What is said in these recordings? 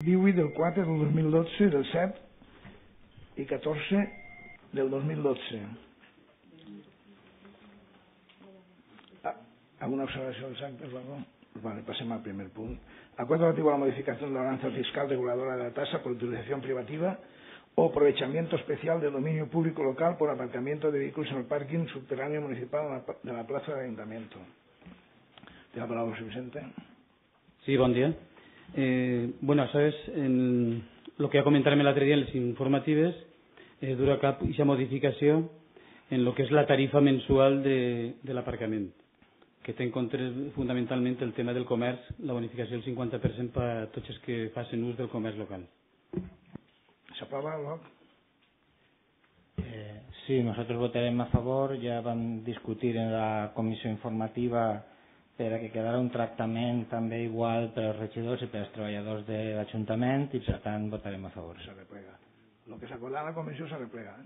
18 del 4 del 2012, del 7 i 14 del 2012. ¿Alguna observación exacta? Vale, pasemos al primer punto. Acuerdo relativo a la modificación de la balanza fiscal reguladora de la tasa por utilización privativa o aprovechamiento especial del dominio público local por aparcamiento de vehículos en el parking subterráneo municipal de la plaza del Ayuntamiento. ¿Tiene la palabra, señor Vicente? Sí, bon dia. Bueno, sabes, lo que ja comentarem l'altre dia en les informatives, dura cap aquesta modificació en lo que és la tarifa mensual de l'aparcament, que té en compte fundamentalment el tema del comerç, la bonificació del 50% per a tots els que facin ús del comerç local. ¿S'aprova, Roc? Sí, nosotros votaremos a favor. Ya van a discutir en la comisión informativa para que quedara un tractament també igual per als regidors i per als treballadors de l'Ajuntament i per tant votarem a favor. Se replega. Lo que s'acorda en la comissió se replega.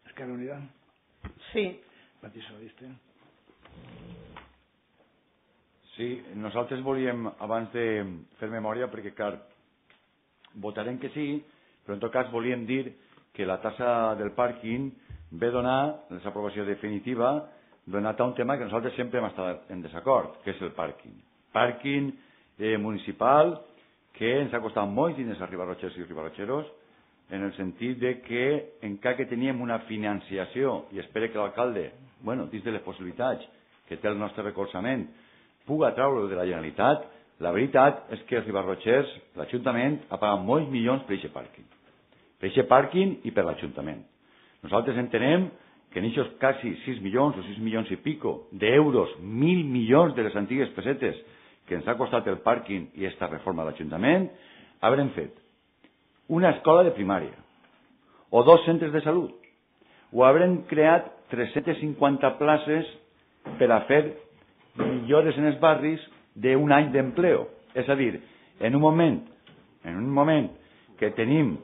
Esquerra Unida? Sí. Patí Saliste? Sí, nosaltres volíem, abans de fer memòria, perquè clar, votarem que sí, però en tot cas volíem dir que la tassa del pàrquing ve donar l'aprovació definitiva donat a un tema que nosaltres sempre hem estat en desacord, que és el pàrquing. Pàrquing municipal que ens ha costat molts diners a ribarrotxers i ribarrotxeros, en el sentit de que encara que teníem una financiació, i espero que l'alcalde, bueno, dins de les possibilitats que té el nostre recolzament, puga treure-ho de la Generalitat, la veritat és que els ribarrotxers, l'Ajuntament, ha pagat molts milions per aquest pàrquing. Per aquest pàrquing i per l'Ajuntament. Nosaltres entenem que en aquests quasi 6 milions o 6 milions i pico d'euros, 1.000 milions de les antigues pessetes que ens ha costat el pàrquing i aquesta reforma de l'Ajuntament, haurem fet una escola de primària o 2 centres de salut o haurem creat 350 places per a fer millores en els barris d'un any d'empleo. És a dir, en un moment que tenim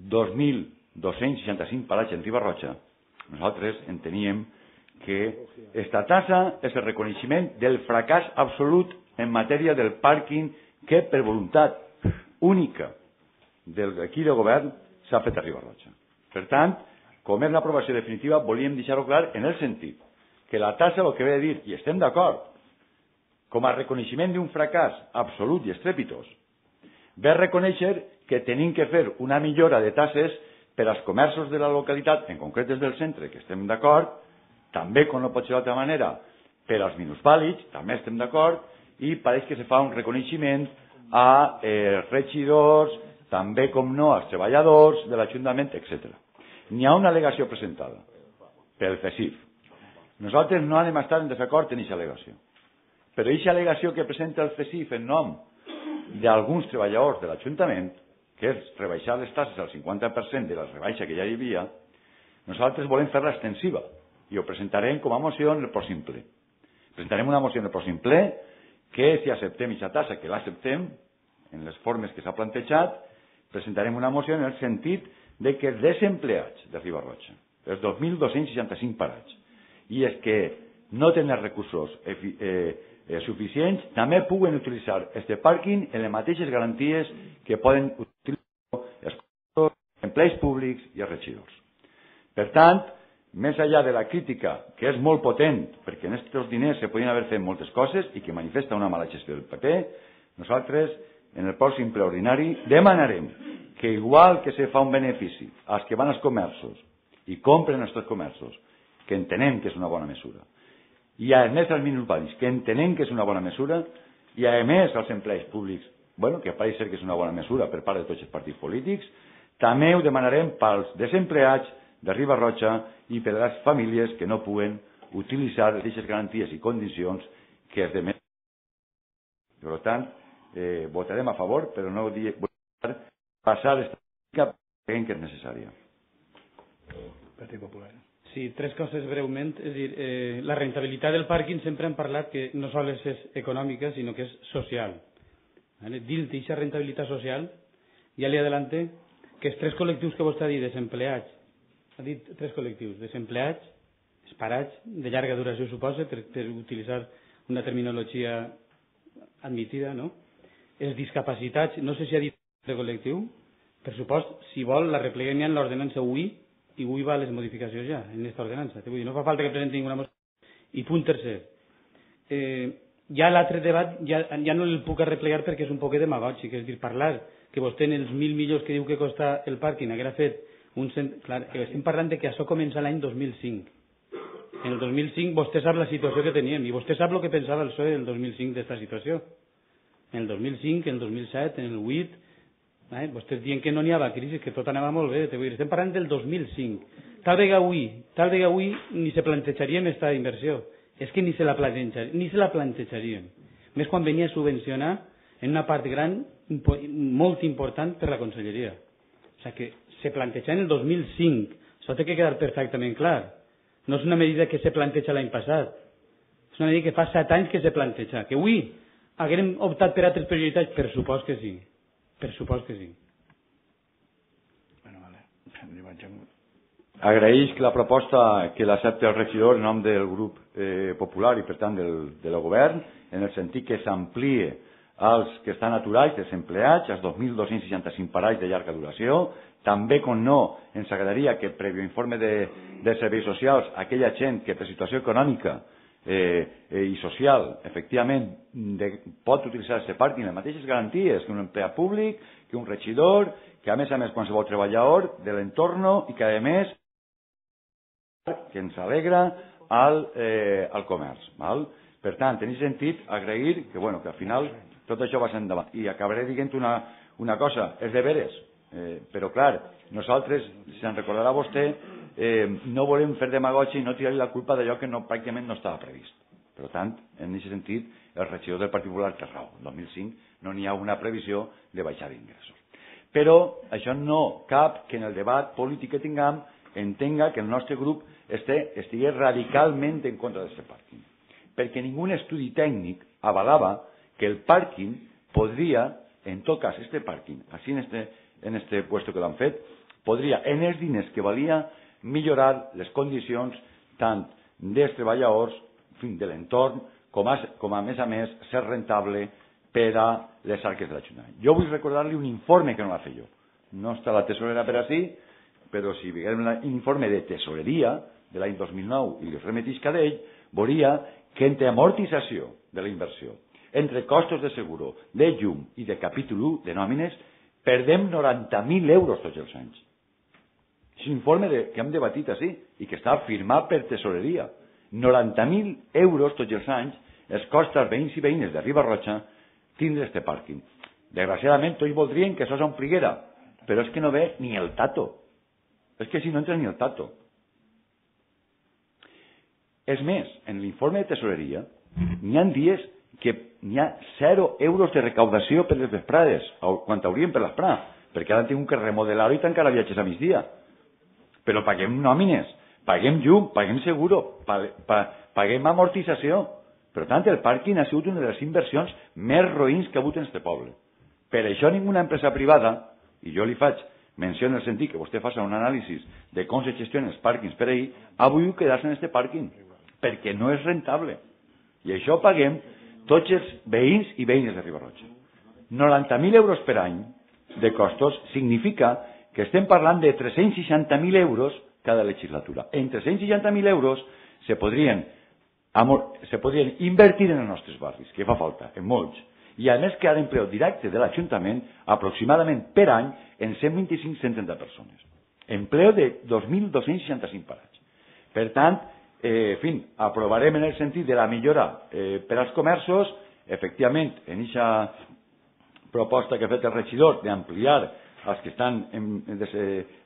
2.265 paratges en Riba-roja, nosaltres enteníem que aquesta tassa és el reconeixement del fracàs absolut en matèria del pàrquing que per voluntat única de l'equip de govern s'ha fet a Riba-roja. Per tant, com és l'aprovació definitiva, volíem deixar-ho clar en el sentit que la tassa el que ve a dir, i estem d'acord, com a reconeixement d'un fracàs absolut i estrepitós, ve a reconèixer que tenim que fer una millora de tasses per als comerços de la localitat, en concret des del centre, que estem d'acord, també, com no pot ser d'altra manera, per als minusvàlids, també estem d'acord, i pareix que se fa un reconeixement a regidors, també, com no, als treballadors de l'Ajuntament, etc. N'hi ha una al·legació presentada pel CESIF. Nosaltres no anem a estar en desacord en aquesta al·legació. Però aquesta al·legació que presenta el CESIF en nom d'alguns treballadors de l'Ajuntament, que és rebaixar les tasses al 50% de la rebaixa que ja hi havia, nosaltres volem fer-la extensiva i ho presentarem com a moció en el pròxim ple. Presentarem una moció en el pròxim ple que, si acceptem aquesta tassa, que l'acceptem en les formes que s'ha plantejat, presentarem una moció en el sentit de que els desempleats de Riba-roja, els 2.265 parats, i els que no tenen recursos suficients, també puguen utilitzar este pàrquing en les mateixes garanties que poden utilitzar els empleats públics i els regidors. Per tant, més enllà de la crítica, que és molt potent, perquè en aquests diners se podien haver fet moltes coses i que manifesta una mala gestió del PP, nosaltres, en el pròxim ple ordinari, demanarem que, igual que se fa un benefici als que van als comerços i compren els comerços, que entenem que és una bona mesura, i a més als minusvàlids, que entenem que és una bona mesura, i a més als empleats públics, bueno, que pareix ser que és una bona mesura per part de tots els partits polítics, també ho demanarem pels desempleats de Riba-roja i per a les famílies que no puguen utilitzar aquestes garanties i condicions que es demenen. Per tant, votarem a favor, però no votarem passar aquesta política perquè creiem que és necessària. Partit Popular. Sí, 3 coses breument. És a dir, la rentabilitat del pàrquing sempre hem parlat que no sols és econòmica, sinó que és social. Dins d'aquesta rentabilitat social, ja li adelante que els 3 col·lectius que vostè ha dit, desempleats, ha dit 3 col·lectius, desempleats, els parats, de llarga duració suposa, per utilitzar una terminologia admitida, no? Els discapacitats, no sé si ha dit de col·lectiu, per supost, si vol, la repleguem ja en l'ordenança avui, i avui va les modificacions ja, en aquesta ordenança. Vull dir, no fa falta que presenti ninguna moció. I punt tercer. Ja l'altre debat ja no el puc arreplegar perquè és un poc demagògic, és dir, parlar que vostè en els 1.000 milions que diu que costa el pàrquing haguera fet clar, estem parlant de que això comença l'any 2005. En el 2005 vostè sap la situació que teníem i vostè sap el que pensava el PSOE en el 2005 d'esta situació. En el 2005, en el 2007, en el 2008, vostès diuen que no n'hi havia crisi, que tot anava molt bé. Estem parlant del 2005. Tal vegada avui ni se plantejaríem aquesta inversió. És que ni se la plantejaríem. Més quan venia a subvencionar en una part gran, molt important per la conselleria. O sigui que se planteja en el 2005. Això té que quedar perfectament clar. No és una medida que se planteja l'any passat. És una medida que fa 7 anys que se planteja. Que avui haguem optat per altres prioritats? Per supost que sí. Per supost que sí. Agraeix que la proposta que l'accepta el regidor en nom del grup popular i per tant del govern, en el sentit que s'amplie als que estan aturats, desempleats, als 2.265 parells de llarga duració. També, com no, ens agradaria que, prèvio informe de serveis socials, aquella gent que per situació econòmica i social, efectivament, pot utilitzar aquest pàrquing les mateixes garanties que un empleat públic, que un regidor, que a més qualsevol treballador de l'entorn i que a més que ens alegra al comerç. Per tant, en aquest sentit, agrair que al final tot això va ser endavant. I acabaré dient una cosa, és de veres, però clar, nosaltres, si se'n recordarà vostè, no volem fer demagògia i no tirar-li la culpa d'allò que pràcticament no estava previst. Per tant, en aquest sentit, el regidor del Partit Popular té raó. El 2005 no n'hi ha una previsió de baixar d'ingressos. Però això no cap que en el debat polític que tinguem entenga que el nostre grup estigui radicalment en contra d'aquest pàrquing. Perquè ningú estudi tècnic avalava que el pàrquing podria, en tot cas, este pàrquing, així en este puesto que l'han fet, podria, en els diners que valia, millorar les condicions tant dels treballadors, de l'entorn, com a més, ser rentable per a les arques de l'Ajuntament. Jo vull recordar-li un informe que no l'ha fet jo. No està la tesorera per així, però si veiem l'informe de tesoreria de l'any 2009 i li remetisca d'ell, veuria que entre amortització de la inversió, entre costos de seguro, de llum i de capítol 1 de nòmines, perdem 90.000 euros tots els anys. És un informe que hem debatit així i que està firmat per tesoreria. 90.000 euros tots els anys es costa als veïns i veïnes de Riba-roja tindre este pàrquing. Desgraciadament, tots voldrien que això s'ompliguera, però és que no ve ni el tato. És que si no entra ni el tato. És més, en l'informe de tesoreria n'hi ha dies que n'hi ha 0 euros de recaudació per les vesprades, quan haurien per l'esprà, perquè ara han tingut que remodelar-ho i tancar a viatges a migdia. Però paguem nòmines, paguem llum, paguem seguro, paguem amortització. Per tant, el pàrquing ha sigut una de les inversions més roïns que ha hagut en aquest poble. Per això ninguna empresa privada, i jo li faig menció en el sentit que vostè faci un anàlisi de com se gestionen els pàrquings per ahir, ha volgut quedar-se en aquest pàrquing, perquè no és rentable. I això paguem tots els veïns i veïnes de Riba-roja. 90.000 euros per any de costos significa que estem parlant de 360.000 euros cada legislatura. En 360.000 euros se podrien invertir en els nostres barris, que fa falta, en molts. I a més crear empleo directe de l'Ajuntament aproximadament per any en 125-130 persones. Empleo de 2.265 parats. Per tant, aprovarem en el sentit de la millora per als comerços, efectivament, en aquesta proposta que ha fet el regidor d'ampliar els que estan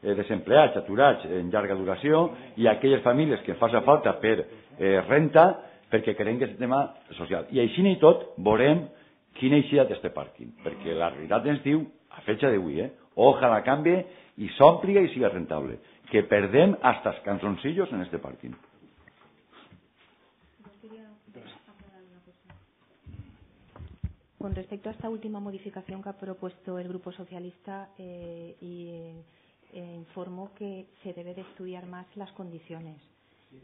desempleats, aturats en llarga duració i aquelles famílies que faci falta per renta, perquè creiem que és un tema social. I així i tot veurem quina eixida d'este pàrquing, perquè la realitat ens diu, a fecha d'avui, ojalà canvie i s'omplia i siga rentable, que perdem hasta els canzoncillos en este pàrquing. Con respecto a esta última modificación que ha propuesto el Grupo Socialista, informo que se debe de estudiar más las condiciones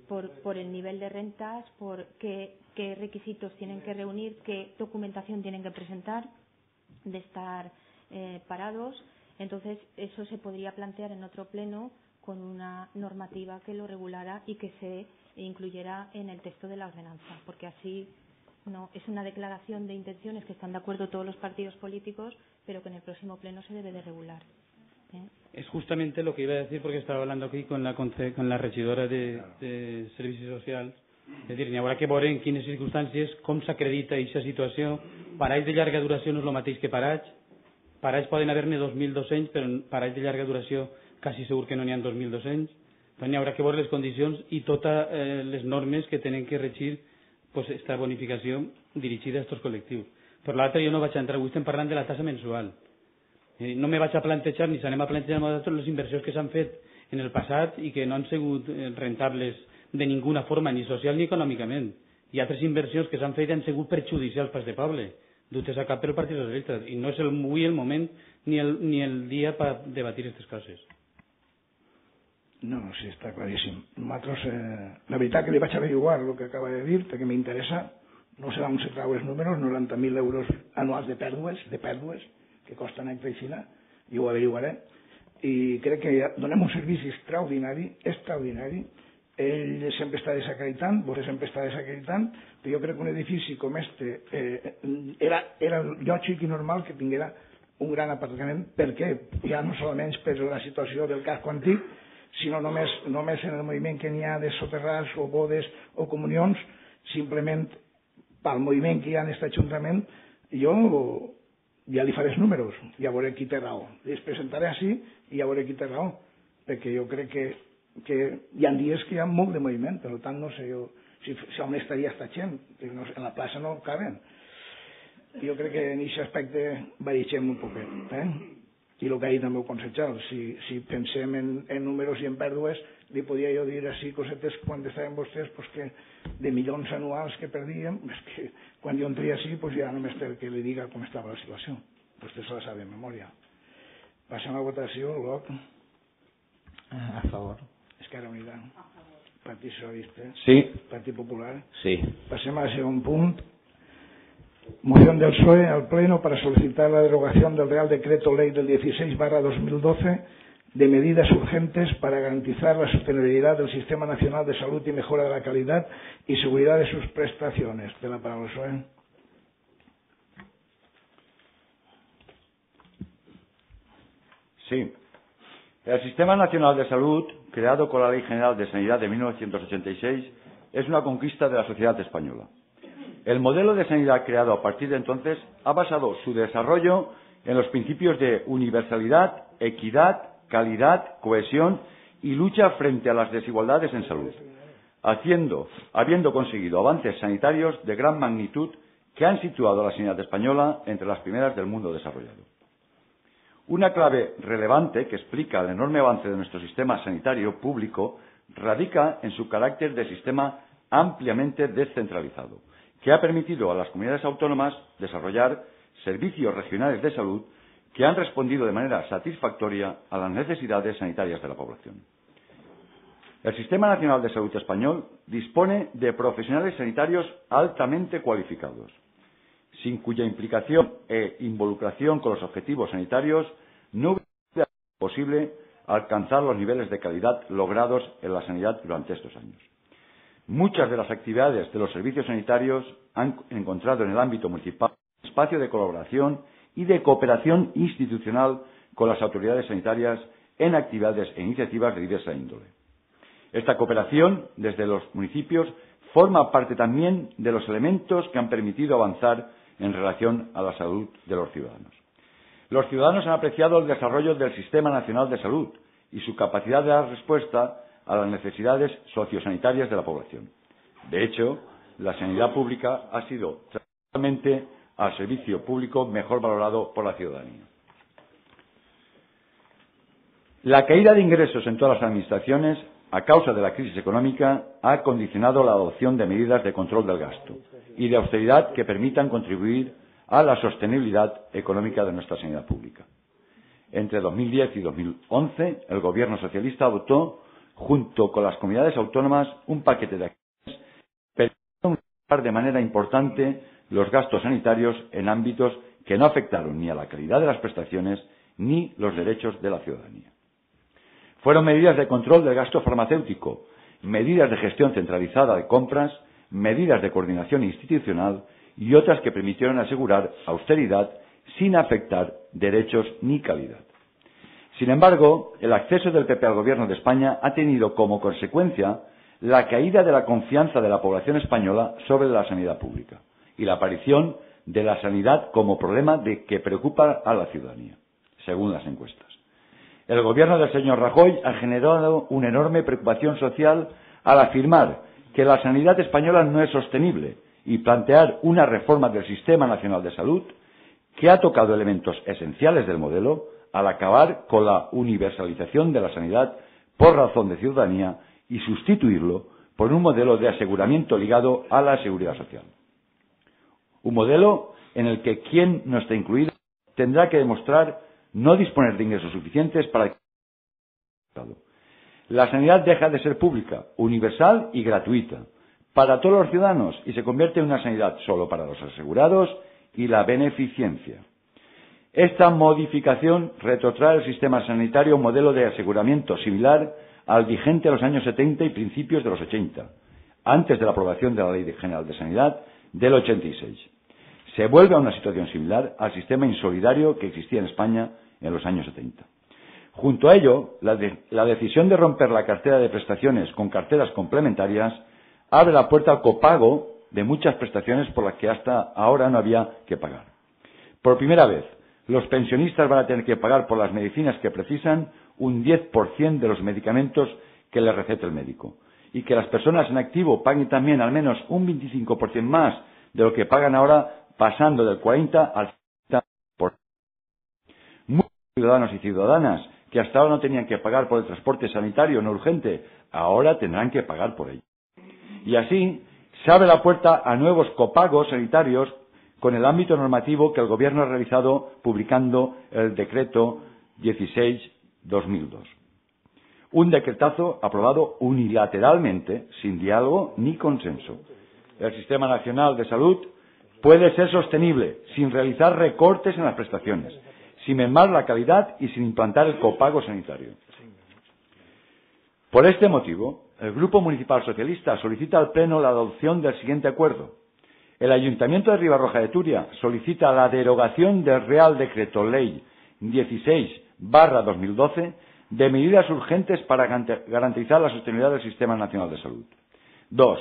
por el nivel de rentas, por qué requisitos tienen que reunir, qué documentación tienen que presentar de estar parados. Entonces, eso se podría plantear en otro pleno con una normativa que lo regulara y que se incluyera en el texto de la ordenanza, porque así no es una declaración de intenciones que están de acuerdo todos los partidos políticos, pero que en el próximo pleno se debe de regular. Es justamente lo que iba a decir, porque estaba hablando aquí con la regidora de Servicis Socials. És a dir, n'hi haurà que veure en quines circumstàncies, com s'acredita aquesta situació. Parells de llarga duració no és el mateix que parells. Parells poden haver-ne 2.200, però parells de llarga duració quasi segur que no n'hi ha 2.200. Doncs n'hi haurà que veure les condicions i totes les normes que tenen que regir aquesta bonificació dirigida a aquests col·lectius. Per l'altre, jo no vaig entrar, avui estem parlant de la tassa mensual. No me vaig a plantejar, ni s'anem a plantejar nosaltres les inversions que s'han fet en el passat i que no han sigut rentables de ninguna forma, ni social ni econòmicament. Hi ha altres inversions que s'han fet i han sigut perjudicials per aquest poble, dutes a cap pel Partit Socialista, i no és avui el moment ni el dia per debatir aquestes coses. No, sí, està claríssim. Nosaltres, la veritat que li vaig averiguar el que acaba de dir, perquè m'interessa, no sé on se trau els números, 90.000 euros anuals de pèrdues, que costen a Xina, i ho averiguaré, i crec que donem un servici extraordinari, ell sempre està desacreditant, vostè sempre està desacreditant, però jo crec que un edifici com este era lògic i normal que tinguera un gran aparcament. Per què? Ja no solament per la situació del casco antic, sinó només en el moviment que n'hi ha de soterrats o bodes o comunions, simplement pel moviment que hi ha en aquest ajuntament, jo ja li faré els números, ja veuré qui té raó. Els presentaré així i ja veuré qui té raó, perquè jo crec que hi ha dies que hi ha molt de moviment, per tant no sé jo si on estaria esta gent, que en la plaça no caben. Jo crec que en aquest aspecte barixem un poquet, i el que ha dit el meu consellero, si pensem en números i en pèrdues, li podia jo dir així cosetes quan estaven vostès que de milions anuals que perdíem, és que quan jo entria així ja només té que li diga com estava la situació. Vostè se la sabe de memòria. Passem a votació, Bloc. A favor. Esquerra Unida. Partit Socialista. Sí. Partit Popular. Sí. Pasemos al segundo punto. Moción del PSOE al Pleno para solicitar la derogación del Real Decreto Ley del 16/2012 de medidas urgentes para garantizar la sostenibilidad del Sistema Nacional de Salud y mejora de la calidad y seguridad de sus prestaciones. De la palabra PSOE. Sí. El Sistema Nacional de Salud, creado con la Ley General de Sanidad de 1986, es una conquista de la sociedad española. El modelo de sanidad creado a partir de entonces ha basado su desarrollo en los principios de universalidad, equidad, calidad, cohesión y lucha frente a las desigualdades en salud, habiendo conseguido avances sanitarios de gran magnitud que han situado a la sanidad española entre las primeras del mundo desarrollado. Una clave relevante que explica el enorme avance de nuestro sistema sanitario público radica en su carácter de sistema ampliamente descentralizado, que ha permitido a las comunidades autónomas desarrollar servicios regionales de salud que han respondido de manera satisfactoria a las necesidades sanitarias de la población. El Sistema Nacional de Salud español dispone de profesionales sanitarios altamente cualificados, sin cuya implicación e involucración con los objetivos sanitarios no hubiera sido posible alcanzar los niveles de calidad logrados en la sanidad durante estos años. Muchas de las actividades de los servicios sanitarios han encontrado en el ámbito municipal un espacio de colaboración y de cooperación institucional con las autoridades sanitarias en actividades e iniciativas de diversa índole. Esta cooperación desde los municipios forma parte también de los elementos que han permitido avanzar en relación a la salud de los ciudadanos. Los ciudadanos han apreciado el desarrollo del Sistema Nacional de Salud y su capacidad de dar respuesta a las necesidades sociosanitarias de la población. De hecho, la sanidad pública ha sido tradicionalmente al servicio público mejor valorado por la ciudadanía. La caída de ingresos en todas las administraciones a causa de la crisis económica ha condicionado la adopción de medidas de control del gasto y de austeridad que permitan contribuir a la sostenibilidad económica de nuestra sanidad pública. Entre 2010 y 2011, el Gobierno socialista adoptó junto con las comunidades autónomas, un paquete de acciones permitiendo mejorar de manera importante los gastos sanitarios en ámbitos que no afectaron ni a la calidad de las prestaciones ni los derechos de la ciudadanía. Fueron medidas de control del gasto farmacéutico, medidas de gestión centralizada de compras, medidas de coordinación institucional y otras que permitieron asegurar austeridad sin afectar derechos ni calidad. Sin embargo, el acceso del PP al Gobierno de España ha tenido como consecuencia la caída de la confianza de la población española sobre la sanidad pública y la aparición de la sanidad como problema que preocupa a la ciudadanía, según las encuestas. El Gobierno del señor Rajoy ha generado una enorme preocupación social al afirmar que la sanidad española no es sostenible y plantear una reforma del Sistema Nacional de Salud que ha tocado elementos esenciales del modelo al acabar con la universalización de la sanidad por razón de ciudadanía y sustituirlo por un modelo de aseguramiento ligado a la seguridad social. Un modelo en el que quien no esté incluido tendrá que demostrar no disponer de ingresos suficientes para que la sanidad deja de ser pública, universal y gratuita para todos los ciudadanos y se convierte en una sanidad solo para los asegurados y la beneficencia. Esta modificación retrotrae el sistema sanitario a un modelo de aseguramiento similar al vigente en los años 70 y principios de los 80, antes de la aprobación de la Ley General de Sanidad del 86. Se vuelve a una situación similar al sistema insolidario que existía en España en los años 70. Junto a ello, la decisión de romper la cartera de prestaciones con carteras complementarias abre la puerta al copago de muchas prestaciones por las que hasta ahora no había que pagar. Por primera vez, los pensionistas van a tener que pagar por las medicinas que precisan un 10% de los medicamentos que les recete el médico y que las personas en activo paguen también al menos un 25% más de lo que pagan ahora, pasando del 40 al 50%. Muchos ciudadanos y ciudadanas que hasta ahora no tenían que pagar por el transporte sanitario no urgente, ahora tendrán que pagar por ello. Y así se abre la puerta a nuevos copagos sanitarios con el ámbito normativo que el Gobierno ha realizado publicando el Decreto 16/2002. Un decretazo aprobado unilateralmente, sin diálogo ni consenso. El Sistema Nacional de Salud puede ser sostenible sin realizar recortes en las prestaciones, sin mermar la calidad y sin implantar el copago sanitario. Por este motivo, el Grupo Municipal Socialista solicita al Pleno la adopción del siguiente acuerdo. El Ayuntamiento de Ribarroja de Túria solicita la derogación del Real Decreto Ley 16/2012 de medidas urgentes para garantizar la sostenibilidad del Sistema Nacional de Salud. 2.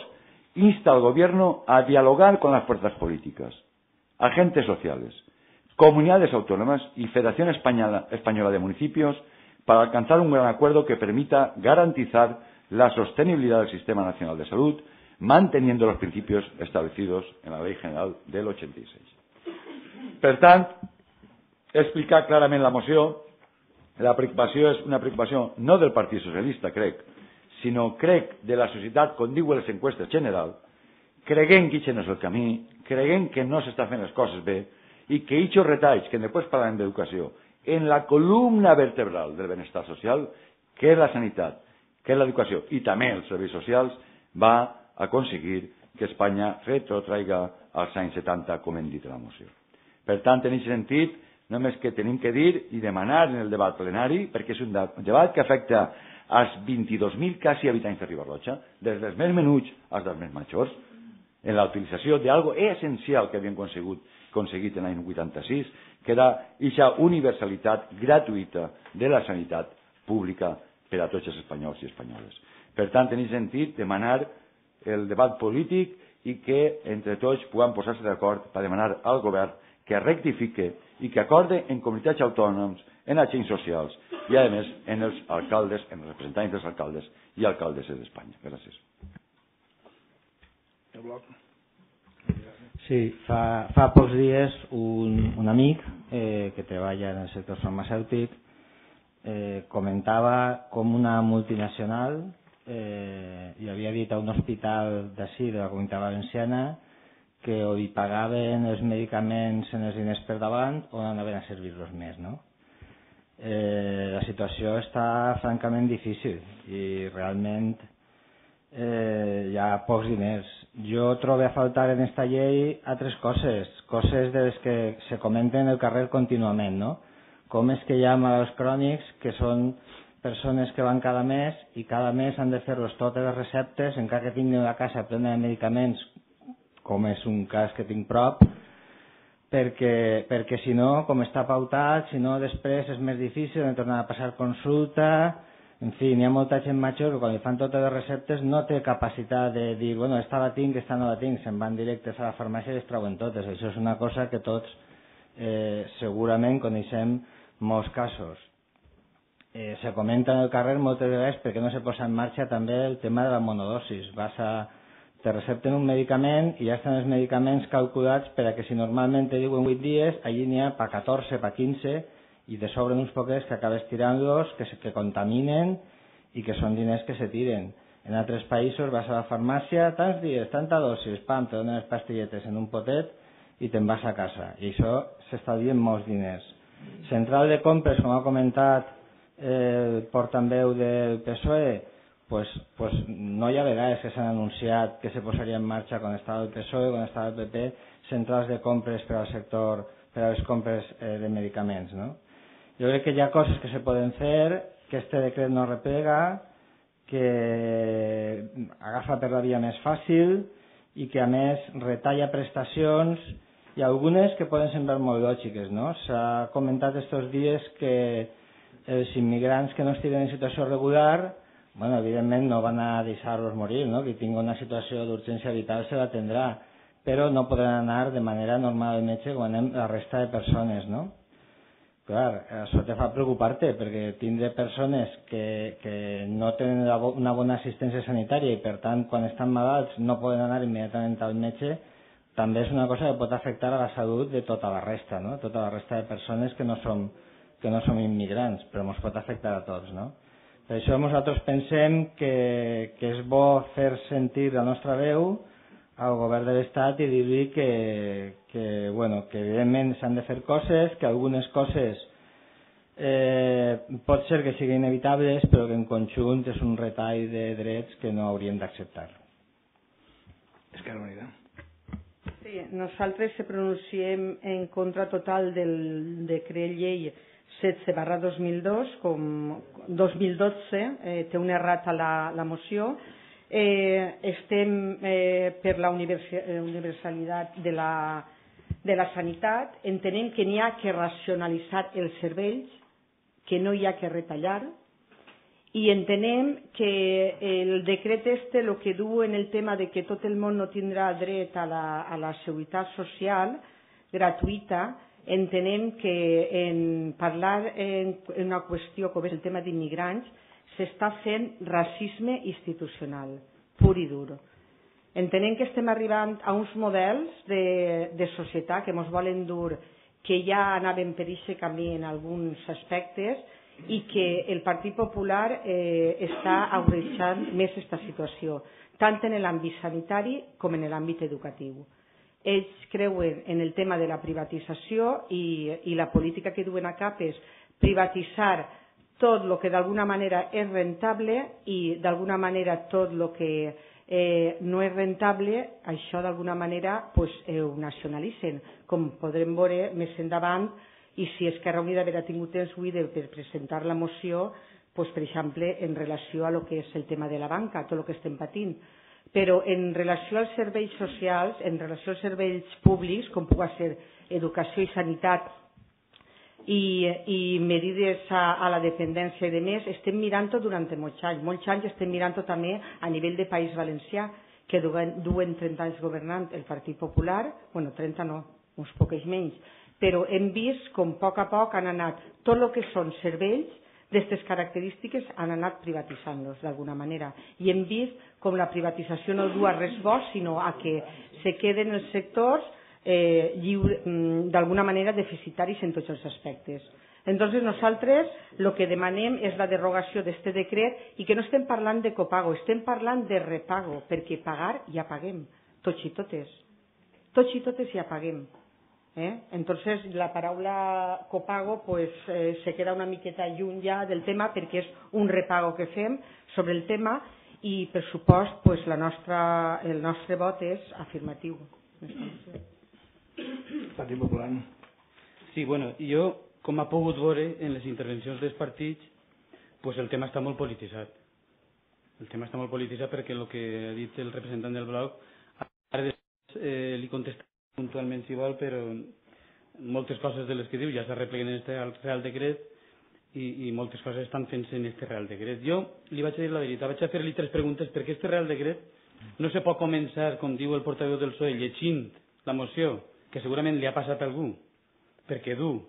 Insta al Gobierno a dialogar con las fuerzas políticas, agentes sociales, comunidades autónomas y Federación Española de Municipios para alcanzar un gran acuerdo que permita garantizar la sostenibilidad del Sistema Nacional de Salud, manteniendo los principios establecidos en la Ley General del 86. Per tant, explicar clarament la moció, la preocupació és una preocupació no del Partit Socialista, crec, sinó crec de la societat, com diuen les enquestes general, creguem que aquest no és el camí, creguem que no s'està fent les coses bé i que aquests retalls, que després parlarem d'educació, en la columna vertebral del benestar social, que és la sanitat, que és l'educació i també els serveis socials, va aconseguir que Espanya retrotraiga als anys 70, com hem dit a la moció. Per tant, en aquest sentit, només que tenim que dir i demanar en el debat plenari, perquè és un debat que afecta als 22.000 quasi habitants de Ribarroja, des dels més menuts als dels més majors, en la utilització d'algo essencial que havien aconseguit en l'any 86, que era aquesta universalitat gratuïta de la sanitat pública per a tots els espanyols i espanyoles. Per tant, en aquest sentit, demanar el debat polític i que entre tots puguem posar-se d'acord per demanar al govern que rectifique i que acorde en comunitats autònoms, en agents socials i, a més, en els alcaldes, en els representants dels alcaldes i alcaldesses d'Espanya. Gràcies. Sí, fa pocs dies un amic que treballa en el sector farmacèutic comentava com una multinacional li havia dit a un hospital d'ací, de la Comunitat Valenciana, que o li pagaven els medicaments en els diners per davant o no anaven a servir-los més, no? La situació està francament difícil i realment hi ha pocs diners. Jo trobo a faltar en esta llei altres coses de les que se comenten en el carrer contínuament, no? Com és que hi ha malalts crònics que són persones que van cada mes i cada mes han de fer-los totes les receptes, encara que tinguin a casa plena de medicaments, com és un cas que tinc prop, perquè si no, com està pautat, si no després és més difícil de tornar a passar consulta. En fi, n'hi ha molta gent major que quan li fan totes les receptes no té capacitat de dir, bueno, esta la tinc, esta no la tinc, se'n van directes a la farmàcia i les treuen totes. Això és una cosa que tots segurament coneixem molts casos. Se comenta en el carrer moltes vegades perquè no se posa en marxa també el tema de la monodosis. Te recepten un medicament i ja estan els medicaments calculats per a que si normalment te diuen 8 dies, allí n'hi ha per 14, per 15 i te sobren uns poquets que acabes tirant-los, que contaminen i que són diners que se tiren. En altres països vas a la farmàcia, tants dies, tanta dosis, pam, te donen les pastilletes en un potet i te'n vas a casa. I això s'estalvien molts diners. Central de compres, com ha comentat el portaveu del PSOE, pues no hi ha vegades que s'han anunciat que se posaria en marxa quan estava el PSOE, quan estava el PP, centrals de compres per al sector, per a les compres de medicaments, no? Jo crec que hi ha coses que se poden fer, que este decret no replega, que agafa per la via més fàcil i que a més retalla prestacions i algunes que poden semblar molt lògiques, no? S'ha comentat estos dies que els immigrants que no estiguen en situació regular, bueno, evidentment no van a deixar-los morir, no? Qui tingui una situació d'urgència vital se l'atendrà, però no podran anar de manera normal al metge com anem la resta de persones, no? Clar, això te fa preocupar-te, perquè tindre persones que no tenen una bona assistència sanitària i per tant quan estan malalts no poden anar immediatament al metge, també és una cosa que pot afectar a la salut de tota la resta, no? Tota la resta de persones que no som immigrants, però ens pot afectar a tots, no? Per això nosaltres pensem que és bo fer sentir la nostra veu al govern de l'Estat i dir-li que evidentment s'han de fer coses, que algunes coses pot ser que siguin inevitables, però que en conjunt és un retall de drets que no hauríem d'acceptar. Esquerra Unida. Sí, nosaltres se pronunciem en contra total del decret llei 16/2012, com 2012, té un errat a la moció. Estem per la universalitat de la sanitat, entenem que n'hi ha que racionalitzar els serveis, que no hi ha que retallar, i entenem que el decret el que du en el tema de que tot el món no tindrà dret a la seguretat social gratuïta, entenem que en parlar en una qüestió com és el tema d'immigrants s'està fent racisme institucional, pur i dur. Entenem que estem arribant a uns models de societat que ens volen dur, que ja anaven per aquest camí en alguns aspectes i que el Partit Popular està agreujant més aquesta situació, tant en l'àmbit sanitari com en l'àmbit educatiu. Ells creuen en el tema de la privatització i la política que duen a cap és privatitzar tot el que d'alguna manera és rentable i d'alguna manera tot el que no és rentable, això d'alguna manera ho nacionalitzen, com podrem veure més endavant, i si Esquerra Unida haurà tingut temps avui per presentar la moció, per exemple, en relació a lo que és el tema de la banca, tot el que estem patint. Però en relació als serveis socials, en relació als serveis públics, com pugui ser educació i sanitat, i medides a la dependència i de més, estem mirant-ho durant molts anys estem mirant-ho també a nivell de País Valencià, que duen 30 anys governant el Partit Popular, bueno, 30 no, uns pocs menys, però hem vist com a poc han anat tot el que són serveis d'aquestes característiques han anat privatitzant-los d'alguna manera, i hem vist com la privatització no du a res bo, sinó a que se queden els sectors d'alguna manera deficitaris en tots els aspectes. Entonces nosaltres el que demanem és la derogació d'aquest decret i que no estem parlant de copago, estem parlant de repago, perquè pagar ja paguem, tots i totes ja paguem. Entonces, la paraula copago pues, se queda una miqueta lluny ja del tema perquè és un repago que fem sobre el tema i, per supost, pues, el nostre vot és afirmatiu. Partit Popular. Sí, bueno, jo, com ha pogut veure en les intervencions dels partits, pues el tema està molt polititzat. El tema està molt polititzat perquè el que ha dit el representant del bloc, ara li contestaré puntualment si vol, però moltes coses de les que diu ja s'arrepleguen en aquest Real Decret i moltes coses estan fent-se en aquest Real Decret. Jo li vaig a dir la veritat, vaig a fer-li 3 preguntes perquè aquest Real Decret no se pot començar, com diu el portaveu del PSOE, llegint la moció, que segurament li ha passat a algú, perquè du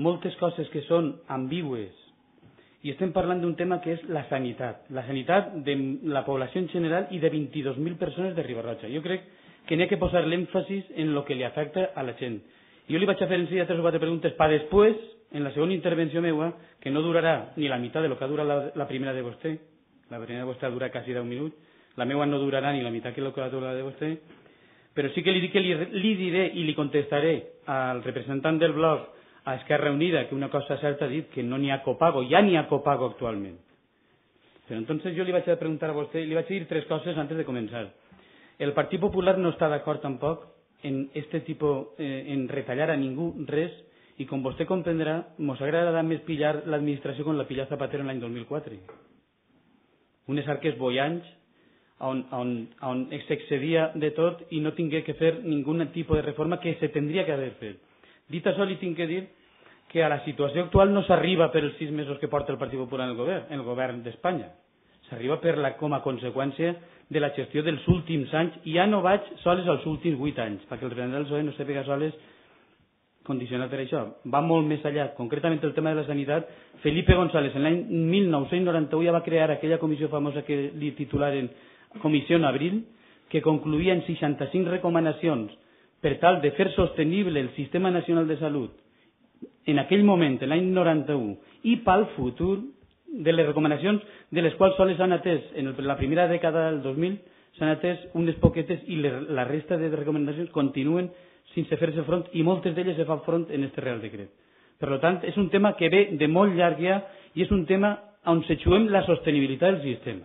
moltes coses que són ambigües i estem parlant d'un tema que és la sanitat de la població en general i de 22.000 persones de Riba-roja. Jo crec que n'hi ha que posar l'èmfasis en el que li afecta a la gent. Jo li vaig a fer en seguida 3 o 4 preguntes per després, en la segona intervenció meva, que no durarà ni la meitat de lo que ha durat la primera de vostè. La primera de vostè ha durat quasi 10 minuts. La meva no durarà ni la meitat que lo que ha durat de vostè. Però sí que li dic que li diré i li contestaré al representant del bloc, a Esquerra Unida, que una cosa certa ha dit que no n'hi ha copago, ja n'hi ha copago actualment. Però entonces jo li vaig a preguntar a vostè, li vaig a dir 3 coses antes de començar. El Partit Popular no està d'acord tampoc en este tipo, en retallar a ningú res, i com vostè comprendrà, mos agradarà més pillar l'administració com la pillà Zapatero en l'any 2004. Unes arques boiants on s'excedia de tot i no tingué que fer ningun tipus de reforma que se tindria que haver fet. Dit això, li tinc que dir que a la situació actual no s'arriba per els 6 mesos que porta el Partit Popular en el govern d'Espanya. S'arriba com a conseqüència de la gestió dels últims anys, i ja no vaig sols als últims 8 anys, perquè el representant del PSOE no sàpiga sols condicionat per això. Va molt més allà. Concretament el tema de la sanitat, Felipe González en l'any 1991 ja va crear aquella comissió famosa que li titularen Comissió Abril, que concluïa en 65 recomanacions per tal de fer sostenible el Sistema Nacional de Salut en aquell moment, l'any 91, i pel futur, de les recomanacions de les quals sols s'han atès en la primera dècada del 2000, s'han atès unes poquetes i la resta de recomanacions continuen sense fer-se front, i moltes d'elles se fan front en aquest Real Decret. Per tant, és un tema que ve de molt llarg ja i és un tema on situem la sostenibilitat del sistema.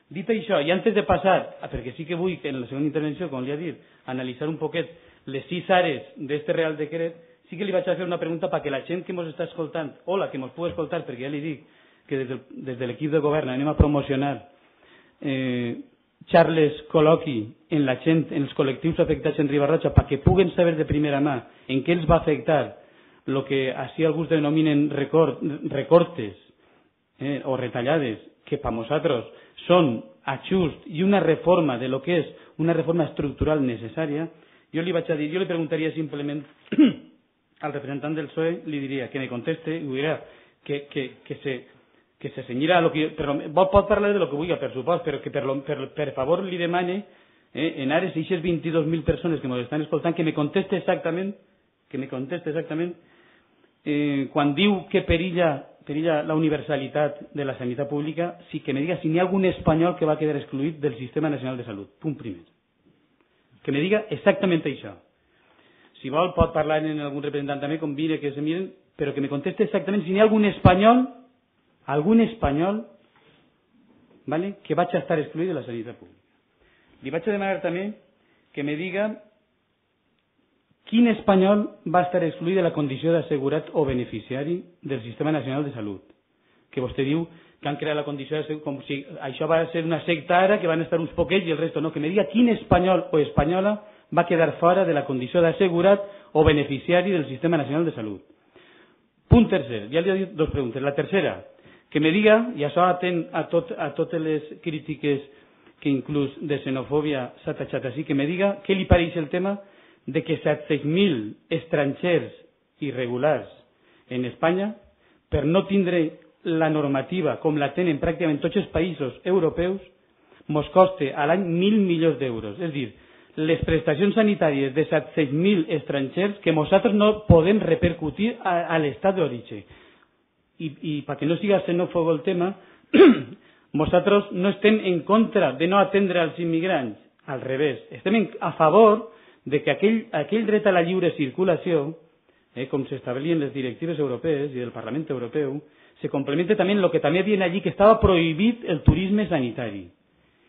Dit això, i antes de passar, perquè sí que vull que en la segona intervenció, com li ha dit, analitzar un poquet les 6 àrees d'aquest Real Decret, sí que li vaig a fer una pregunta perquè la gent que ens està escoltant, o la que ens pugui escoltar, perquè ja li dic que des de l'equip de govern anem a promocionar xarles col·loqui en la gent, en els col·lectius afectats en Riba-roja, perquè puguen saber de primera mà en què els va afectar el que així alguns denominen recortes o retallades, que per nosaltres són ajust i una reforma de lo que és una reforma estructural necessària. Jo li vaig a dir, jo li preguntaria simplement al representant del PSOE, li diria que me conteste i ho dirà que se cenyirà a lo que... Però pot parlar de lo que vulgui, per supost, però que per favor li demane en ares d'aquestes 22.000 persones que ens estan escoltant que me conteste exactament quan diu que perilla la universalitat de la sanitat pública, sí que me diga si n'hi ha algun espanyol que va quedar excluït del Sistema Nacional de Salut. Punt primer. Que me diga exactament això. Si vol pot parlar en algun representant també, convine que se miren, però que me conteste exactament si n'hi ha algun espanyol ¿vale?, que vaig a estar excluït de la sanitat pública. Li vaig a demanar també que me diga quin espanyol va estar excluït de la condició d'assegurat o beneficiari del Sistema Nacional de Salut. Que vostè diu que han creat la condició de com si això va ser una secta ara, que van estar uns poquets i el resto no. Que me diga quin espanyol o espanyola va quedar fora de la condició d'assegurat o beneficiari del Sistema Nacional de Salut. Punt tercer, ja li he dit 2 preguntes. La tercera, que me diga, i això atén a totes les crítiques que inclús de xenofòbia s'ha tachat així, que me diga què li pareix el tema de que 700.000 estrangers irregulars en Espanya, per no tindre la normativa com la tenen pràcticament tots els països europeus, mos coste a l'any 1.000 milions d'euros. És a dir, les prestacions sanitàries de 700.000 estrangers que nosaltres no podem repercutir a l'estat d'origen. I perquè no siga xenòfob el tema, nosaltres no estem en contra de no atendre als immigrants, al revés, estem a favor de que aquell dret a la lliure circulació, com s'establien les directives europees i del Parlament Europeu, se complementa també en el que també viene allí, que estava prohibit el turisme sanitari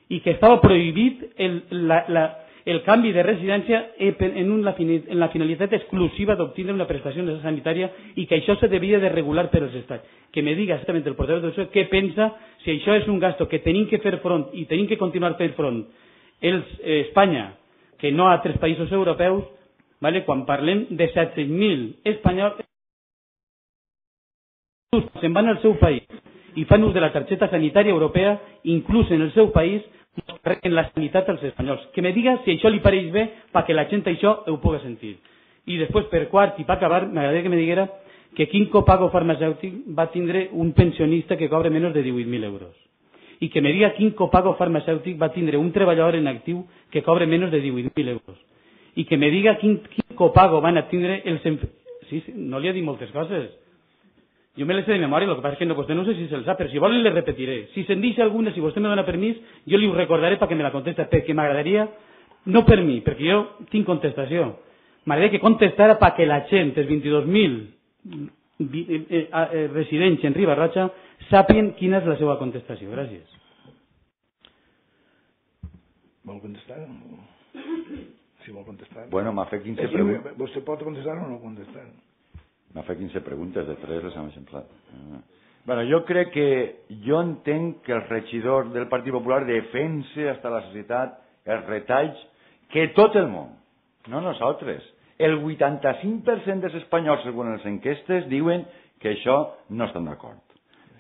i que estava prohibit el canvi de residència en la finalitat exclusiva d'obtenir una prestació sanitària i que això se devia de regular per als estats. Que me diga exactament el portaveu del PSOE què pensa, si això és un gasto que tenim que fer front i tenim que continuar fent front Espanya, que no a altres països europeus, quan parlem de 700.000 espanyols se'n van al seu país i fan ús de la targeta sanitària europea, inclús en el seu país, en la sanitat als espanyols. Que me diga si això li pareix bé perquè la gent això ho pugui sentir. I després, per quart, i per acabar, m'agradaria que me diguera que quin copago farmacèutic va tindre un pensionista que cobra menys de 18.000 euros. I que me diga quin copago farmacèutic va tindre un treballador en actiu que cobra menys de 18.000 euros. I que me diga quin copago van a tindre els... Sí, no li he dit moltes coses. Jo me les sé de memòria, el que passa és que vostè no sé si se'l sap, però si vol les repetiré. Si se'n deixa alguna, si vostè me dona permís, jo li ho recordaré perquè me la contesta, perquè m'agradaria, no per mi, perquè jo tinc contestació, m'agradaria que contestara perquè la gent, els 22.000 residents en Riba-roja, sàpien quina és la seva contestació. Gràcies. Vol contestar? Si vol contestar. Bueno, m'ha fet 15 preguntes. Vostè pot contestar o no contestar? M'ha fet 15 preguntes, de 3 les hem eixamplat. Bueno, jo crec que jo entenc que el regidor del Partit Popular defensa hasta la societat els retalls que tot el món, no nosaltres, el 85% dels espanyols, segons les enquestes, diuen que això no estan d'acord.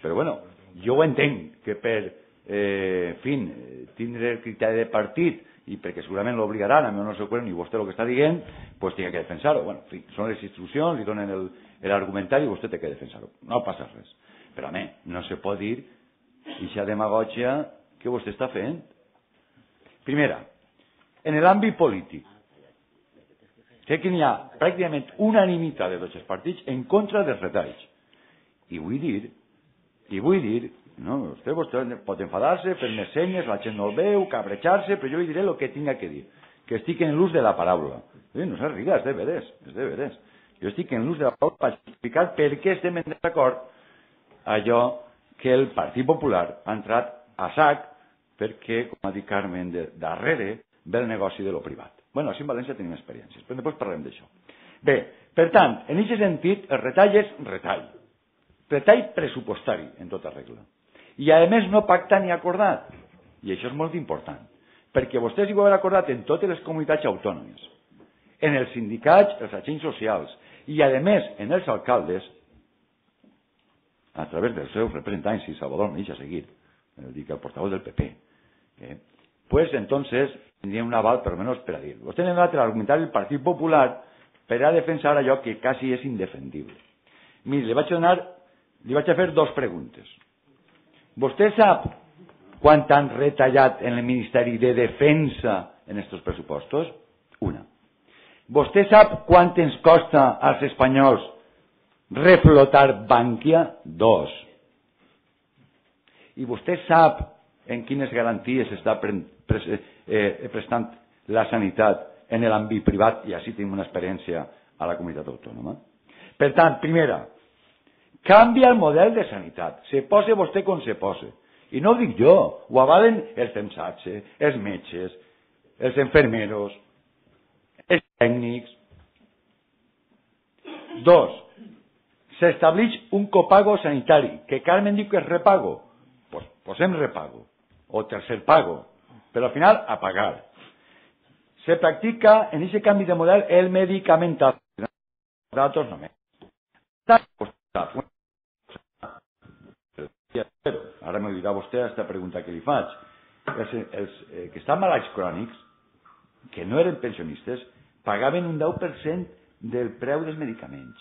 Però bueno, jo ho entenc, que per tindre el criteri de partit i perquè segurament l'obligaran, a mi no sé quan, ni vostè el que està dient, doncs tingui que defensar-ho. Bueno, en fi, són les instruccions, li donen l'argumentari i vostè té que defensar-ho. No passa res. Però a mi, no se pot dir aquesta demagògia que vostè està fent. Primera, en l'àmbit polític, sé que n'hi ha pràcticament unanimitat de tots els partits en contra dels retalls. I vull dir, no, vostè pot enfadar-se, fer-me senyes, la gent no el veu, cabrejar-se, però jo li diré el que tinga que dir, que estic en l'ús de la paraula. No se riga, és de veres. Jo estic en l'ús de la paraula per explicar per què estem en desacord allò que el Partit Popular ha entrat a sac perquè, com ha dit Carmen, darrere ve el negoci de lo privat. Bueno, així en València tenim experiències, però després parlem d'això. Bé, per tant, en aquest sentit, el retall és retall pressupostari, en tota regla. I a més no pactat ni acordat, i això és molt important, perquè vostès hi ho han acordat en totes les comunitats autònomes, en els sindicats, els agents socials, i a més en els alcaldes, a través dels seus representants, i Salvador me deixa seguir, dic el portavoz del PP, pues entonces tindrien un aval per almenys per a dir. Vostè ha donat l'argumentari del Partit Popular per a defensar allò que quasi és indefendible. Miri, li vaig a fer dos preguntes. ¿Vostè sap quant han retallat en el Ministeri de Defensa en estos pressupostos? Una. ¿Vostè sap quant ens costa als espanyols reflotar Bankia? Dos. I vostè sap en quines garanties està prestant la sanitat en l'àmbit privat, i així tenim una experiència a la comunitat autònoma. Per tant, primera, canvia el model de sanitat. Se posa vostè com se posa. I no ho dic jo, ho avalen els CEMSATSE, els metges, els enfermeros, els tècnics. Dos, s'estableix un copago sanitari, que Carmen diu que és repago. Pues posem repago, o tercer pago, però al final a pagar. Se practica en ese canvi de model el medicamentazo. Datos no me. Ara m'ho dirà vostè aquesta pregunta que li faig. Els que estan malalts crònics, que no eren pensionistes, pagaven un 10% del preu dels medicaments.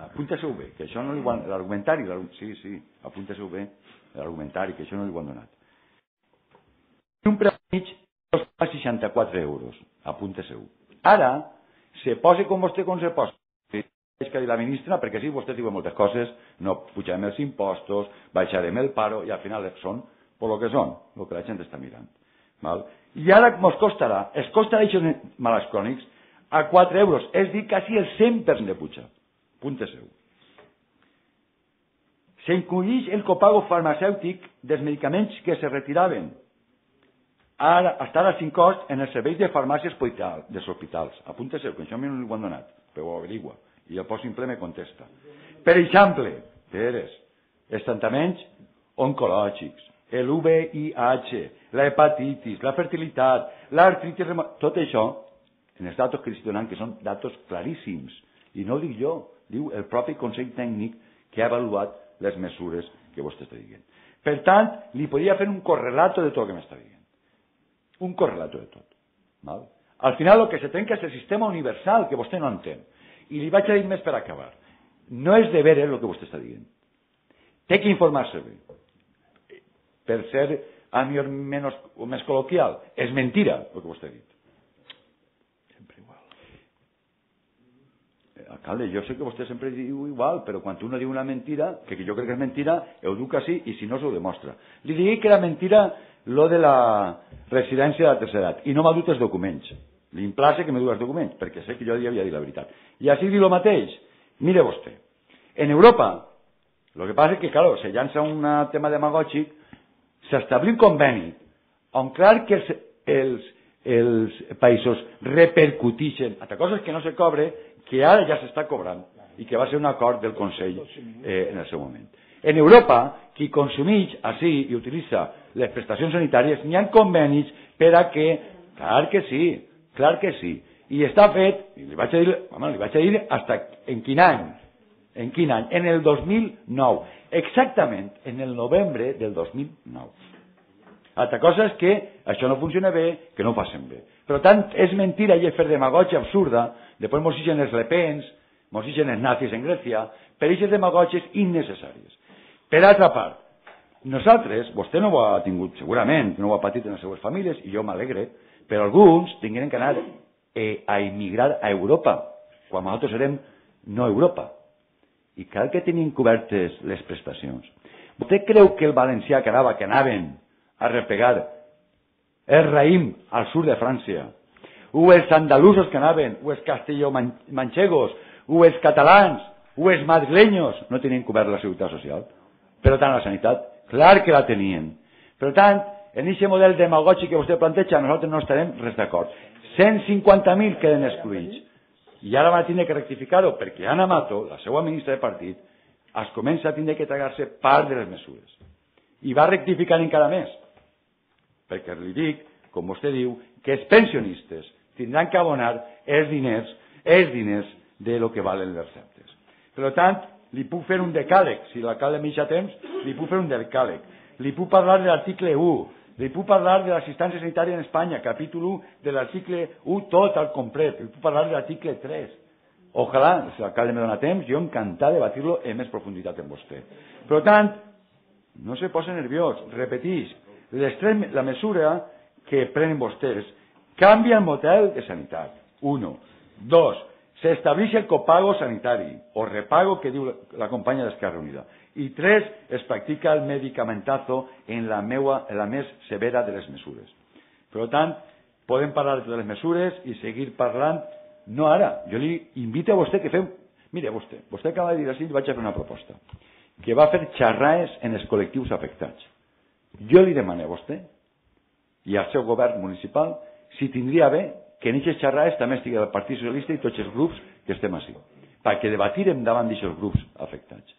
Apunta-s'ho bé, que això no li ho han... L'argumentari, sí, apunta-s'ho bé, l'argumentari, que això no li ho han donat. Un preu mig costa 64 euros. Apunta-s'ho. Ara, se posa com vostè com se posa. És que la ministra, perquè sí, vostè diu moltes coses, no pujarem els impostos, baixarem el paro, i al final són per lo que són, el que la gent està mirant. Val? I ara mos costarà, es costarà aquests malalts crònics a 4 euros, és dir, quasi el 100% de puja. Punte seu. S'incluïx el copago farmacèutic dels medicaments que se retiraven hasta ara sin cost en els serveis de farmàcies dels hospitals. Apunte seu, que això a mi no li ho han donat, però ho averigua. I el post simple me contesta. Per exemple, els tractaments oncològics, el VIH, la hepatitis, la fertilitat, l'artritis reumàtica, tot això, en els datos que li estic donant, que són datos claríssims, i no ho dic jo, diu el propi Consell Tècnic que ha avaluat les mesures que vostè està dient. Per tant, li podria fer un correlato de tot el que m'està dient. Un correlato de tot. Val? Al final el que se trenca és el sistema universal, que vostè no entén. I li vaig a dir més per acabar. No és de veres el que vostè està dient. Té que informar-se bé. Per ser a millor menys o més col·loquial. És mentira el que vostè ha dit. Sempre igual. Alcalde, jo sé que vostè sempre diu igual, però quan uno diu una mentira, que jo crec que és mentira, ho diu quasi i si no s'ho demostra. Li digui que era mentira lo de la residència de la tercera edat i no m'ha dut els documents. Li implace que me du els documents, perquè sé que jo li havia dit la veritat. I així diu el mateix. Mire vostè, en Europa, el que passa és que, claro, se llança un tema demagògic, s'establir un conveni on clar que els països repercutixen altra cosa és que no se cobre, que ara ja s'està cobrant i que va ser un acord del Consell en el seu moment. En Europa, qui consumeix així i utilitza les prestacions sanitàries, n'hi ha convenis per a que, clar que sí, i està fet, i li vaig a dir hasta en quin any, en el 2009, exactament en el novembre del 2009. Altra cosa és que això no funciona bé, que no ho facin bé. Per tant, és mentira i és fer demagògia absurda, després mos ixen els lepens, mos ixen els nazis en Grècia, per aquestes demagògies innecessàries. Per altra part, nosaltres, vostè no ho ha tingut segurament, no ho ha patit en les seues famílies, i jo m'alegre, però alguns tingueren que anar a immigrar a Europa, quan nosaltres érem no Europa. I cal que tinguin cobertes les prestacions. Vostè creu que el valencià que anaven a repegar el raïm al sud de França, o els andalusos que anaven, o els castellomanxegos, o els catalans, o els madrileños, no tenien cobert la seguretat social? Per tant, la sanitat, clar que la tenien. Per tant, en aquest model demagògic que vostè planteja, nosaltres no estarem res d'acord. 150.000 queden excluïts. I ara va tindre que rectificar-ho, perquè Ana Mato, la seva ministra de partit, es comença a tindre que tragar-se part de les mesures. I va rectificar encara més. Perquè li dic, com vostè diu, que els pensionistes tindran que abonar els diners de lo que valen les receptes. Per tant, li puc fer un decàleg, si l'alcalde m'hi deixa temps, li puc fer un decàleg. Li puc parlar de l'article 1, li puc parlar de l'assistència sanitària en Espanya, capítol 1 de l'article 1 tot al complet, li puc parlar de l'article 3. Ojalà, si l'alcalde me dona temps, jo encantat de debatir-lo en més profunditat amb vostè. Per tant, no se posa nerviós, repeteix, la mesura que prenen vostès canvia el model de sanitat. 1. 2. S'estableix el copago sanitari, o repago que diu la companya d'Esquerra Unida. I 3. Es practica el medicamentazo en la més severa de les mesures. Per tant, podem parlar de totes les mesures i seguir parlant, no ara. Jo li invito a vostè que fem... Mire, vostè acaba de dir així, vaig a fer una proposta, que va fer xerraes en els col·lectius afectats. Jo li demano a vostè i al seu govern municipal si tindria bé que en aquestes xerrades també estigui el Partit Socialista i tots els grups que estem així, perquè debatirem davant d'aquests grups afectats.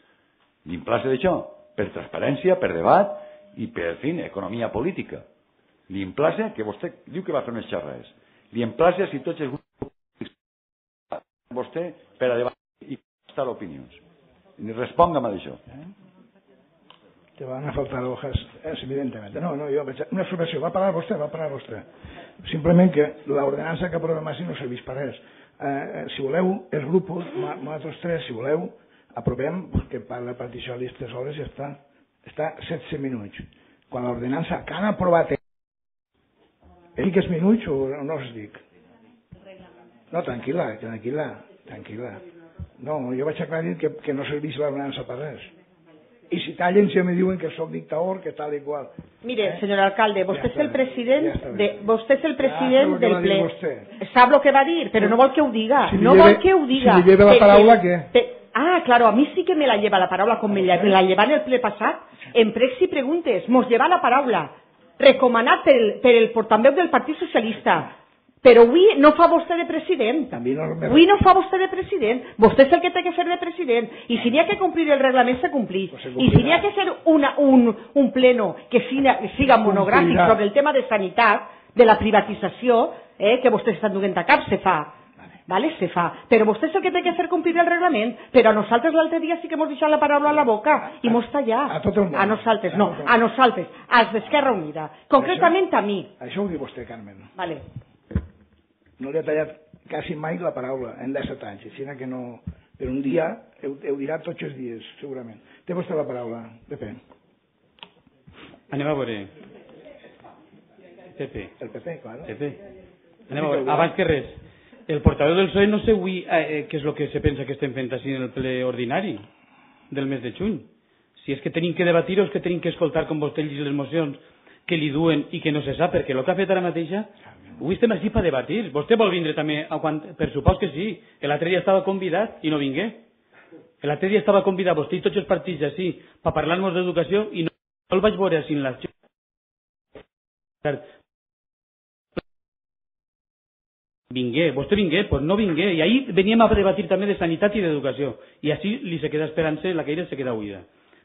L'implace d'això, per transparència, per debat i per, en fi, economia política. L'implace, que vostè diu que va fer unes xerrades, l'implace si tots els grups vostè per a debatir i prestar opinions. Responga'm a això. Te van a faltar hojas, evidentemente. No, yo, una observació, va parar vostè. Simplement que l'ordenança que aprovem així no serveix per res. Si voleu, els grups, nosaltres tres, si voleu, aprovem, que per la partició de les 3 hores ja està. Està 16 minuts. Quan l'ordenança que han aprovat dic els minuts o no els dic? No, tranquil·la. No, jo vaig aclarir que no serveix l'ordenança per res. I si tallen si me diuen que sóc dictador, que tal i qual. Mire, señor alcalde, vostè és el president del ple. Sap el que va dir, però no vol que ho diga. No vol que ho diga. Si li lleva la paraula, què? Claro, a mí sí que me la lleva la paraula, com me la lleva en el ple passat. En pregs i preguntes, mos lleva la paraula. Recomanat per el portaveu del Partit Socialista. Però avui no fa vostè de president. Avui no fa vostè de president. Vostè és el que té que fer de president. I si n'hi ha que complir el reglament, se complís. I si n'hi ha que fer un pleno que siga monogràfic sobre el tema de sanitat, de la privatització, que vostès estan duent a cap, se fa. Vale, se fa. Però vostè és el que té que fer complir el reglament. Però a nosaltres l'altre dia sí que hemos deixat la paraula a la boca i mos tallat. A tot el món. A nosaltres, no. A nosaltres, als d'Esquerra Unida. Concretament a mi. Això ho diu vostè, Carmen. Vale. No li ha tallat quasi mai la paraula en 17 anys, així que no... Per un dia, ho dirà tots els dies, segurament. Té vostè la paraula, Pepe. Anem a veure. Pepe. El Pepe, claro. Pepe. Anem a veure. Abans que res, el portaveu del PSOE no sé avui què és el que se pensa que estem fent així en el ple ordinari del mes de juny. Si és que tenim que debatir o és que tenim que escoltar com vostè llegeix les mocions que li duen i que no se sap, perquè el que ha fet ara mateixa avui estem així per debatir. Vostè vol vindre també? Per supòs que sí. L'altre dia estava convidat i no vingué. L'altre dia estava convidat vostè i tots els partits així per parlar-nos d'educació i no el vaig veure així en la... Vingué, vostè vingué, doncs no vingué. I ahir veníem a debatir també de sanitat i d'educació. I així li se queda esperant-se, la caire se queda buida.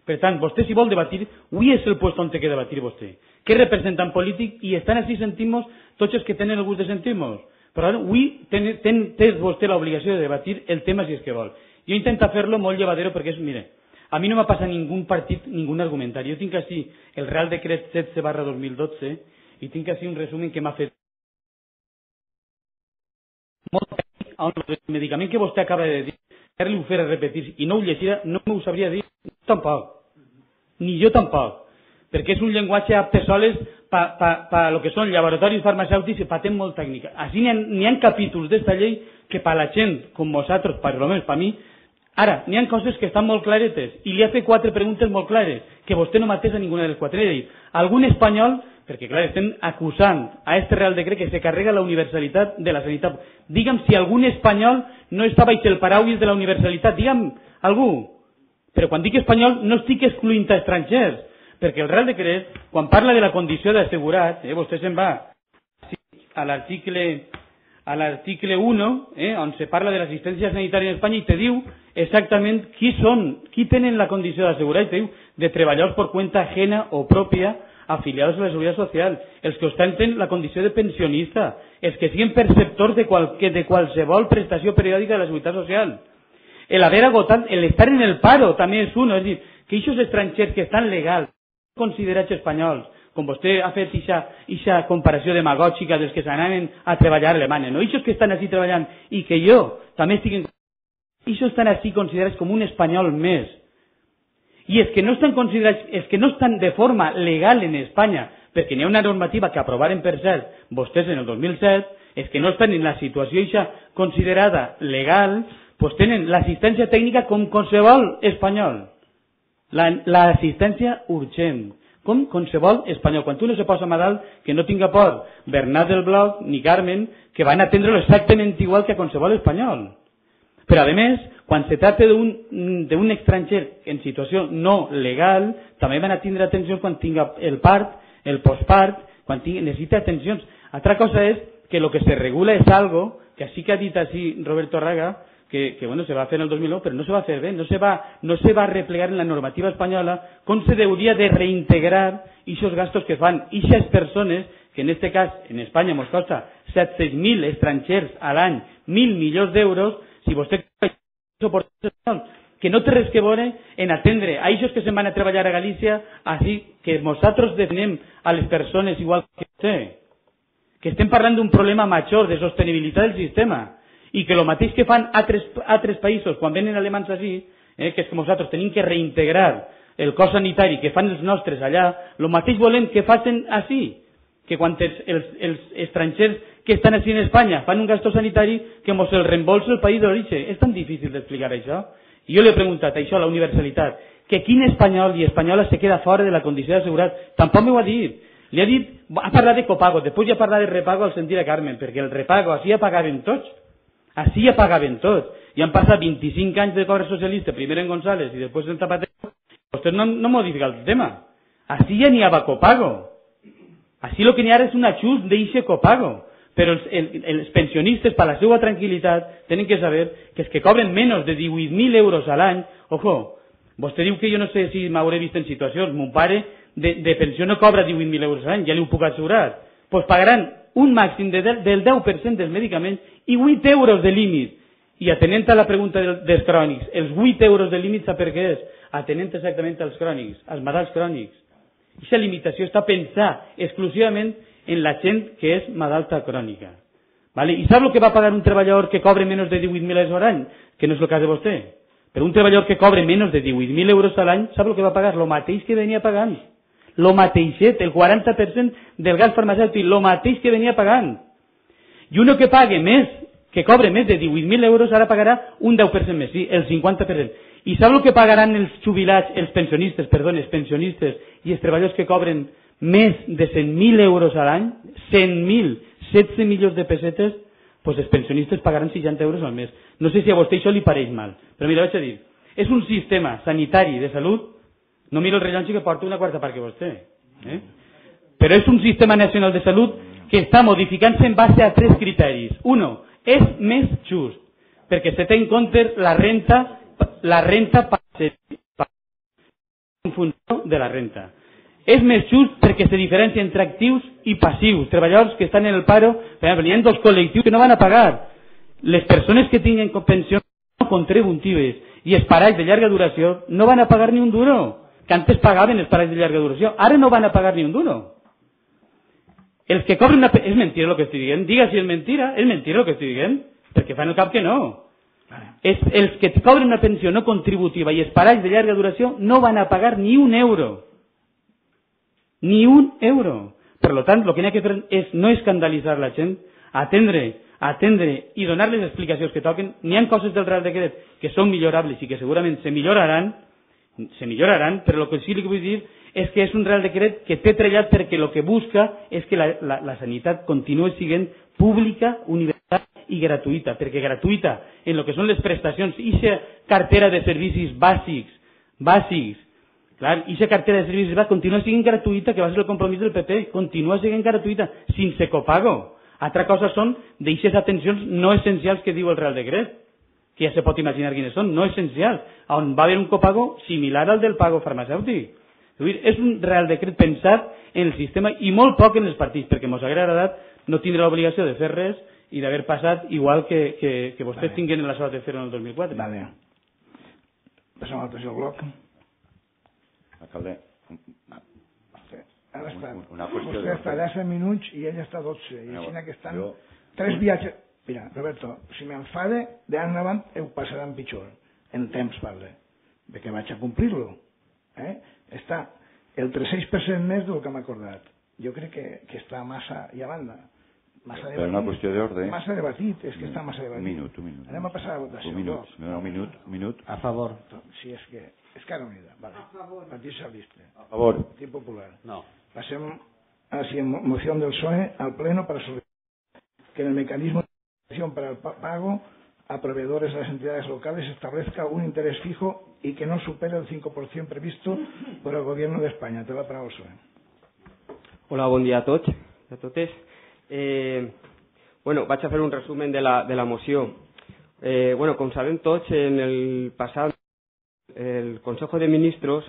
Per tant, vostè si vol debatir, avui és el lloc on té que debatir vostè. Que és representant polític i estan així sentim-nos tots els que tenen el gust de sentir-nos. Però avui té vostè l'obligació de debatir el tema si és que vol. Jo intento fer-lo molt llevadero perquè és, mire, a mi no m'ha passat ningú partit, ningú argumentari. Jo tinc així el Real Decret 16/2012 i tinc així un resum que m'ha fet molt tècnic on el medicament que vostè acaba de dir, fer-li ho fer a repetir i no ho llegirà, no m'ho sabria dir tampoc. Ni jo tampoc. Perquè és un llenguatge apte soles per lo que són laboratoris farmacèutics i patent molt tècnica. Així n'hi ha capítols d'esta llei que per la gent com vosaltres, per almenys per mi, ara, n'hi ha coses que estan molt claretes i li ha fet 4 preguntes molt clares que vostè no mateix a ninguna de les 4. Li ha dit, algun espanyol, perquè clar, estem acusant a este Real Decret que se carrega la universalitat de la sanitat. Digue'm si algun espanyol no està baix el paraules de la universalitat. Digue'm algú. Però quan dic espanyol no estic excluint a estrangers, perquè el Real Decret, quan parla de la condició d'assegurat, vostè se'n va a l'article 1, on se parla de l'assistència sanitària en Espanya i te diu exactament qui tenen la condició d'assegurat, i te diu de treballadors por cuenta ajena o propia afiliados a la Seguridad Social, els que ostenten la condició de pensionista, els que siguin perceptors de qualsevol prestació periòdica de la Seguretat Social. El haver agotat, el estar en el paro també és uno, és a dir, que aquests estrangers que estan legals, considerats espanyols, com vostè ha fet aquesta comparació demagògica dels que s'anaven a treballar a Alemanya, no? Aquests que estan així treballant i que jo també estic en... Aquests estan així considerats com un espanyol més. I els que no estan considerats, els que no estan de forma legal en Espanya, perquè n'hi ha una normativa que aprovaren per cert vostès en el 2007, els que no estan en la situació eixa considerada legal, pues tenen l'assistència tècnica com qualsevol espanyol. L'assistència urgent, com qualsevol espanyol. Quan tu no se posa malalt, que no tinga por Bernat del Bloc ni Carmen, que van a atendre-lo exactament igual que a qualsevol espanyol. Però a més, quan se tracta d'un estranger en situació no legal, també van a tindre atenció quan tinga el part, el postpart, quan necessita atencions. Altra cosa és que el que se regula és algo que sí que ha dit així Roberto Raga, que bueno, se va fer en el 2009, però no se va fer bé, no se va replegar en la normativa espanyola com se hauria de reintegrar aquests gastos que fan aquestes persones, que en este cas en Espanya ens costa 700.000 estrangers a l'any, 1.000 milions d'euros, si vostè que no té res que veure en atendre a aquests que se'n van a treballar a Galícia, així que nosaltres definem a les persones igual que vostè, que estem parlant d'un problema major de sostenibilitat del sistema, i que el mateix que fan altres països quan venen alemanys així, que és que nosaltres tenim que reintegrar el cos sanitari que fan els nostres allà, el mateix volem que facin així, que quan els estrangers que estan així en Espanya fan un gasto sanitari que mos el reembolsa el país d'origen. És tan difícil d'explicar això. I jo li he preguntat això, la universalitat, que quin espanyol i espanyola se queda fora de la condició d'assegurat. Tampoc m'ho ha dit. Li ha dit, ha parlat de copago, després ja ha parlat de repago al sentir a Carmen, perquè el repago, així ja pagaven tots. Així ja pagaven tots. I han passat 25 anys de govern socialista, primer en González i després en Zapatero. Vostès no modifiquen el tema. Així ja n'hi ha copago. Així el que n'hi ha és un ajust d'eixe copago. Però els pensionistes, per la seva tranquil·litat, tenen que saber que els que cobren menys de 18.000 euros a l'any, ojo, vostè diu que jo no sé si m'hauré vist en situacions, mon pare de pensió no cobra 18.000 euros a l'any, ja li ho puc assegurar, doncs pagaran un màxim del 10% dels medicaments i 8 euros de límit. I atenent a la pregunta dels crònics, els 8 euros de límit sap per què és? Atenent exactament als crònics, als malalts crònics. Aquesta limitació està pensada exclusivament en la gent que és malalta crònica. ¿Vale? I sap el que va pagar un treballador que cobre menys de 18.000 euros a l'any? Que no és el cas de vostè. Però un treballador que cobre menys de 18.000 euros a l'any, sap el que va pagar? Lo mateix que venia pagant. Lo mateixet, el 40% del gas farmacèutic, lo mateix que venia pagant. I uno que pague més, que cobre més de 18.000 euros, ara pagarà un 10% més, sí, el 50%. I sap el que pagaran els jubilats, els pensionistes i els treballadors que cobren més de 100.000 euros a l'any, 100.000, 16 milions de pessetes, doncs els pensionistes pagaran 60 euros al mes. No sé si a vostè això li pareix mal, però mira, vaig a dir, és un sistema sanitari de salut, no miro el rellotge que porta una quarta part que vostè, però és un sistema nacional de salut que està modificant-se en base a 3 criteris. Uno, és més just, perquè se té en compte la renta en funció de la renta. És més just perquè se diferencia entre actius i passius. Treballadors que estan en el paro, per exemple, hi ha 2 col·lectius que no van a pagar. Les persones que tinguen pensions no contributives i els parells de llarga duració no van a pagar ni un duro, que antes pagaven els parells de llarga duració. Ara no van a pagar ni un duro. Els que cobren una... És mentira el que estic dient. Diga si és mentira el que estic dient, perquè fan el cap que no. Els que cobren una pensió no contributiva i els parells de llarga duració no van a pagar ni un euro. Ni un euro. Per tant, el que n'hi ha que fer és no escandalitzar la gent, atendre i donar les explicacions que toquen. N'hi ha coses del Real Decret que són millorables i que segurament se milloraran, però el que sí que vull dir és que és un Real Decret que té treballat perquè el que busca és que la sanitat continuï sent pública, universal i gratuïta, perquè gratuïta en el que són les prestacions i la cartera de servicis bàsics. Clar, i la cartera de servicis va continuar sent gratuïta, que va ser el compromís del PP, continua sent gratuïta, sense copago. Altra cosa són d'aquestes atencions no essencials que diu el Real Decret, que ja se pot imaginar quines són, no essencials, on va haver un copago similar al del pago farmacèutic. És un Real Decret pensat en el sistema i molt poc en els partits, perquè ens hauria agradat no tindre l'obligació de fer res i d'haver passat igual que vostès tinguin la sort de fer en el 2004. Vale. Passem al tercer bloc. Alcalde, Ara està. Vostè està 10 minuts i ell està 12. I així que estan 3 viatges. Mira, Roberto, si m'enfade, d'ara endavant ho passaran pitjor. En temps parle. Perquè vaig a complir-lo. Està el 300% més del que m'ha acordat. Jo crec que està massa i a banda. Per una qüestió d'ordre. Massa debatit, és que està massa debatit. Un minut. Anem a passar a la votació. Un minut. A favor. Sí, és que... Esquerra Unida, vale. Partit Socialista. A favor. Partit Popular. No. Pasem a la moción del PSOE al Pleno para solicitar que en el mecanismo de financiación para el pago a proveedores de las entidades locales se establezca un interés fijo y que no supere el 5% previsto por el Gobierno de España. Té la paraula el PSOE. Hola, bon dia a tots i a totes. Vaig a fer un resumen de la moció. Com sabem tots, en el passat el Consejo de Ministros,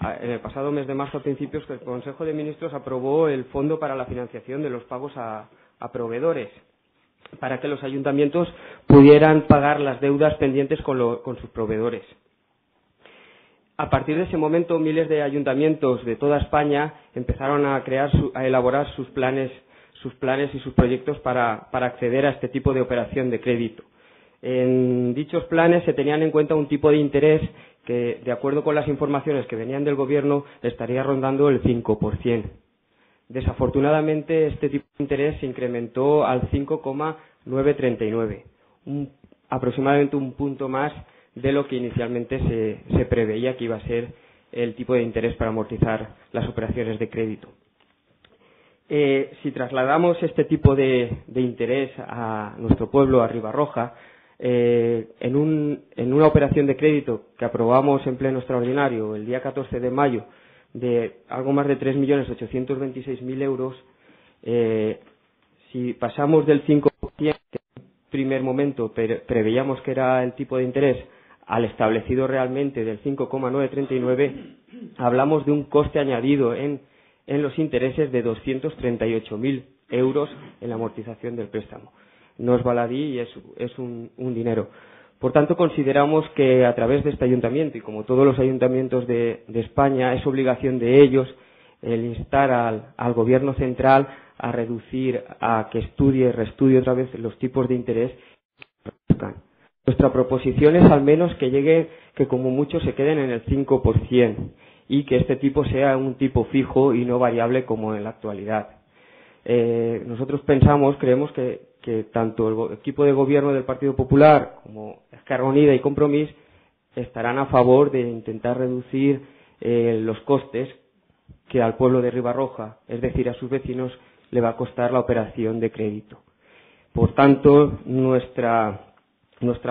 en el pasado mes de marzo a principios, el Consejo de Ministros aprobó el Fondo para la Financiación de los Pagos a Proveedores, para que los ayuntamientos pudieran pagar las deudas pendientes con sus proveedores. A partir de ese momento, miles de ayuntamientos de toda España empezaron a elaborar sus planes y sus proyectos para acceder a este tipo de operación de crédito. En dichos planes se tenían en cuenta un tipo de interés que, de acuerdo con las informaciones que venían del Gobierno, estaría rondando el 5%. Desafortunadamente, este tipo de interés se incrementó al 5,939, aproximadamente un punto más de lo que inicialmente se preveía que iba a ser el tipo de interés para amortizar las operaciones de crédito. Si trasladamos este tipo de interés a nuestro pueblo, a Ribarroja, en una operación de crédito que aprobamos en pleno extraordinario el día 14 de mayo de algo más de 3.826.000 euros, si pasamos del 5%, que en primer momento preveíamos que era el tipo de interés, al establecido realmente del 5,939, hablamos de un coste añadido en los intereses de 238.000 euros en la amortización del préstamo. No es baladí y es un dinero. Por tanto, consideramos que a través de este ayuntamiento, y como todos los ayuntamientos de España, es obligación de ellos el instar al Gobierno central a reducir, a que reestudie otra vez los tipos de interés. Nuestra proposición es al menos que como mucho se queden en el 5% y que este tipo sea un tipo fijo y no variable como en la actualidad. Nosotros creemos que tanto el equipo de gobierno del Partido Popular como Esquerra Unida y Compromís estarán a favor de intentar reducir los costes que al pueblo de Ribarroja, es decir, a sus vecinos, le va a costar la operación de crédito. Por tanto, nuestra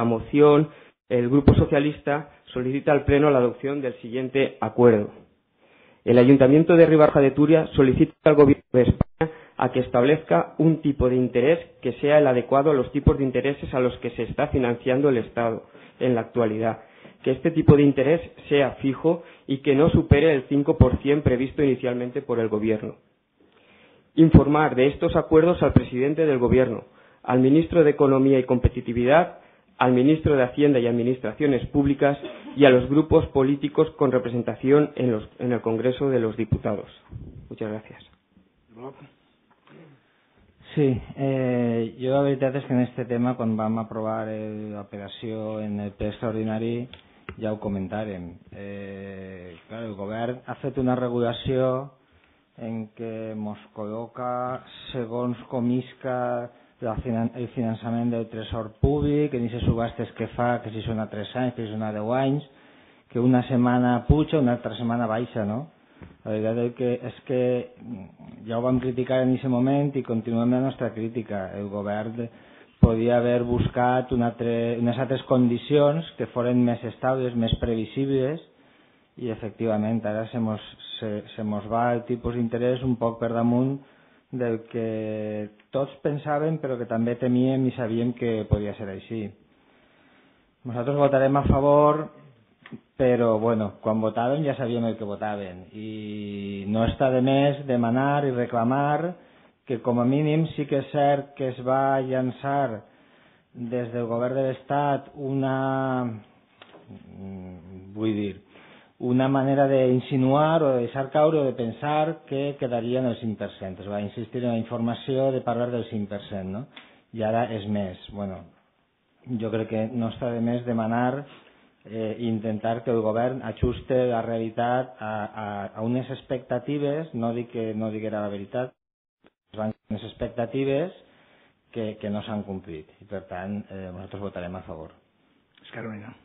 moción, el Grupo Socialista solicita al Pleno la adopción del siguiente acuerdo. El Ayuntamiento de Ribarroja de Turia solicita al Gobierno de España a que establezca un tipo de interés que sea el adecuado a los tipos de intereses a los que se está financiando el Estado en la actualidad. Que este tipo de interés sea fijo y que no supere el 5% previsto inicialmente por el Gobierno. Informar de estos acuerdos al presidente del Gobierno, al ministro de Economía y Competitividad, al ministro de Hacienda y Administraciones Públicas y a los grupos políticos con representación en el Congreso de los Diputados. Muchas gracias. Sí, jo la veritat és que en aquest tema, quan vam aprovar l'operació en el ple extraordinari, ja ho comentàrem. Clar, el govern ha fet una regulació en què ens col·loca segons com isca el finançament del tresor públic, en aquestes subhastes que fa, que si són a 3 anys, que si són a 10 anys, que una setmana puja, una altra setmana baixa, no? La veritat és que ja ho vam criticar en aquest moment i continuem la nostra crítica. El govern podia haver buscat unes altres condicions que foren més estables, més previsibles, i efectivament ara se mos va el tipus d'interès un poc per damunt del que tots pensàvem però que també temíem i sabíem que podia ser així. Nosaltres votarem a favor, però bueno, quan votàvem ja sabíem el que votàvem i no està de més demanar i reclamar que com a mínim sí que és cert que es va llançar des del govern de l'Estat una manera d'insinuar o de deixar caure o de pensar que quedaria en el 5%. Es va insistir en la informació de parlar del 5%, no? I ara és més. Bueno, jo crec que no està de més demanar i intentar que el govern ajuste la realitat a unes expectatives, no dic que no diguera la veritat, unes expectatives que no s'han complit. I per tant, nosaltres votarem a favor. Carolina.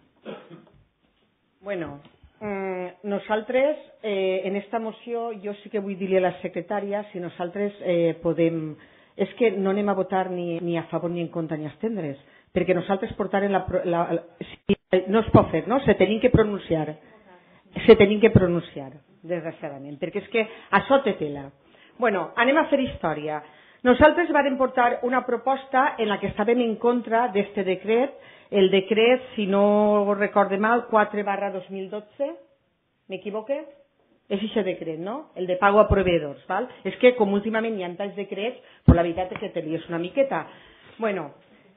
Bueno, nosaltres en esta moció jo sí que vull dir-li a la secretària si nosaltres podem... És que no anem a votar ni a favor ni en contra ni a estendre's, perquè nosaltres portarem no es pot fer, no? Se tenim que pronunciar. Desgraciadament, perquè és que això té tela. Bueno, anem a fer història. Nosaltres vàrem portar una proposta en la que estàvem en contra d'este decret, el decret, si no recorde mal, 4/2012, m'equivoque? És aquest decret, no? El de pago a proveedors, val? És que com últimament hi ha tants decrets, però la veritat és que te lies una miqueta. Bueno,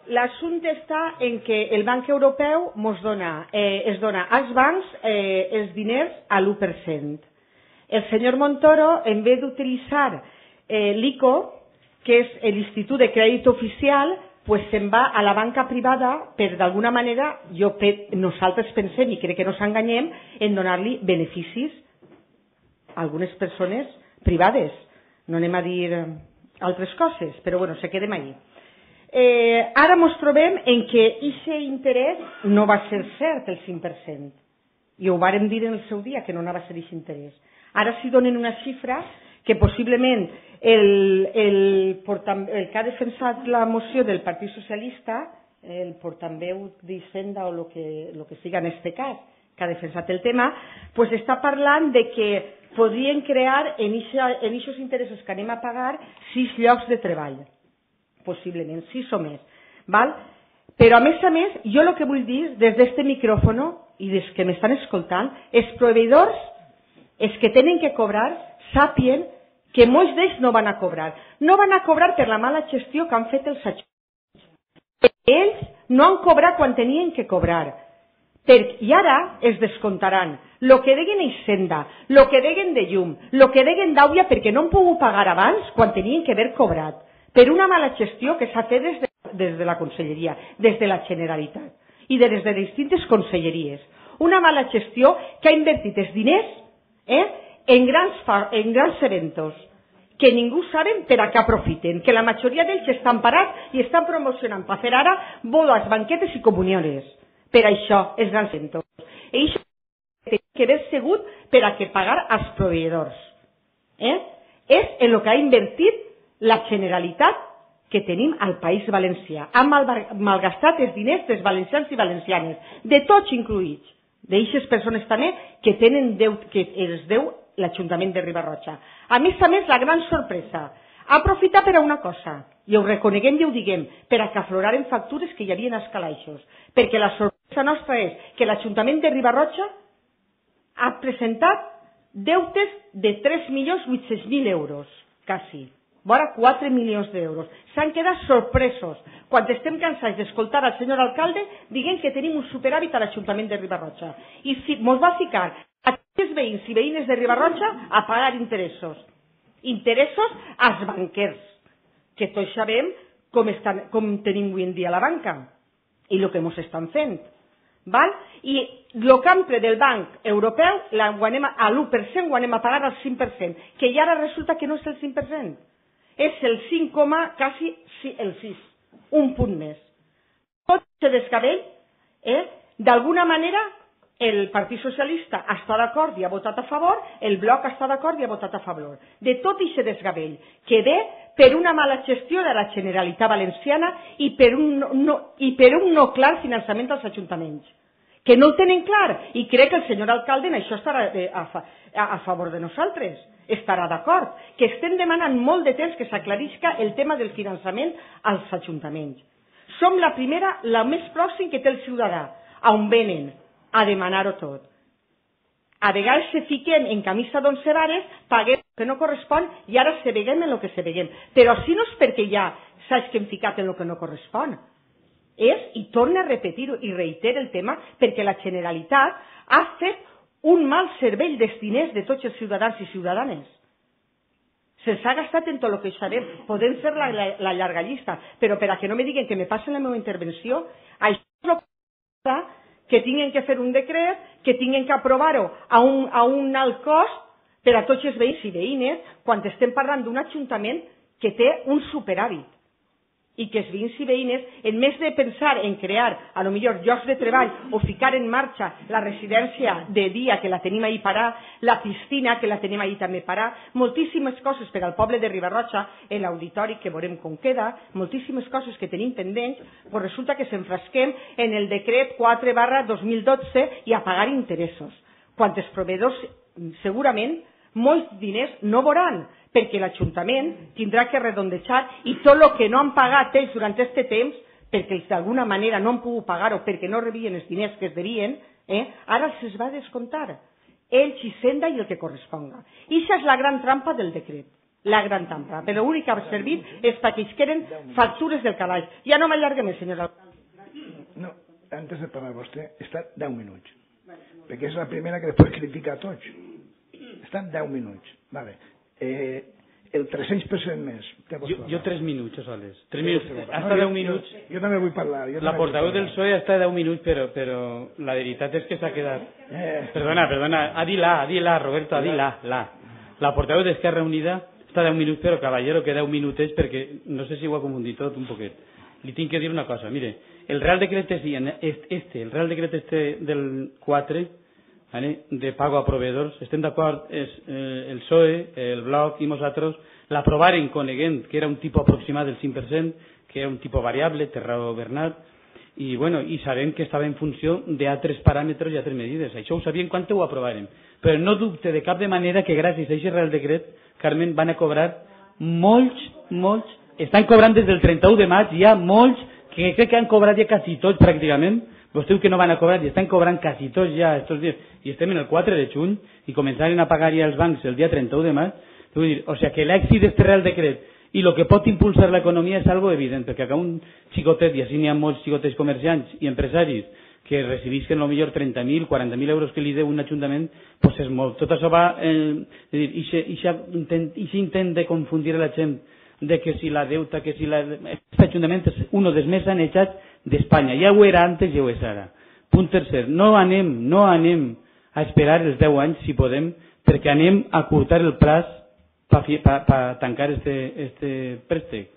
l'assumpte està en que el Banc Europeu es dona als bancs els diners a l'1%. El senyor Montoro, en vez d'utilitzar l'ICO, que és l'Institut de Crèdit Oficial, pues se'n va a la banca privada per, d'alguna manera, nosaltres pensem, i crec que no s'enganyem, en donar-li beneficis a algunes persones privades. No anem a dir altres coses, però bueno, se quedem allí. Ara ens trobem en què aquest interès no va ser cert, el 5%. I ho vàrem dir en el seu dia, que no anava a ser aquest interès. Ara s'hi donen una xifra que possiblement el que ha defensat la moció del Partit Socialista, el portaveu d'Hisenda o el que siga en este cas, que ha defensat el tema, pues està parlant de que podrien crear en aquests interessos que anem a pagar 6 llocs de treball, possiblement, 6 o més. Val? Però a més, jo el que vull dir des d'este micròfono i des que m'estan escoltant, els proveïdors, els que tenen que cobrar, sàpien que molts d'ells no van a cobrar. No van a cobrar per la mala gestió que han fet els ajuntaments. Ells no han cobrat quan tenien que cobrar. I ara es descomptaran el que deien a Hisenda, el que deien de llum, el que deien d'Àuia perquè no han pogut pagar abans quan tenien que haver cobrat, per una mala gestió que s'ha fet des de la Conselleria, des de la Generalitat i des de distintes conselleries. Una mala gestió que ha invertit els diners en grans eventos que ningú saben per a què aprofiten, que la majoria d'ells estan parats i estan promocionant per fer ara bodes, banquetes i comuniones. Per això, els grans eventos. I això té que haver sigut per a que pagar als proveïdors. És en el que ha invertit la Generalitat que tenim al País Valencià. Han malgastat els diners dels valencians i valencianes, de tots incluïts, d'aixes persones també que els deu l'Ajuntament de Riba-roja. A més, la gran sorpresa, aprofitar per a una cosa, i ho reconeguem i ho diguem, per a que afloraren factures que hi havia als calaixos, perquè la sorpresa nostra és que l'Ajuntament de Riba-roja ha presentat deutes de 3.800.000 euros, quasi, vora 4 milions d'euros. S'han quedat sorpresos quan estem cansats d'escoltar al senyor alcalde dient que tenim un superàvit a l'Ajuntament de Riba-roja. I ens va ficar a tots els veïns i veïnes de Riba-roja a pagar interessos. Interessos als banquers, que tots sabem com tenim avui en dia la banca i el que ens estan fent. I el campre del Banc Europeu a l'1% ho anem a pagar al 5%, que i ara resulta que no és el 5%, és el 5, quasi el 6, un punt més. Tot se desgavell, d'alguna manera el Partit Socialista està d'acord i ha votat a favor, el Bloc està d'acord i ha votat a favor. De tot aquest desgavell, que ve per una mala gestió de la Generalitat Valenciana i per un no clar finançament als ajuntaments, que no el tenen clar, i crec que el senyor alcalde en això estarà a favor de nosaltres, estarà d'acord, que estem demanant molt de temps que s'aclarisca el tema del finançament als ajuntaments. Som la primera, la més pròxim que té el ciutadà, on venen a demanar-ho tot. A vegades se fiquen en camisa d'11 vares, paguem el que no correspon i ara se veguem en el que se veguem. Però si no és perquè ja saps que hem ficat en el que no correspon. I torna a repetir-ho i reitera el tema, perquè la Generalitat ha fet un mal servei dels diners de tots els ciutadans i ciutadanes. Se'ls ha gastat en tot el que sabem. Podem fer la llarga llista, però per a que no me diguen que me passen la meva intervenció, això és el que tinguen que fer un decret, que tinguen que aprovar-ho a un alt cost per a tots els veïns i veïnes, quan estem parlant d'un ajuntament que té un superàvit i que els veïns i veïnes, en més de pensar en crear, a lo millor, llocs de treball o ficar en marxa la residència de dia, que la tenim ahí parar, la piscina, que la tenim ahí també parar, moltíssimes coses per al poble de Riba-roja, l'auditori que veurem com queda, moltíssimes coses que tenim pendents, però resulta que s'enfrasquem en el decret 4/2012 i a pagar interessos, quan els proveïdors segurament molts diners no veuran, perquè l'Ajuntament tindrà que redondejar i tot el que no han pagat ells durant aquest temps, perquè d'alguna manera no han pogut pagar-ho perquè no rebien els diners que es devien, ara se'ls va descomptar. Ells, Hisenda i el que corresponga. I això és la gran trampa del decret, la gran trampa. Però l'únic que ha servit és perquè es queden factures del calaix. Ja no m'allarguem, senyor alcalde. No, antes de parlar vostè, està 10 minuts, perquè és la primera que després critica a tots. Estan 10 minuts. Vale. El 300% més. Jo 3 minuts, Sales. 3 minuts. Hasta 10 minuts. Jo també vull parlar. La portaveu del PSOE està 10 minuts, però la veritat és que s'ha quedat... Perdona, Adila, Roberto, Adila. La portaveu d'Esquerra Unida està 10 minuts, però caballero, que 10 minutets, perquè no sé si ho ha confundit tot un poquet. li tinc que dir una cosa. Mire, el Real Decreto el Real Decreto del 4, ¿vale?, de pago a proveedors, estem d'acord, el PSOE, el Bloc i nosaltres l'aprovaren coneguent que era un tipus aproximat del 5%, que era un tipus variable, té raó Bernat, i sabem que estava en funció d'altres paràmetres i altres medides. Això ho sabíem quan ho aprovàrem. Però no dubte de cap de manera que gràcies a aquest Real Decret, Carmen, van a cobrar molts, estan cobrant des del 31 de maig, hi ha molts que crec que han cobrat ja quasi tots pràcticament. Vostè diu que no van a cobrar i estan cobrant quasi tots ja estos dies. I estem en el 4 de juny i començaren a pagar ja els bancs el dia 31 de maig. Vull dir, o sea que l'èxit d'aquest Real Decret i el que pot impulsar l'economia és algo evident, perquè que un xicotet, i així n'hi ha molts xicotets comerciants i empresaris que recibisquen potser 30.000, 40.000 euros que li deu un ajuntament, doncs és molt. Tot això va, i intent de confundir la gent de que si la deuta, que si la... Aquest ajuntament és un dels més sanejats d'Espanya. Ja ho era antes i ho és ara. Punt tercer, no anem a esperar els 10 anys, si podem, perquè anem a curtar el plaç per tancar este préstec.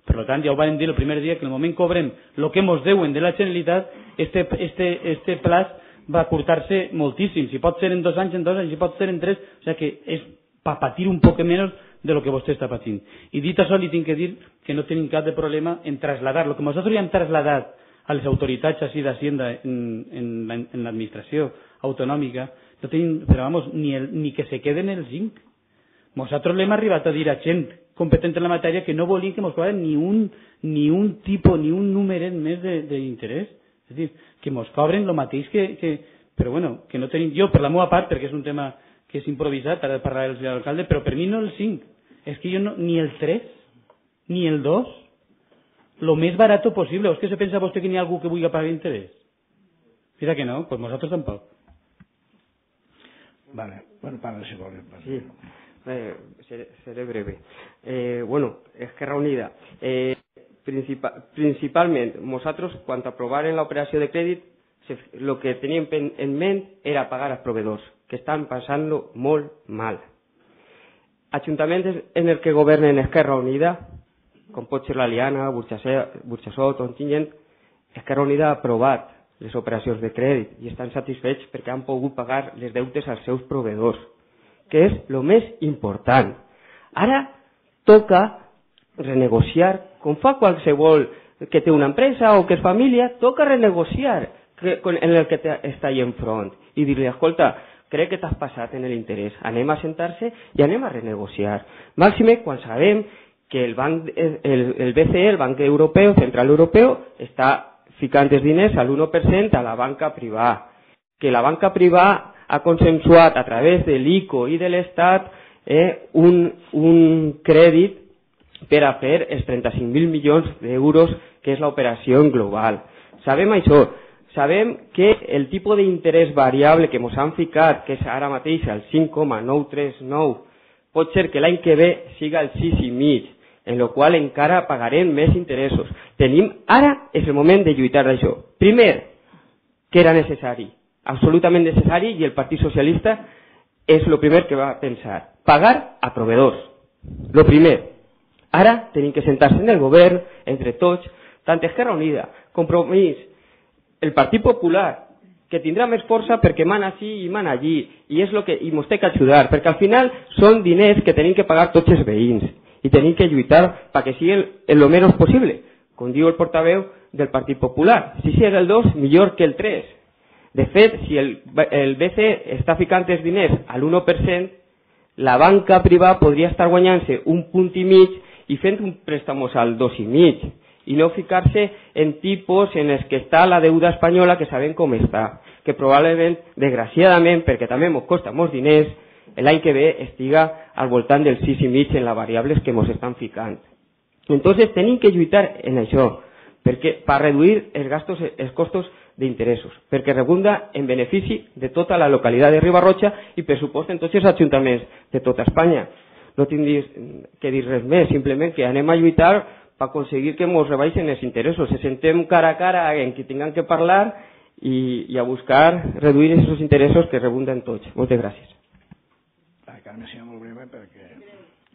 Per tant, ja ho vam dir el primer dia, que en el moment cobrem el que ens deuen de la Generalitat, este plaç va curtar-se moltíssim. Si pot ser en 2 anys, si pot ser en 3, o sigui que és per patir un poc menys de lo que vostè està patint. I dit això, li tinc que dir que no tenim cap de problema en traslladar. Lo que nosaltres ja hem traslladat a les autoritats així d'Hacienda en l'administració autonòmica, no tenim, però vamos, ni que se queden els 5. Nosaltres l'hem arribat a dir a gent competent en la matèria que no volien que ens cobraren ni un tipus, ni un numeret més d'interès. És a dir, que ens cobren el mateix però bueno, que no tenim... Jo, per la meva part, perquè és un tema que és improvisat, ara parlaré el senyor alcalde, però per mi no el 5. És que jo no, ni el 3, ni el 2, lo més barat possible. O és que se pensa vostè que n'hi ha algú que vulgui pagar interès? Mira que no, doncs nosaltres tampoc. Vale, bueno, parla si vol. Sí. Seré breve. Bueno, Esquerra Unida. Principalment, nosaltres, quan aprovaren l'operació de crèdit, el que teníem en ment era pagar als proveedors, que estan passant-lo molt mal. Ajuntaments en el que governen Esquerra Unida, com pot ser l'Aliana, Burxassot, Ontinyent, Esquerra Unida ha aprovat les operacions de crèdit i estan satisfets perquè han pogut pagar les deutes als seus proveedors, que és el més important. Ara toca renegociar, com fa qualsevol que té una empresa o que és família, toca renegociar en el que està ahí enfront i dir-li, escolta, crec que t'has passat en l'interès, anem a sentar-se i anem a renegociar. Màxime quan sabem que el BCE, el Banc Europeu, Central Europeu, està ficant els diners a l'1% a la banca privada, que la banca privada ha consensuat a través de l'ICO i de l'Estat un crèdit per a fer els 35.000 milions d'euros que és l'operació en global. Sabem això, sabem que el tipus d'interès variable que ens han ficat, que és ara mateix el 5,939, pot ser que l'any que ve siga el 6,5, en el qual encara pagarem més interessos. Ara és el moment de lluitar d'això. Primer, que era necessari, absolutament necessari, i el Partit Socialista és el primer que va pensar. Pagar a proveedors. Lo primer. Ara tenim que sentar-se en el govern, entre tots, tant Esquerra Unida, Compromís, el Partit Popular, que tindrà més força perquè mana així i mana allí, i és lo que ens té que ajudar, perquè al final són diners que tenim que pagar tots els veïns, i tenim que lluitar perquè sigui el menys possible, com diu el portaveu del Partit Popular. Si és el 2, millor que el 3. De fet, si el BCE està ficant els diners a l'1%, la banca privada podria estar guanyant-se 1,5 punts i fent un préstamos al 2,5, i no ficar-se en tipus en els que està la deuda espanyola, que sabem com està, que probablement, desgraciadament, perquè també ens costa molts diners, l'any que ve estiga al voltant del 6,5 en les variables que ens estan ficant. Entonces tenim que lluitar en això, per reduir els costos d'interessos, perquè redunda en benefici de tota la localitat de Riba-roja i per supost en tots els ajuntaments de tota Espanya. No tinc que dir res més, simplement que anem a lluitar per aconseguir que ens rebaixen els interessos, se sentem cara a cara en qui tinguem que parlar i a buscar reduir aquests interessos que rebunden tots. Moltes gràcies. Carme, sigui molt breu perquè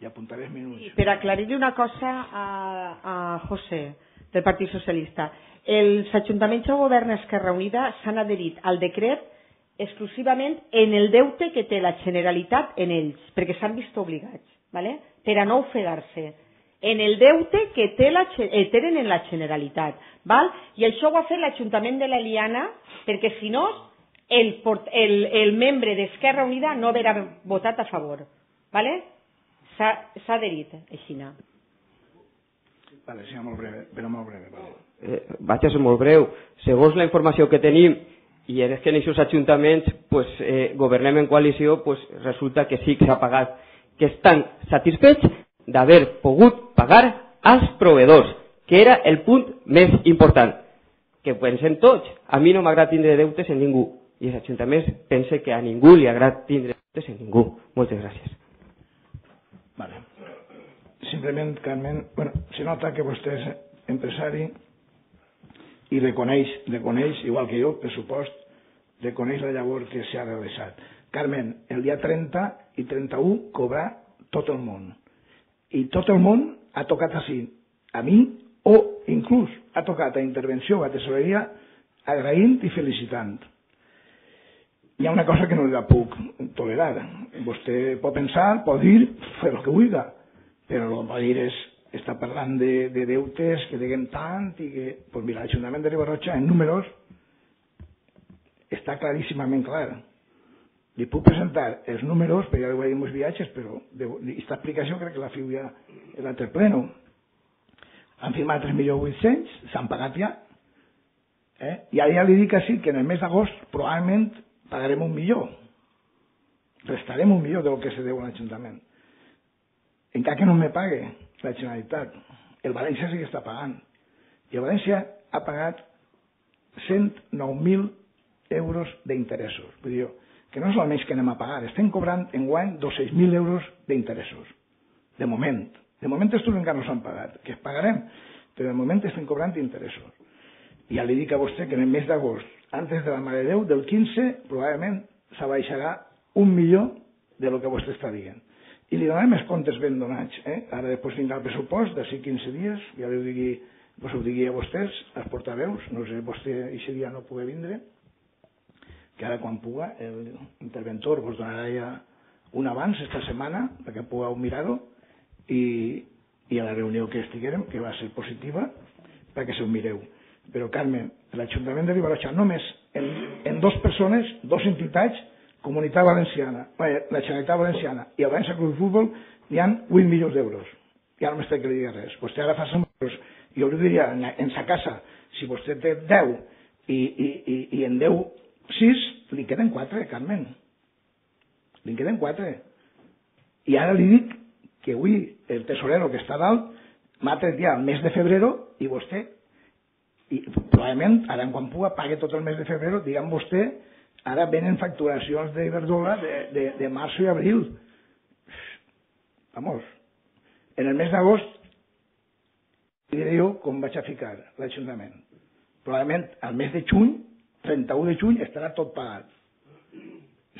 hi apuntaré els minuts. Per aclarir-li una cosa a José, del Partit Socialista. Els ajuntaments que governa Esquerra Unida s'han adherit al decret exclusivament en el deute que té la Generalitat en ells, perquè s'han vist obligats, ¿vale? Per a no ofegar-se en el deute que tenen en la Generalitat. ¿Val? I això ho ha fet l'Ajuntament de l'Eliana, perquè si no el membre d'Esquerra Unida no haurà votat a favor. ¿Vale? S'ha adherit, així. Vale, sí, molt breu, però molt breu. Vale. Vaig a ser molt breu. Segons la informació que tenim, i és que en aquests ajuntaments governem en coalició, resulta que sí que s'ha pagat, que estan satisfets d'haver pogut pagar als proveïdors, que era el punt més important. Que pensem tots, a mi no m'agrada tindre deutes en ningú, i els ajuntaments pensen que a ningú li agrada tindre deutes en ningú. Moltes gràcies. Vale. Simplement, Carmen, se nota que vostè és empresari i reconeix, igual que jo, pressupost, reconeix la llavor que s'ha realitzat. Carmen, el dia 30 i 31 cobrar tot el món. I tot el món ha tocat així, a mi, o inclús ha tocat a intervenció a tesoreria agraint i felicitant. Hi ha una cosa que no la puc tolerar. Vostè pot pensar, pot dir, fer el que vulgui, però el que pot dir és està parlant de deutes que deguem tant i que, doncs mira, l'Ajuntament de Riba-roja en números està claríssimament clar. Li puc presentar els números, perquè ja ho he dit en els viatges, però aquesta explicació crec que la fiu ja en l'altre pleno. Han firmat 3.800.000, s'han pagat ja. I ara ja li dic així que en el mes d'agost probablement pagarem 1 milió. Restarem 1 milió del que se deu a l'Ajuntament. Encara que no me pague la Generalitat. El València sí que està pagant. I el València ha pagat 109.000 euros d'interessos. Vull dir, que no és el menys que anem a pagar. Estem cobrant enguany 200.000 euros d'interessos. De moment. De moment estos encara no s'han pagat. Que es pagarem. Però de moment estem cobrant interessos. I ja li dic a vostè que en el mes d'agost, antes de la Mare de Déu, del 15, probablement s'abaixarà 1 milió de lo que vostè està dient. I li donarem els comptes ben donats. Ara després vindrà el pressupost, d'ací 15 dies, ja ho digui a vostès, als portaveus, no sé, vostè aquest dia no pugui vindre, que ara quan puga l'interventor vos donarà ja un abans, esta setmana, perquè pugueu mirar-ho, i a la reunió que estiguérem, que va ser positiva, perquè se ho mireu. Però, Carmen, l'Ajuntament de Riba-roja, només en 2 persones, 2 entitats, Comunitat Valenciana, la Generalitat Valenciana i el València Club de Futbol, hi ha 8 milions d'euros. Ja no m'està que li digui res. Vostè ara fa 100 euros. Jo li diria, en sa casa, si vostè té 10 i en 10 6, li queden 4, Carmen. Li queden 4. I ara li dic que avui el tesorero que està dalt m'ha tret ja el mes de febrer i vostè, i probablement ara quan puga pague tot el mes de febrer, diguem vostè, ara venen facturacions d'Iberdrola de març i abril. Vamos. En el mes d'agost diré jo com vaig a ficar l'Ajuntament. Probablement al mes de juny, 31 de juny, estarà tot pagat.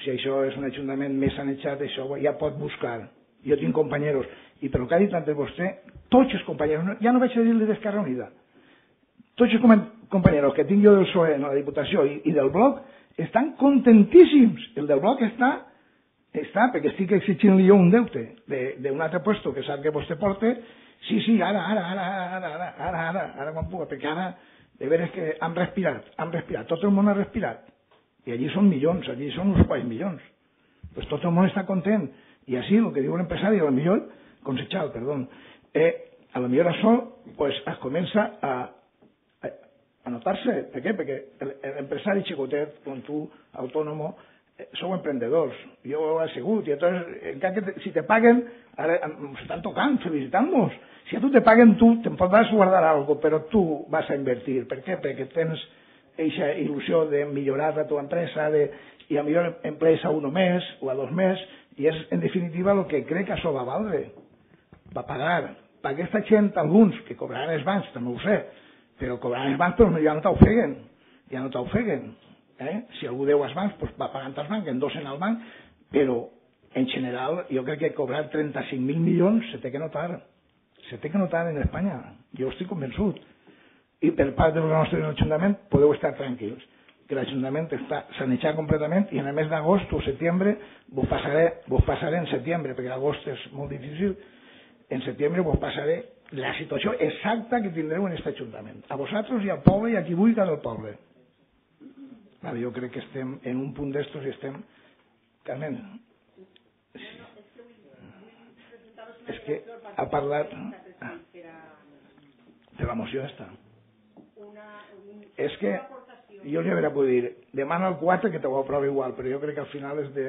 Si això és un ajuntament més sanejat, això ja pot buscar. Jo tinc companyeros. I pel que ha dit antes vostè, tots els companyeros, ja no vaig a dir-li d'Esquerra Unida, tots els companyeros que tinc jo del PSOE en la Diputació i del Bloc, estan contentíssims. El del Bloc està perquè estic exigint-li jo un deute d'un altre puesto que sap que vostè porta. Sí, ara quan puga, perquè ara de veres que han respirat, tot el món ha respirat. I allí són milions, allí són uns quants milions. Pues tot el món està content. I així, el que diu l'empresari, a lo millor, Consechal, perdó, a lo millor això es comença a notar-se. Per què? Perquè l'empresari xicotet, com tu, autònomo, sou emprendedors. Jo ho he sigut. I encara que si te paguen, ara s'estan tocant, felicitant-nos. Si a tu te paguen, tu te'n podràs guardar alguna cosa, però tu vas a invertir. Per què? Perquè tens aquesta il·lusió de millorar la teva empresa, i a millor emplees a 1 mes o a 2 més, i és, en definitiva, el que crec que això va valdre. Va pagar. Per aquesta gent, alguns que cobraran els bancs, també ho sé, però cobraran els bancs, però ja no t'ofeguen. Ja no t'ofeguen. Si algú deu als bancs, doncs va pagant als bancs, endossen al banc, però en general jo crec que cobrar 35.000 milions se té que notar. Se té que notar en Espanya. Jo estic convençut. I per part del nostre Ajuntament podeu estar tranquils, que l'Ajuntament està sanejat completament i en el mes d'agost o setembre vos passaré en setembre, perquè l'agost és molt difícil, en setembre vos passaré la situació exacta que tindreu en aquest Ajuntament, a vosaltres i al poble i a qui vulgui del poble. Vale, jo crec que estem en un punt d'estos i estem... Carmen, és que ha parlat de la moció esta. És que jo li hauré poder dir, demana el 4 que te ho aprova igual, però jo crec que al final és de...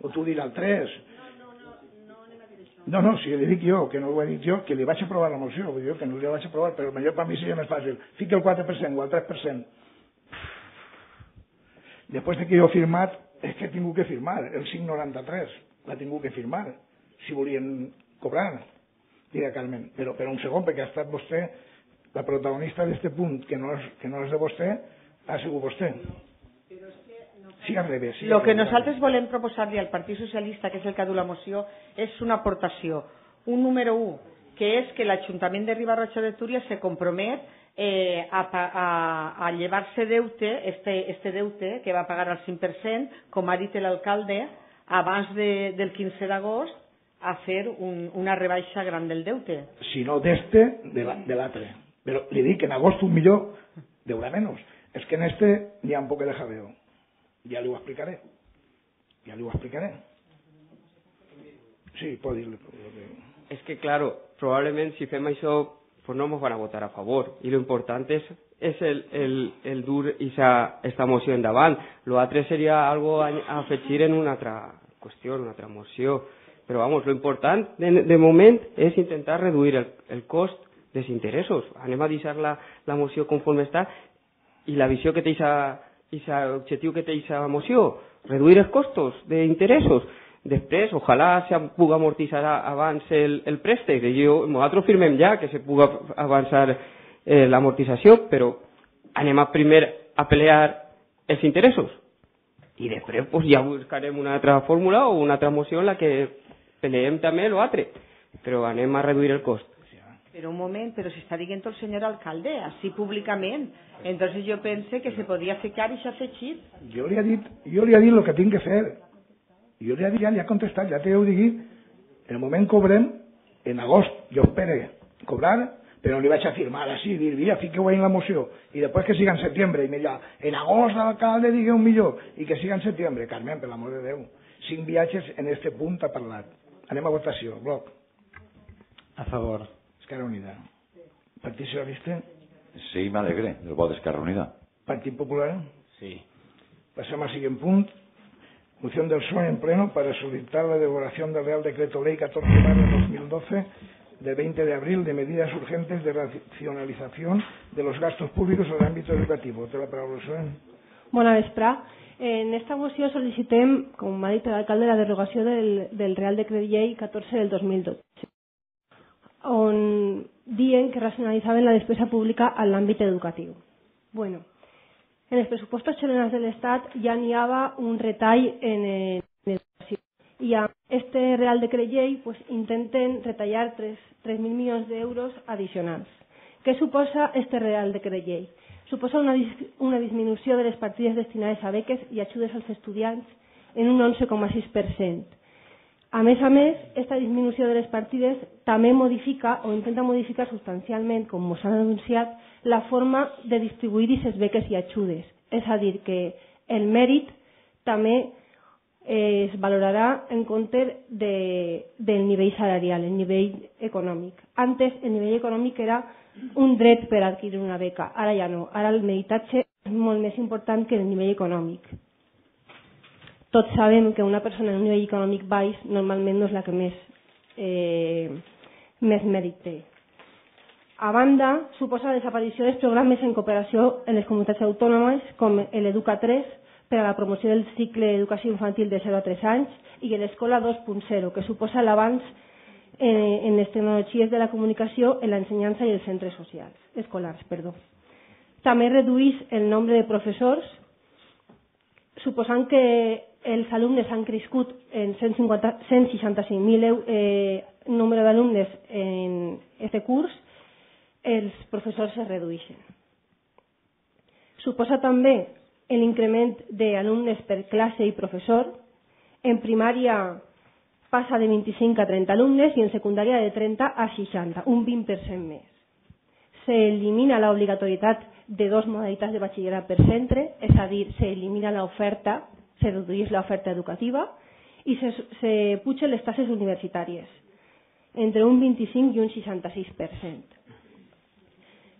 o tu dirà el 3. No, si li dic jo, que no ho he dit jo, que li vaig aprovar la moció, vull dir que no li vaig aprovar, però millor per mi seria més fàcil. Fica el 4% o el 3%. Després que jo he firmat, és que he tingut que firmar, el 593, l'ha tingut que firmar, si volien cobrar. Dirà Carmen, però per un segon, perquè ha estat vostè la protagonista d'aquest punt, que no és de vostè, ha sigut vostè. Sí, al revés. Lo que nosaltres volem proposar-li al Partit Socialista, que és el que ha dut la moció, és una aportació. Un número 1, que és que l'Ajuntament de Riba-roja de Túria se compromet a llevar-se deute, este deute que va pagar al 5%, com ha dit l'alcalde, abans del 15 d'agost, a fer una rebaixa gran del deute. Si no d'este, de l'altre. Però li dic que en agost un millor deurà menys. És que en este n'hi ha un poc de jaleo. Ja li ho explicaré. Sí, pot dir-li. Es que, claro, probablemente si fem això, pues no nos van a votar a favor. Y lo importante es el dur esta moció endavant. Lo altre sería algo a afegir en una altra qüestió, una altra moció. Però, vamos, lo important de moment és intentar reduir el cost dels interessos. Anem a deixar la moció conforme està i la visió que té l'objectiu que té aquesta moció, reduir els costos d'interessos. Després, ojalà se pugui amortitzar abans el préstec. Nosaltres firmem ja que se pugui avançar l'amortització, però anem primer a pelear els interessos. I després pues, ja buscarem una altra fórmula o una altra moció en la que peleem també l'altre, però anem a reduir el cost. Pero un moment, però si està dient el senyor alcalde, així públicament. Entonces jo pense que se podia ficar i s'ha afegit. Jo li he dit el que tinc que fer. Jo li ha contestat, ja t'ho digui. En el moment cobrem, en agost, jo espero cobrar, però li vaig a firmar així, dir, mira, fiqueu en la moció, i després que siga en setembre, i mira, en agost l'alcalde digui un millor, i que siga en setembre. Carmen, per l'amor de Déu, 5 viatges en este punt ha parlat. Anem a votació. Bloc. A favor. Esquerra Unida. Partit Socialista. Sí, m'alegre del vot d'Esquerra Unida. Partit Popular. Sí. Pasemos al siguiente punto. Moción del PSOE en pleno para solicitar la derogación del Real Decreto Ley 14/2012 del 20 de abril de medidas urgentes de racionalización de los gastos públicos en el ámbito educativo. Té la paraula, PSOE. Bona vesprà. En esta moció sol·licitem, com ha dit l'alcalde, la derogació del Real Decret Llei 14 del 2012, on diuen que racionalitzaven la despesa pública en l'àmbit educatiu. Bueno, en els pressupostos generals de l'Estat ja n'hi havia un retall en educació. I amb este Real Decret Llei pues, intenten retallar 3.000 milions d'euros addicionals. Què suposa este Real Decret Llei? Suposa una disminució de les partides destinades a beques i ajudes als estudiants en un 11,6%. A més, aquesta disminució de les partides també modifica o intenta modificar substancialment, com s'ha anunciat, la forma de distribuir aquestes beques i ajudes. És a dir, que el mèrit també es valorarà en compte del nivell salarial, el nivell econòmic. Antes, el nivell econòmic era un dret per adquirir una beca, ara ja no. Ara el meritatge és molt més important que el nivell econòmic. Tots sabem que una persona en un nivell econòmic baix normalment no és la que més mèrit té. A banda, suposa la desaparició dels programes en cooperació en les comunitats autònomes com l'Educa3 per a la promoció del cicle d'educació infantil de 0 a 3 anys i l'Escola 2.0, que suposa l'avanç en les tecnologies de la comunicació en l'ensenyança i els centres escolars. També redueix el nombre de professors, suposant que els alumnes han crescut en 165.000 número d'alumnes en aquest curs els professors es redueixen. Suposa també l'increment d'alumnes per classe i professor. En primària passa de 25 a 30 alumnes i en secundària de 30 a 60, un 20% més. S'elimina l'obligatorietat de 2 modalitats de batxillerat per centre, és a dir, s'elimina l'oferta, se redueix l'oferta educativa i se pugen les taxes universitàries, entre un 25 i un 66%.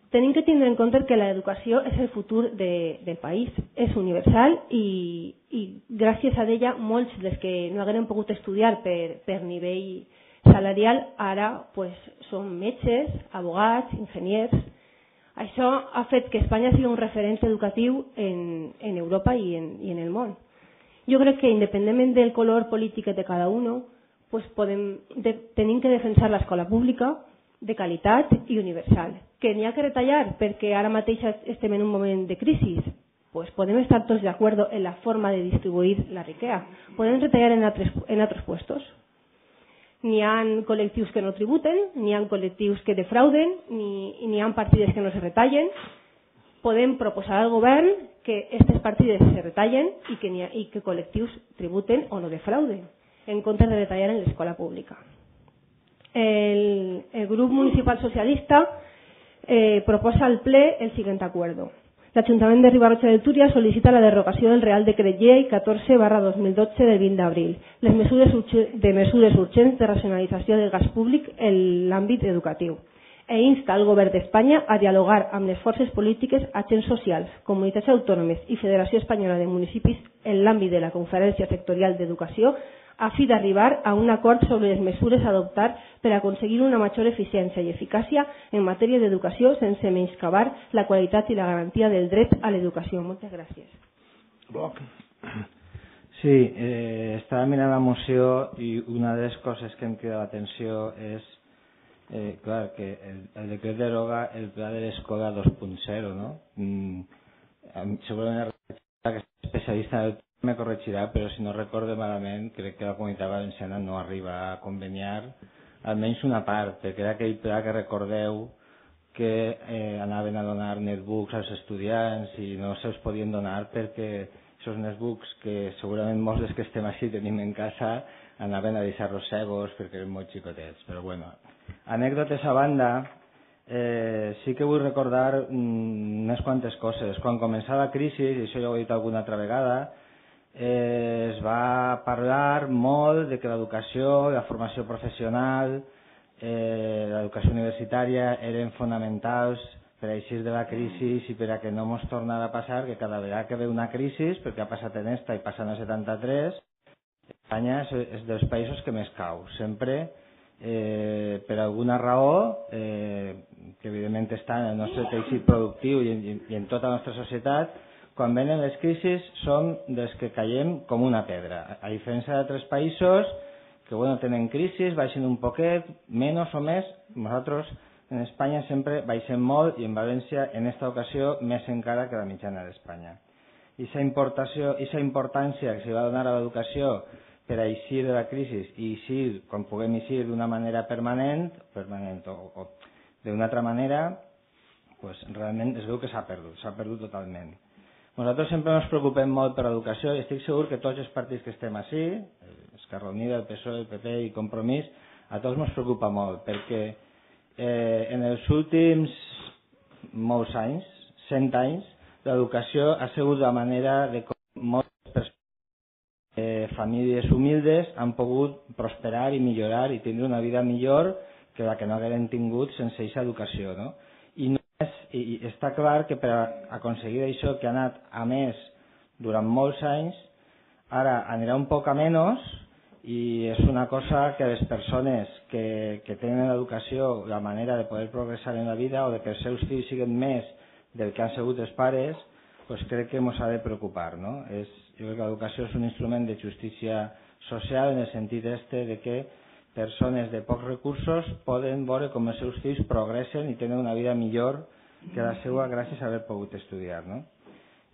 Tenim que tindre en compte que l'educació és el futur del país, és universal i gràcies a ella molts dels que no hagueren pogut estudiar per nivell salarial ara són metges, abogats, enginyers. Això ha fet que Espanya sigui un referent educatiu en Europa i en el món. Jo crec que independentment del color polític de cada un, tenim que defensar l'escola pública de qualitat i universal. Que n'hi ha que retallar perquè ara mateix estem en un moment de crisi, podem estar tots d'acord en la forma de distribuir la riquesa. Podem retallar en altres puestos. N'hi ha col·lectius que no tributen, n'hi ha col·lectius que defrauden, n'hi ha partides que no se retallen. Podem proposar al govern que aquestes partides se retallen i que col·lectius tributen o no defrauden, en comptes de retallar en l'escola pública. El grup municipal socialista proposa al ple el següent acuerdo. L'Ajuntament de Riba-roja de Túria sol·licita la derogació del Real Decret Llei 14/2012 del 20 d'abril, les mesures urgents de racionalització del gas públic en l'àmbit educatiu, insta al Govern d'Espanya a dialogar amb les forces polítiques, agents socials, comunitats autònomes i Federació Espanyola de Municipis en l'àmbit de la Conferència Sectorial d'Educació a fi d'arribar a un acord sobre les mesures a adoptar per aconseguir una major eficiència i eficàcia en matèria d'educació sense menyscabar la qualitat i la garantia del dret a l'educació. Moltes gràcies. Sí, estava mirant la moció i una de les coses que em crida l'atenció és clar, que el decret deroga el pla de l'escola 2.0, no? Segurament que especialista en el me corregirà, però si no recorde malament, crec que la Comunitat Valenciana no arriba a conveniar almenys una part, perquè era aquell pla que recordeu que anaven a donar netbooks als estudiants i no se'ls podien donar perquè aquests netbooks que segurament molts dels que estem així tenim en casa anaven a deixar-los cegos perquè eren molt xicotets. Però bueno, anècdotes a banda, sí que vull recordar unes quantes coses. Quan començava la crisi, i això ja ho he dit alguna altra vegada, es va parlar molt de que l'educació, la formació professional, l'educació universitària eren fonamentals per a eixir de la crisi i per a que no ens tornara a passar que cada vegada que ve una crisi, perquè ha passat en esta i passant a 73, Espanya és dels països que més cau. Sempre, per alguna raó, que evidentment està en el nostre teixit productiu i en tota la nostra societat, quan venen les crisis som dels que caiem com una pedra. A diferència d'altres països que tenen crisis, baixen un poquet, menys o més, nosaltres en Espanya sempre baixem molt i en València en aquesta ocasió més encara que la mitjana d'Espanya. I aquesta importància que s'hi va donar a l'educació per a eixir de la crisi i eixir, quan puguem eixir d'una manera permanent o d'una altra manera, realment es veu que s'ha perdut totalment. Nosaltres sempre ens preocupem molt per l'educació i estic segur que tots els partits que estem així, Esquerra Unida, el PSOE, el PP i Compromís, a tots ens preocupa molt perquè en els últims molts anys, 100 anys, l'educació ha sigut la manera de com moltes famílies humildes han pogut prosperar i millorar i tindre una vida millor que la que no hagueren tingut sense aquesta educació, no? I està clar que per aconseguir això que ha anat a més durant molts anys, ara anirà un poc a menys i és una cosa que les persones que tenen l'educació, la manera de poder progressar en la vida o de que els seus fills siguin més del que han sigut els pares, crec que ens ha de preocupar, no? Jo crec que l'educació és un instrument de justícia social en el sentit de que persones de pocs recursos poden veure com els seus fills progressen i tenen una vida millor que la seva gràcies a haver pogut estudiar, no?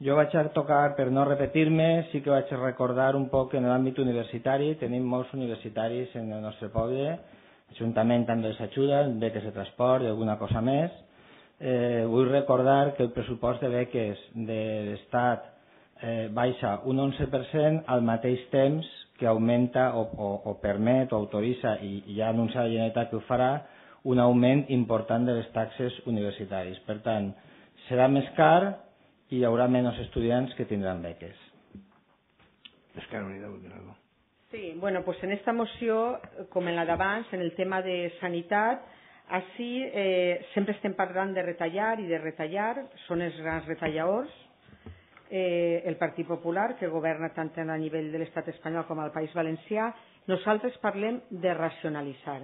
Jo vaig a tocar, per no repetir-me, sí que vaig a recordar un poc en l'àmbit universitari. Tenim molts universitaris en el nostre poble, l'Ajuntament també els ajuda, beques de transport i alguna cosa més, vull recordar que el pressupost de beques de l'Estat baixa un 11% al mateix temps que augmenta o permet o autoritza, i ja ha anunciat la Generalitat que ho farà, un augment important de les taxes universitàries. Per tant, serà més car i hi haurà menys estudiants que tindran beques. Sí, bueno, pues en esta moció, com en la d'abans, en el tema de sanitat, així sempre estem parlant de retallar i de retallar, són els grans retalladors, el Partit Popular, que governa tant a nivell de l'estat espanyol com al País Valencià. Nosaltres parlem de racionalitzar.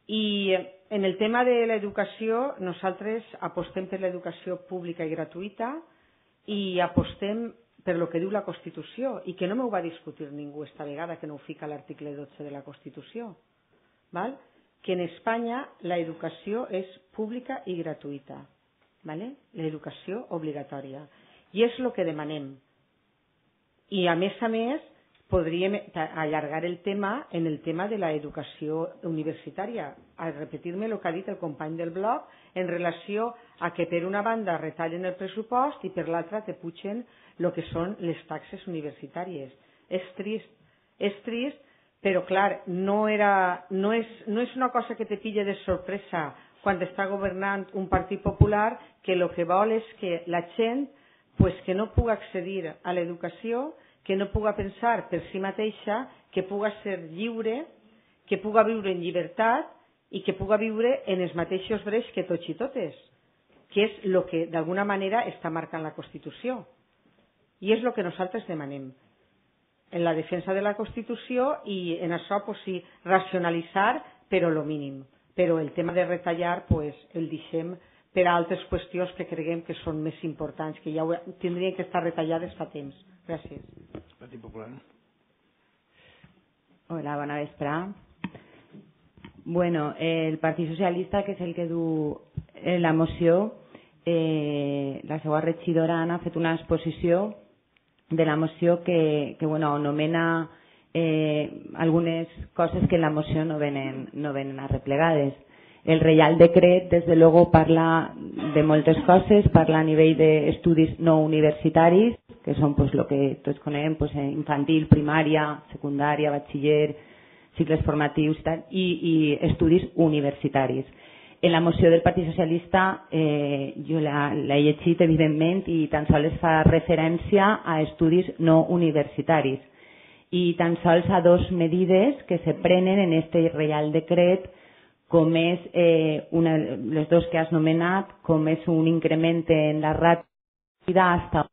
I en el tema de l'educació, nosaltres apostem per l'educació pública i gratuïta i apostem per lo que diu la Constitució, i que no m'ho va discutir ningú esta vegada, que no ho fica l'article 12 de la Constitució, val? Que en Espanya l'educació és pública i gratuïta, vale? L'educació obligatòria. I és el que demanem. I a més, podríem allargar el tema en el tema de l'educació universitària. A repetir-me el que ha dit el company del bloc en relació a que per una banda retallen el pressupost i per l'altra te pugen el que són les taxes universitàries. És trist, però clar, no és una cosa que te pille de sorpresa quan està governant un Partit Popular que el que vol és que la gent que no puga accedir a l'educació, que no puga pensar per si mateixa, que puga ser lliure, que puga viure en llibertat i que puga viure en els mateixos drets que tots i totes, que és el que d'alguna manera està marcant la Constitució. I és el que nosaltres demanem, en la defensa de la Constitució, i en això sí, racionalitzar, però el mínim. Però el tema de retallar el deixem per a altres qüestions que creguem que són més importants, que ja tindrien que estar retallades fa temps. Gràcies. Partit Popular. Hola, bona vesprada. Bueno, el Partit Socialista, que és el que du la moció, la seva regidora Anna ha fet una exposició de la moció que anomena algunes coses que en la moció no venen arreplegades. El Reial Decret, des de luego, parla de moltes coses, parla a nivell d'estudis no universitaris, que són el que tots coneguem, infantil, primària, secundària, batxiller, cicles formatius i estudis universitaris. En la moció del Partit Socialista jo l'he llegit, evidentment, i tan sols fa referència a estudis no universitaris i tan sols a dos medides que se prenen en este Reial Decret, com és les dos que has nomenat, com és un increment en la ràtio hasta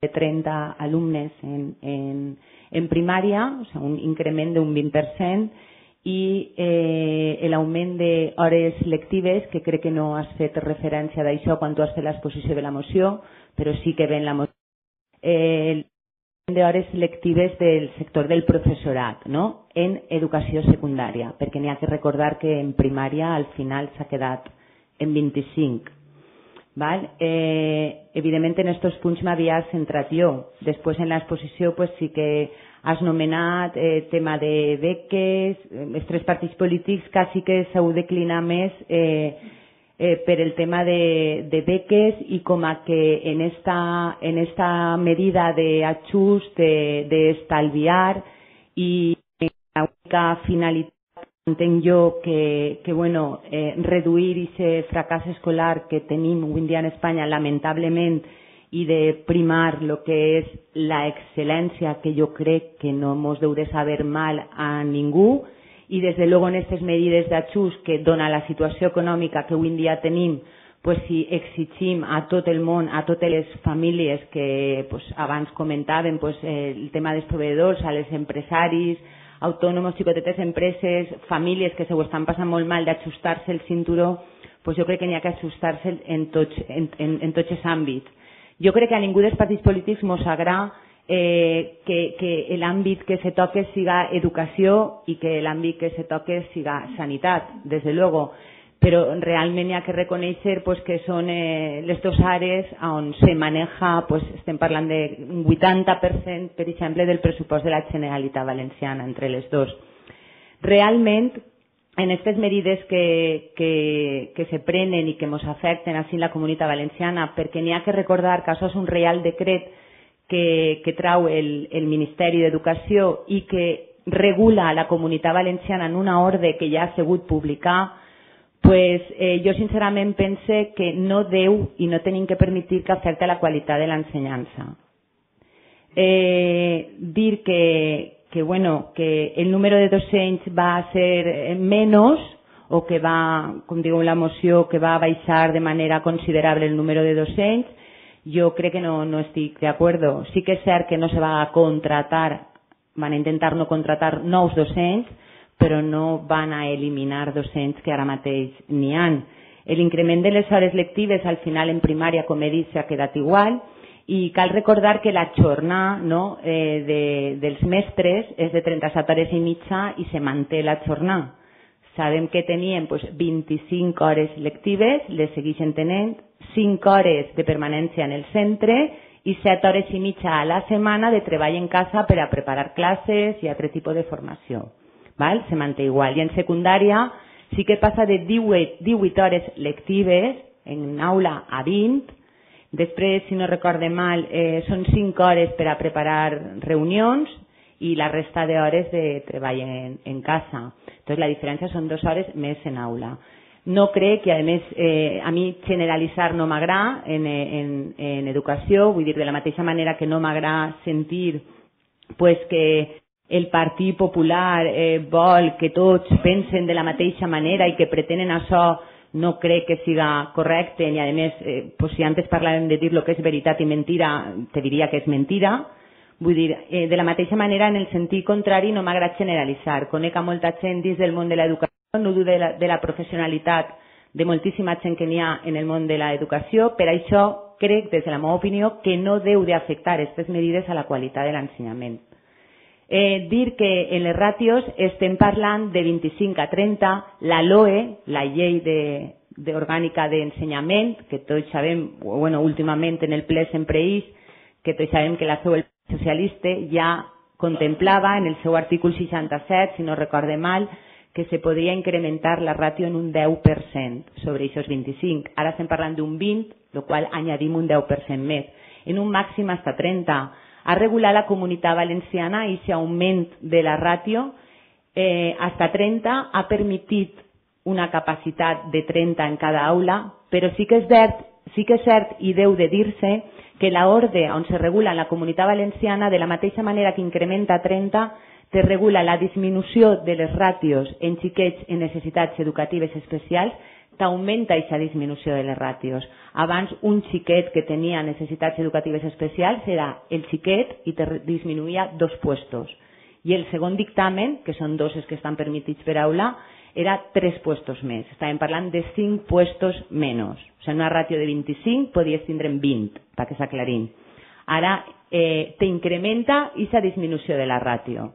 de 30 alumnes en primària, o sigui, un increment d'un 20%, i l'augment d'hores lectives, que crec que no has fet referència d'això quan tu has fet l'exposició de la moció, però sí que ve en la moció. D'hores lectives del sector del professorat, no? En educació secundària, perquè n'hi ha que recordar que en primària al final s'ha quedat en 25. Val? Evidentment en aquests punts m'havia centrat jo. Després en l'exposició sí que has nomenat tema de beques, els tres partits polítics quasi que s'heu declinat més per el tema de beques i com a que en esta medida de ajust, de estalviar i la única finalitat entenc jo que reduir aquest fracàs escolar que tenim avui en dia en Espanya lamentablement i de primar el que és la excel·lència, que jo crec que no ens deu de saber mal a ningú, i des de luego en aquestes medides d'ajust que dona la situació econòmica que avui en dia tenim, si exigim a tot el món, a totes les famílies que abans comentàvem, el tema dels proveïdors, a les empresaris, autònoms, xicotetes empreses, famílies que se ho estan passant molt mal d'ajustar-se el cinturó, jo crec que n'hi ha que ajustar-se en tots els àmbits. Jo crec que a ningú dels partits polítics ens agrada que l'àmbit que se toque siga educació i que l'àmbit que se toque siga sanitat, des de luego, però realment hi ha que reconèixer que són les dues àrees on se maneja, estem parlant d'un 80%, per exemple, del pressupost de la Generalitat Valenciana entre les dues. Realment, en aquestes medides que se prenen i que ens afecten així la Comunitat Valenciana, perquè n'hi ha que recordar que això és un reial decret que trau el Ministeri d'Educació i que regula la Comunitat Valenciana en una ordre que ja ha sigut publicar, pues, jo sincerament pense que no deu i no tenim que permetre que afecti la qualitat de l'ensenyança. Dir que el número de docents va a ser menos o que va, com diu la moció, que va a baixar de manera considerable el número de docents, jo crec que no estic d'acord. Sí que és cert que no se va a contratar, van a intentar no contratar nous docents, però no van a eliminar docents que ara mateix n'hi ha. L'increment de les hores lectives al final en primària, com he dit, s'ha quedat igual, i cal recordar que la jornada dels mestres és de 37 hores i mitja i se manté la jornada. Sabem que teníem 25 hores lectives, les segueixen tenint, 5 hores de permanència en el centre i 7 hores i mitja a la setmana de treball en casa per a preparar classes i altre tipus de formació. Se manté igual. I en secundària sí que passa de 18 hores lectives en aula a 20. Després, si no recorde mal, són 5 hores per a preparar reunions i la resta d'hores de treball en casa. Entonces, la diferència són 2 hores més en aula. No crec, i a més a mi generalitzar no m'agrada en educació, vull dir, de la mateixa manera que no m'agrada sentir que el Partit Popular vol que tots pensen de la mateixa manera i que pretenen això, no crec que siga correcte, i a més, si antes parlàvem de dir el que és veritat i mentira, te diria que és mentira. Vull dir, de la mateixa manera, en el sentit contrari, no m'agrada generalitzar. Conec a molta gent dins del món de l'educació, no dudo de la professionalitat de moltíssima gent que n'hi ha en el món de l'educació, per això crec, des de la meva opinió, que no deu d'afectar aquestes medides a la qualitat de l'ensenyament. Dir que en les ràtios estem parlant de 25 a 30, la LOE, la llei orgànica d'ensenyament, que tots sabem, últimament en el ple sempre és, que tots sabem que la feu el socialista, ja contemplava en el seu article 67, si no recorde mal, que se podria incrementar la ràtio en un 10% sobre aquests 25. Ara estem parlant d'un 20, el qual añadim un 10% més. En un màxim fins a 30. Ha regulat la Comunitat Valenciana i aquest augment de la ràtio fins a 30 ha permitit una capacitat de 30 en cada aula, però sí que és cert i deu de dir-se que l'ordre on se regula en la Comunitat Valenciana, de la mateixa manera que incrementa 30, te regula la disminució de les ràtios en xiquets en necessitats educatives especials, t'augmenta aquesta disminució de les ràtios. Abans, un xiquet que tenia necessitats educatives especials era el xiquet i te disminuïa 2 puestos. I el segon dictamen, que són 2 els que estan permitits per aula, era 3 puestos més. Estàvem parlant de 5 puestos menys. O sigui, una ràtio de 25 podies tindre en 20, perquè s'aclarim. Ara t'incrementa aquesta disminució de la ràtio.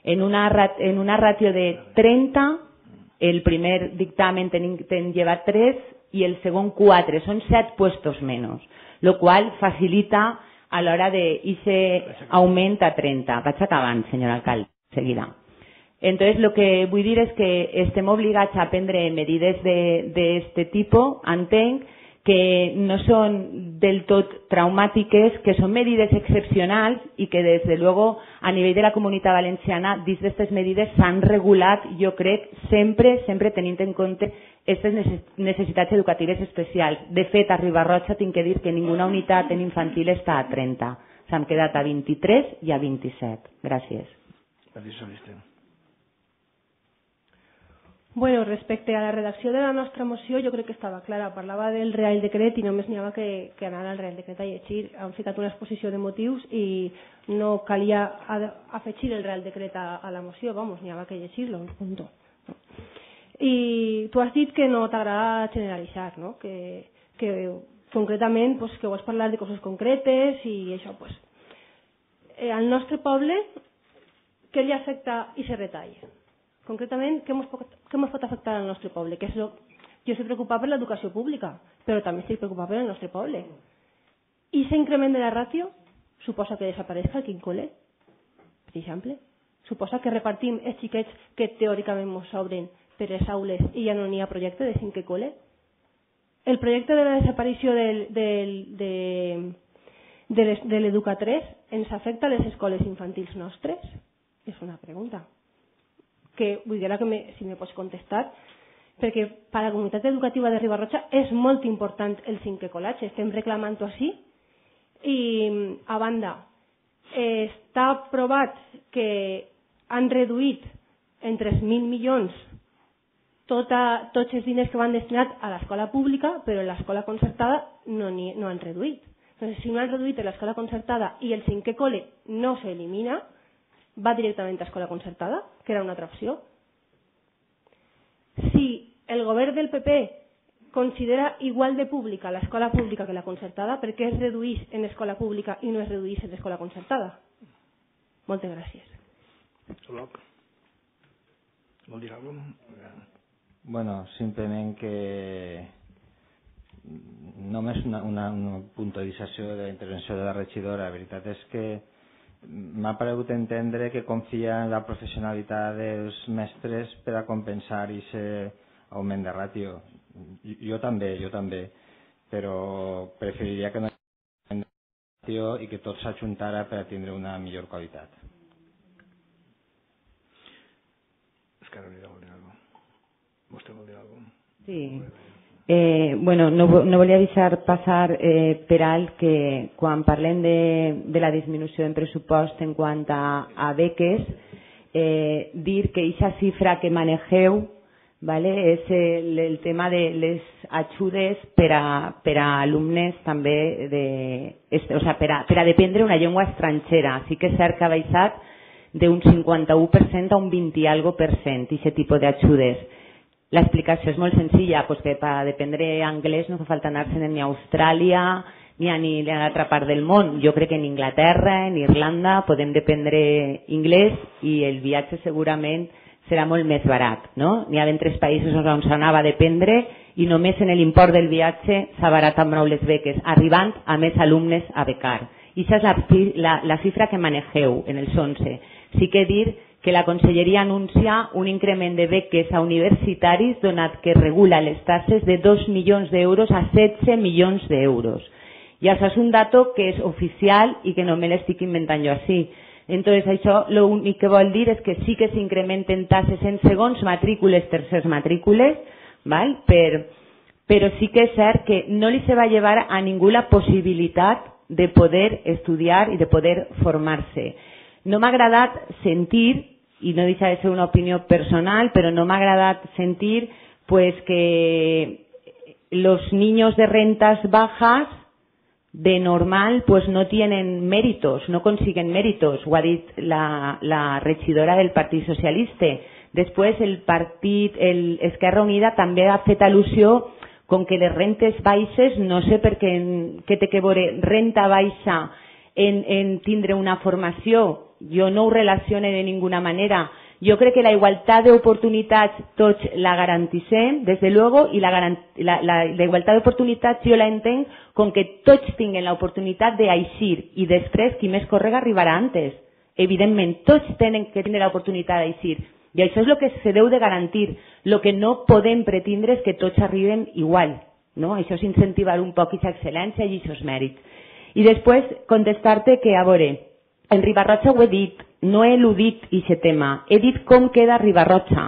En una ràtio de 30, el primer dictamen te'n lleva 3 i el segon 4, són 7 puestos menys, el qual facilita a l'hora d'aquest augment a 30. Vaig acabant, senyor alcalde, seguida. Entonces, lo que vull dir és que estem obligats a prendre medides d'aquest tipus, entenc, que no són del tot traumàtiques, que són medides excepcionals i que, des de luego, a nivell de la Comunitat Valenciana, dins d'aquestes medides s'han regulat, jo crec, sempre tenint en compte aquestes necessitats educatives especials. De fet, a Riba-roja tinc que dir que ninguna unitat en infantil està a 30. S'han quedat a 23 i a 27. Gràcies. Gràcies, Alister. Bueno, respecte a la redacció de la nostra moció, jo crec que estava clara. Parlava del Real Decret i només n'hi havia que anar al Real Decret a llegir. Han ficat una exposició de motius i no calia afegir el Real Decret a la moció. Vamos, n'hi havia que llegir-lo, punto. I tu has dit que no t'agrada generalitzar, no? Que concretament que vols parlar de coses concretes i això. Al nostre poble, què li afecta i se retalla? Concretament, què ens pot afectar al nostre poble? Jo estic preocupada per l'educació pública, però també estic preocupada per el nostre poble. I aquest increment de la ràtio suposa que desapareixi el quincole, per exemple? Suposa que repartim els xiquets que teòricament ens sobren per les aules i ja no n'hi ha projecte de cinquè col·le? El projecte de la desaparició de l'Educa3 ens afecta a les escoles infantils nostres? És una pregunta. Que vull dir que si me pots contestar, perquè per a la comunitat educativa de Riba-roja és molt important el cinquè col·latge, estem reclamant-ho així. I, a banda, està provat que han reduït en 3.000 milions tots els diners que van destinats a l'escola pública, però l'escola concertada no han reduït. Entonces, si no han reduït a l'escola concertada i el cinquè col·le no s'elimina, va directament a escola concertada, que era una altra opció. Si el govern del PP considera igual de pública l'escola pública que la concertada, per què es reduís en escola pública i no es reduís en escola concertada? Moltes gràcies. Vol dir alguna cosa? Bueno, simplement que només una puntualització de la intervenció de la regidora. La veritat és que m'ha paregut entendre que confia en la professionalitat dels mestres per a compensar aquest augment de ràtio. Jo també, però preferiria que no hi hagués augment de ràtio i que tot s'ajuntara per a tindre una millor qualitat. Carolina, vol dir alguna cosa? ¿Vostè vol dir alguna cosa? Sí. Bueno, no volia deixar passar per alt que quan parlem de la disminució en pressupost en quant a beques, dir que aquesta xifra que manegeu, ¿vale? És el tema de les ajudes per a alumnes també, o sea, per a dependre una llengua estrangera. Sí que és cert que ha baixat d'un 51% a un 20 i algo %, aquest tipus d'ajudes. La explicació és molt senzilla, pues que per dependre anglès no fa falta anar-se'n ni a Austràlia ni a l'altra part del món. Jo crec que en Inglaterra, en Irlanda, podem dependre anglès i el viatge segurament serà molt més barat. No? N'hi ha d'entres països on s'anava a dependre i només en l'import del viatge s'ha baratat prou les beques, arribant a més alumnes a becar. I aquesta és la xifra que manegeu en els 11. Sí que dir que la Conselleria anuncia un increment de beques a universitaris donat que regula les taxes de 2 milions d'euros a 16 milions d'euros. I això és un dato que és oficial i que no me l'estic inventant jo així. Entonces, això l'únic que vol dir és que sí que s'incrementen taxes en segons matrícules, tercers matrícules, ¿vale? Però sí que és cert que no li se va llevar a ningú la possibilitat de poder estudiar i de poder formar-se. No m'ha agradat sentir, i no deixa de ser una opinió personal, però no m'ha agradat sentir pues, que los niños de rentas bajas de normal pues no tienen méritos, no consiguen méritos, ho ha dit la regidora del Partit Socialista. Després el partit, Esquerra Unida també ha fet al·lusió com que les rentes baixes, no sé per què té que veure renta baixa en tindre una formació. Jo no ho relacione de ninguna manera. Jo crec que la igualtat d'oportunitats tots la garantissem, des de luego, i la igualtat d'oportunitats jo la entenc com que tots tinguen l'oportunitat d'eixir i després qui més correga arribarà antes. Evidentment, tots tenen que tindre l'oportunitat d'eixir i això és el que se deu de garantir. El que no podem pretendre és que tots arriben igual. No? Això és incentivar un poc aquesta excel·lència i aquests mèrits. I després contestar-te que, a veure, en Riba-roja ho he dit, no he eludit aquest tema, he dit com queda Riba-roja.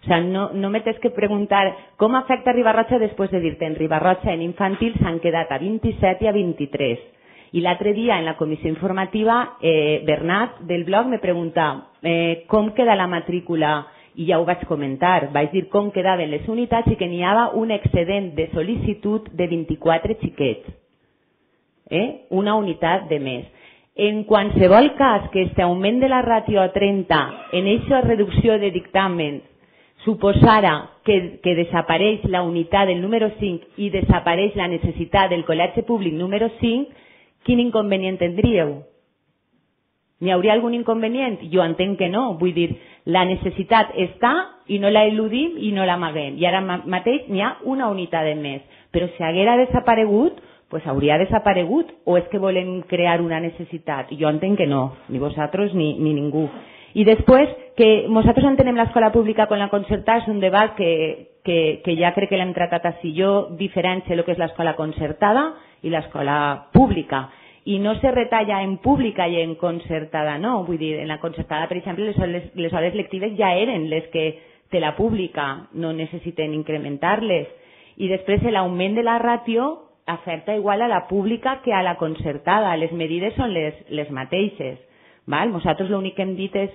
O sea, no me tens que preguntar com afecta Riba-roja després de dir-te en Riba-roja en infantil s'han quedat a 27 i a 23. I l'altre dia en la comissió informativa Bernat del blog me pregunta com queda la matrícula i ja ho vaig comentar, vaig dir com quedaven les unitats i que n'hi havia un excedent de sol·licitud de 24 xiquets. Una unitat de més. En qualsevol cas que aquest augment de la ràtio a 30 en aquesta reducció de dictàmens suposara que desapareix la unitat del número 5 i desapareix la necessitat del col·legi públic número 5, quin inconvenient tindríeu? N'hi hauria algun inconvenient? Jo entenc que no. Vull dir, la necessitat està i no la eludim i no l'amaguem. I ara mateix n'hi ha una unitat de més. Però si haguera desaparegut, pues hauria desaparegut o és que volem crear una necessitat? Jo entenc que no, ni vosaltres ni ningú. I després, que nosaltres entenem l'escola pública com la concertada és un debat que ja crec que l'hem tractat així. Jo diferencio el que és l'escola concertada i l'escola pública. I no se retalla en pública i en concertada, no. Vull dir, en la concertada, per exemple, les hores lectives ja eren les que de la pública, no necessiten incrementar-les. I després l'augment de la ràtio afecta igual a la pública que a la concertada. Les medides són les mateixes. Nosaltres l'únic que hem dit és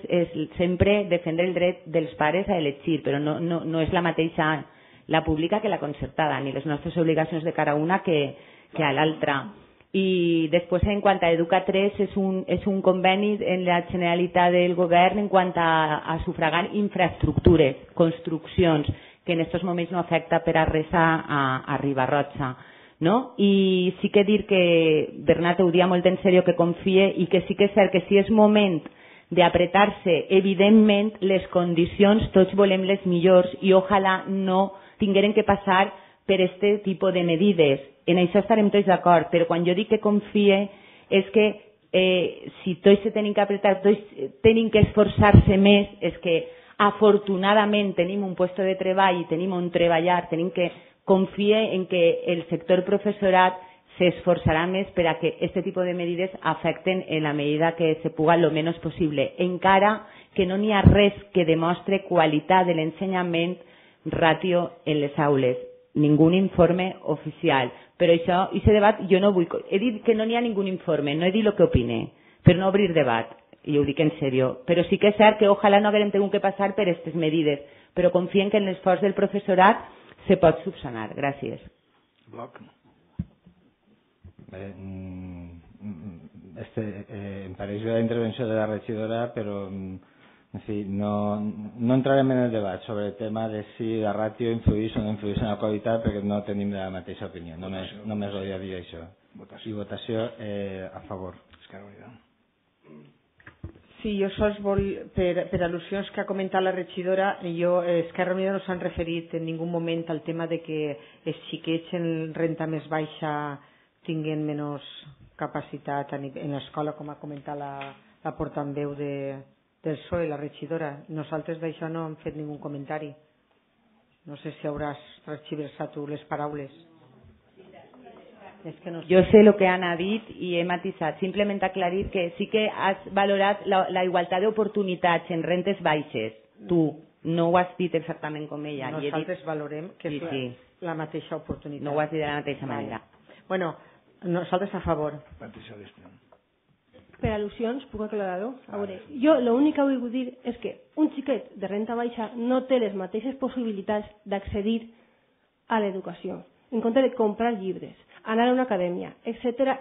sempre defendre el dret dels pares a elegir, però no és la mateixa la pública que la concertada, ni les nostres obligacions de cara a una que a l'altra. I després, en quant a Educa3, és un conveni en la Generalitat del Govern en quant a sufragar infraestructures, construccions, que en aquests moments no afecta per a res a Riba-roja. I sí que dir que Bernat ho dia molt en sèrio, que confie, i que sí que és cert que si és moment d'apretar-se, evidentment les condicions tots volem les millors i ojalà no tingueren que passar per aquest tipus de medides. En això estarem tots d'acord, però quan jo dic que confie és que si tots se tenen que apretar, tots tenen que esforçar-se més, és que afortunadament tenim un lloc de treball i tenim on treballar, tenim que confie en que el sector professorat s'esforçarà més per a que aquest tipus de medides afecten en la medida que se puga lo menys possible, encara que no n'hi ha res que demostre qualitat de l'ensenyament ràtio en les aules. Ningú informe oficial. Però això, aquest debat, jo no vull... He dit que no n'hi ha ningú informe, no he dit el que opine, per no obrir debat, i ho dic en sèrio. Però sí que és cert que ojalà no haguem tingut que passar per aquestes medides, però confien que en l'esforç del professorat se pot subsanar. Gràcies. Bloc. Bé, em pareix la intervenció de la regidora, però en fi, no entrarem en el debat sobre el tema de si la ràtio influeix o no influeix en la qualitat, perquè no tenim la mateixa opinió. Només volia dir això. I votació a favor. Sí, jo sols per al·lusions que ha comentat la regidora, Esquerra Unida no s'han referit en ningú moment al tema de que els xiquets en renta més baixa tinguin menys capacitat en l'escola, com ha comentat la portaveu del PSOE, la regidora. Nosaltres d'això no hem fet ningú comentari. No sé si hauràs transversat tu les paraules. Jo sé el que Anna ha dit i he matisat. Simplement aclarir que sí que has valorat la igualtat d'oportunitats en rentes baixes. Tu no ho has dit exactament com ella. Nosaltres valorem que és la mateixa oportunitat. No ho has dit de la mateixa manera. Bueno, nosaltres a favor. Per al·lusions, puc aclarar-ho? A veure, jo l'únic que vull dir és que un xiquet de renta baixa no té les mateixes possibilitats d'accedir a l'educació, en compte de comprar llibres, anar a una acadèmia, etc.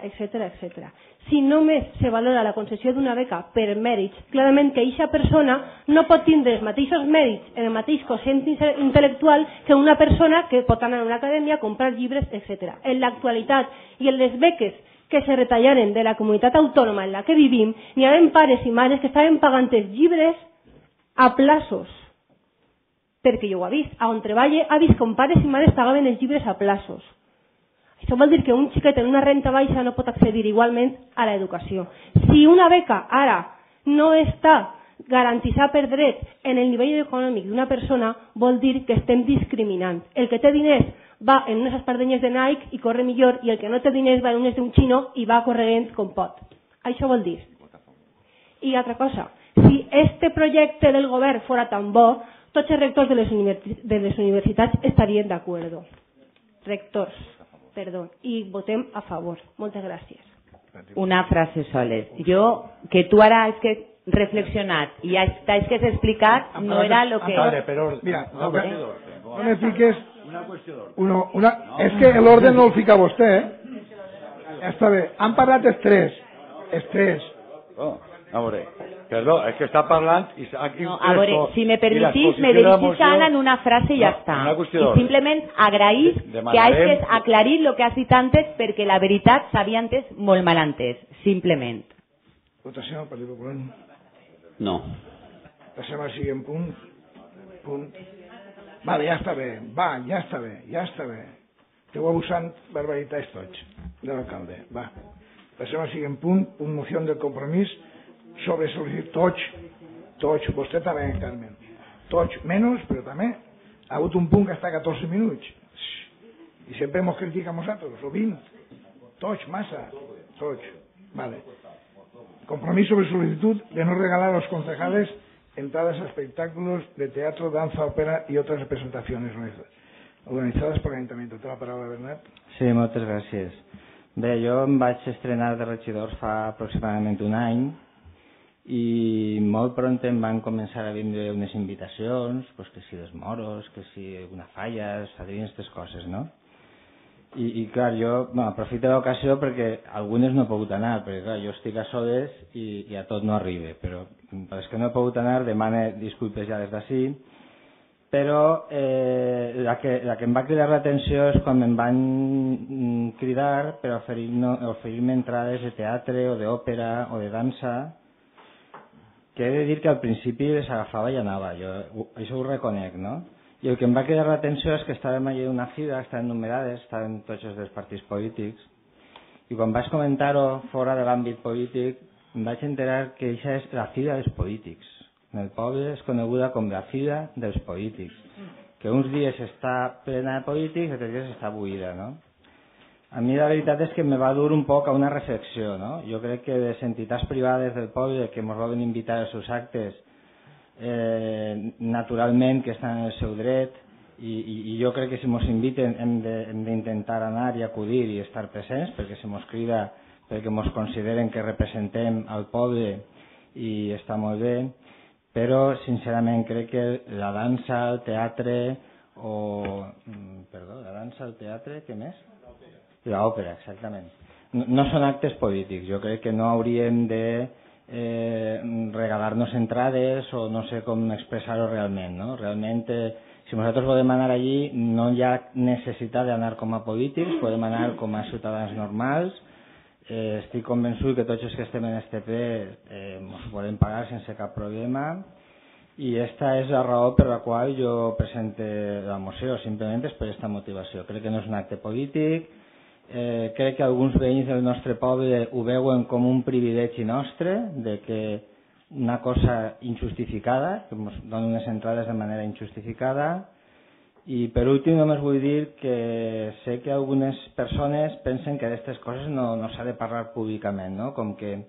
Si només se valora la concessió d'una beca per mèrits, clarament que aquesta persona no pot tindre els mateixos mèrits en el mateix quocient intel·lectual que una persona que pot anar a una acadèmia, comprar llibres, etc. En l'actualitat i en les beques que se retallaren de la comunitat autònoma en la que vivim, n'hi havia pares i mares que estaven pagant els llibres a plaços. Perquè jo ho he vist. On treballe ha vist com pares i mares pagaven els llibres a plaços. Això vol dir que un xiquet en una renta baixa no pot accedir igualment a l'educació. Si una beca ara no està garantitzada per dret en el nivell econòmic d'una persona, vol dir que estem discriminant. El que té diners va en unes espardenyes de Nike i corre millor, i el que no té diners va en unes d'un xino i va corrent com pot. Això vol dir. I altra cosa, si este projecte del govern fora tan bo, tots els rectors de les universitats estarien d'acord. Rectors, perdó, i votem a favor. Moltes gràcies. Una frase soles. Jo, que tu ara has que reflexionat i has que has explicat, no era lo que... Mira, no me fiques... És que l'ordre no el fica vostè, Està bé. Han parlat els tres. A veure, perdó, és que està parlant... No, a veure, si me permitís, me dirigís a Ana en una frase i ja està. I simplement agrair que hagis aclarit el que has dit antes, perquè la veritat s'havia entès molt mal entès, simplement. Votació, Partit Popular. No. Passem al següent punt. Vale, ja està bé. Ja està bé. Esteu abusant barbaritats tots, de l'alcalde. Va. Passem al següent punt, moció del compromís sobre sol·licitud Tots, vostè també, Carmen. Tots, menys, però també ha hagut un punt que està a 14 minuts. I sempre ens critica a nosaltres, o 20. Tots, massa. Tots. Vale. Compromiso sobre solicitud de no regalar a los concejales entradas a espectáculos de teatro, danza, ópera y otras representaciones organizadas por el Ayuntamiento. Té la paraula, Bernat. Sí, moltes gràcies. Bé, jo em vaig estrenar de regidor fa aproximadament un any i molt pront em van començar a vindre unes invitacions, pues que si dels moros, que si una falla, sadrins, aquestes coses, no? I clar, jo aprofito l'ocasió perquè algunes no he pogut anar, perquè clar, jo estic a soles i a tot no arribe, però és que no he pogut anar, demane disculpes ja des d'ací, però la que em va cridar l'atenció és quan em van cridar per oferir-me entrades de teatre o d'òpera o de dansa, que he de dir que al principi les agafava i anava, jo això ho reconec, no? I el que em va cridar l'atenció és que estàvem allà d'una fira, estaven numerades, estaven tots els dels partits polítics, i quan vaig comentar-ho fora de l'àmbit polític em vaig enterar que això és la fira dels polítics. En el poble és coneguda com la fira dels polítics, que uns dies està plena de polítics i altres dies està buida, no? A mi la veritat és que me va dur un poc a una reflexió, no? Jo crec que les entitats privades del poble que ens volen invitar als seus actes naturalment que estan en el seu dret i jo crec que si ens inviten hem d'intentar anar i acudir i estar presents perquè se ens crida, perquè ens consideren que representem al poble i està molt bé, però sincerament crec que la dansa, el teatre la dansa, el teatre, què més? L'òpera, exactament. No són actes polítics, jo crec que no hauríem de regalar-nos entrades o no sé com expressar-ho realment, no? Realment, si nosaltres volem anar allí no hi ha necessitat d'anar com a polítics, podem anar com a ciutadans normals. Estic convençut que tots els que estem en este ple ens podem pagar sense cap problema i esta és la raó per la qual jo presento la moció, simplement és per aquesta motivació. Crec que no és un acte polític, crec que alguns veïns del nostre poble ho veuen com un privilegi nostre, de que una cosa injustificada, que ens donen unes entrades de manera injustificada. I per últim només vull dir que sé que algunes persones pensen que d'aquestes coses no s'ha de parlar públicament, no? Com que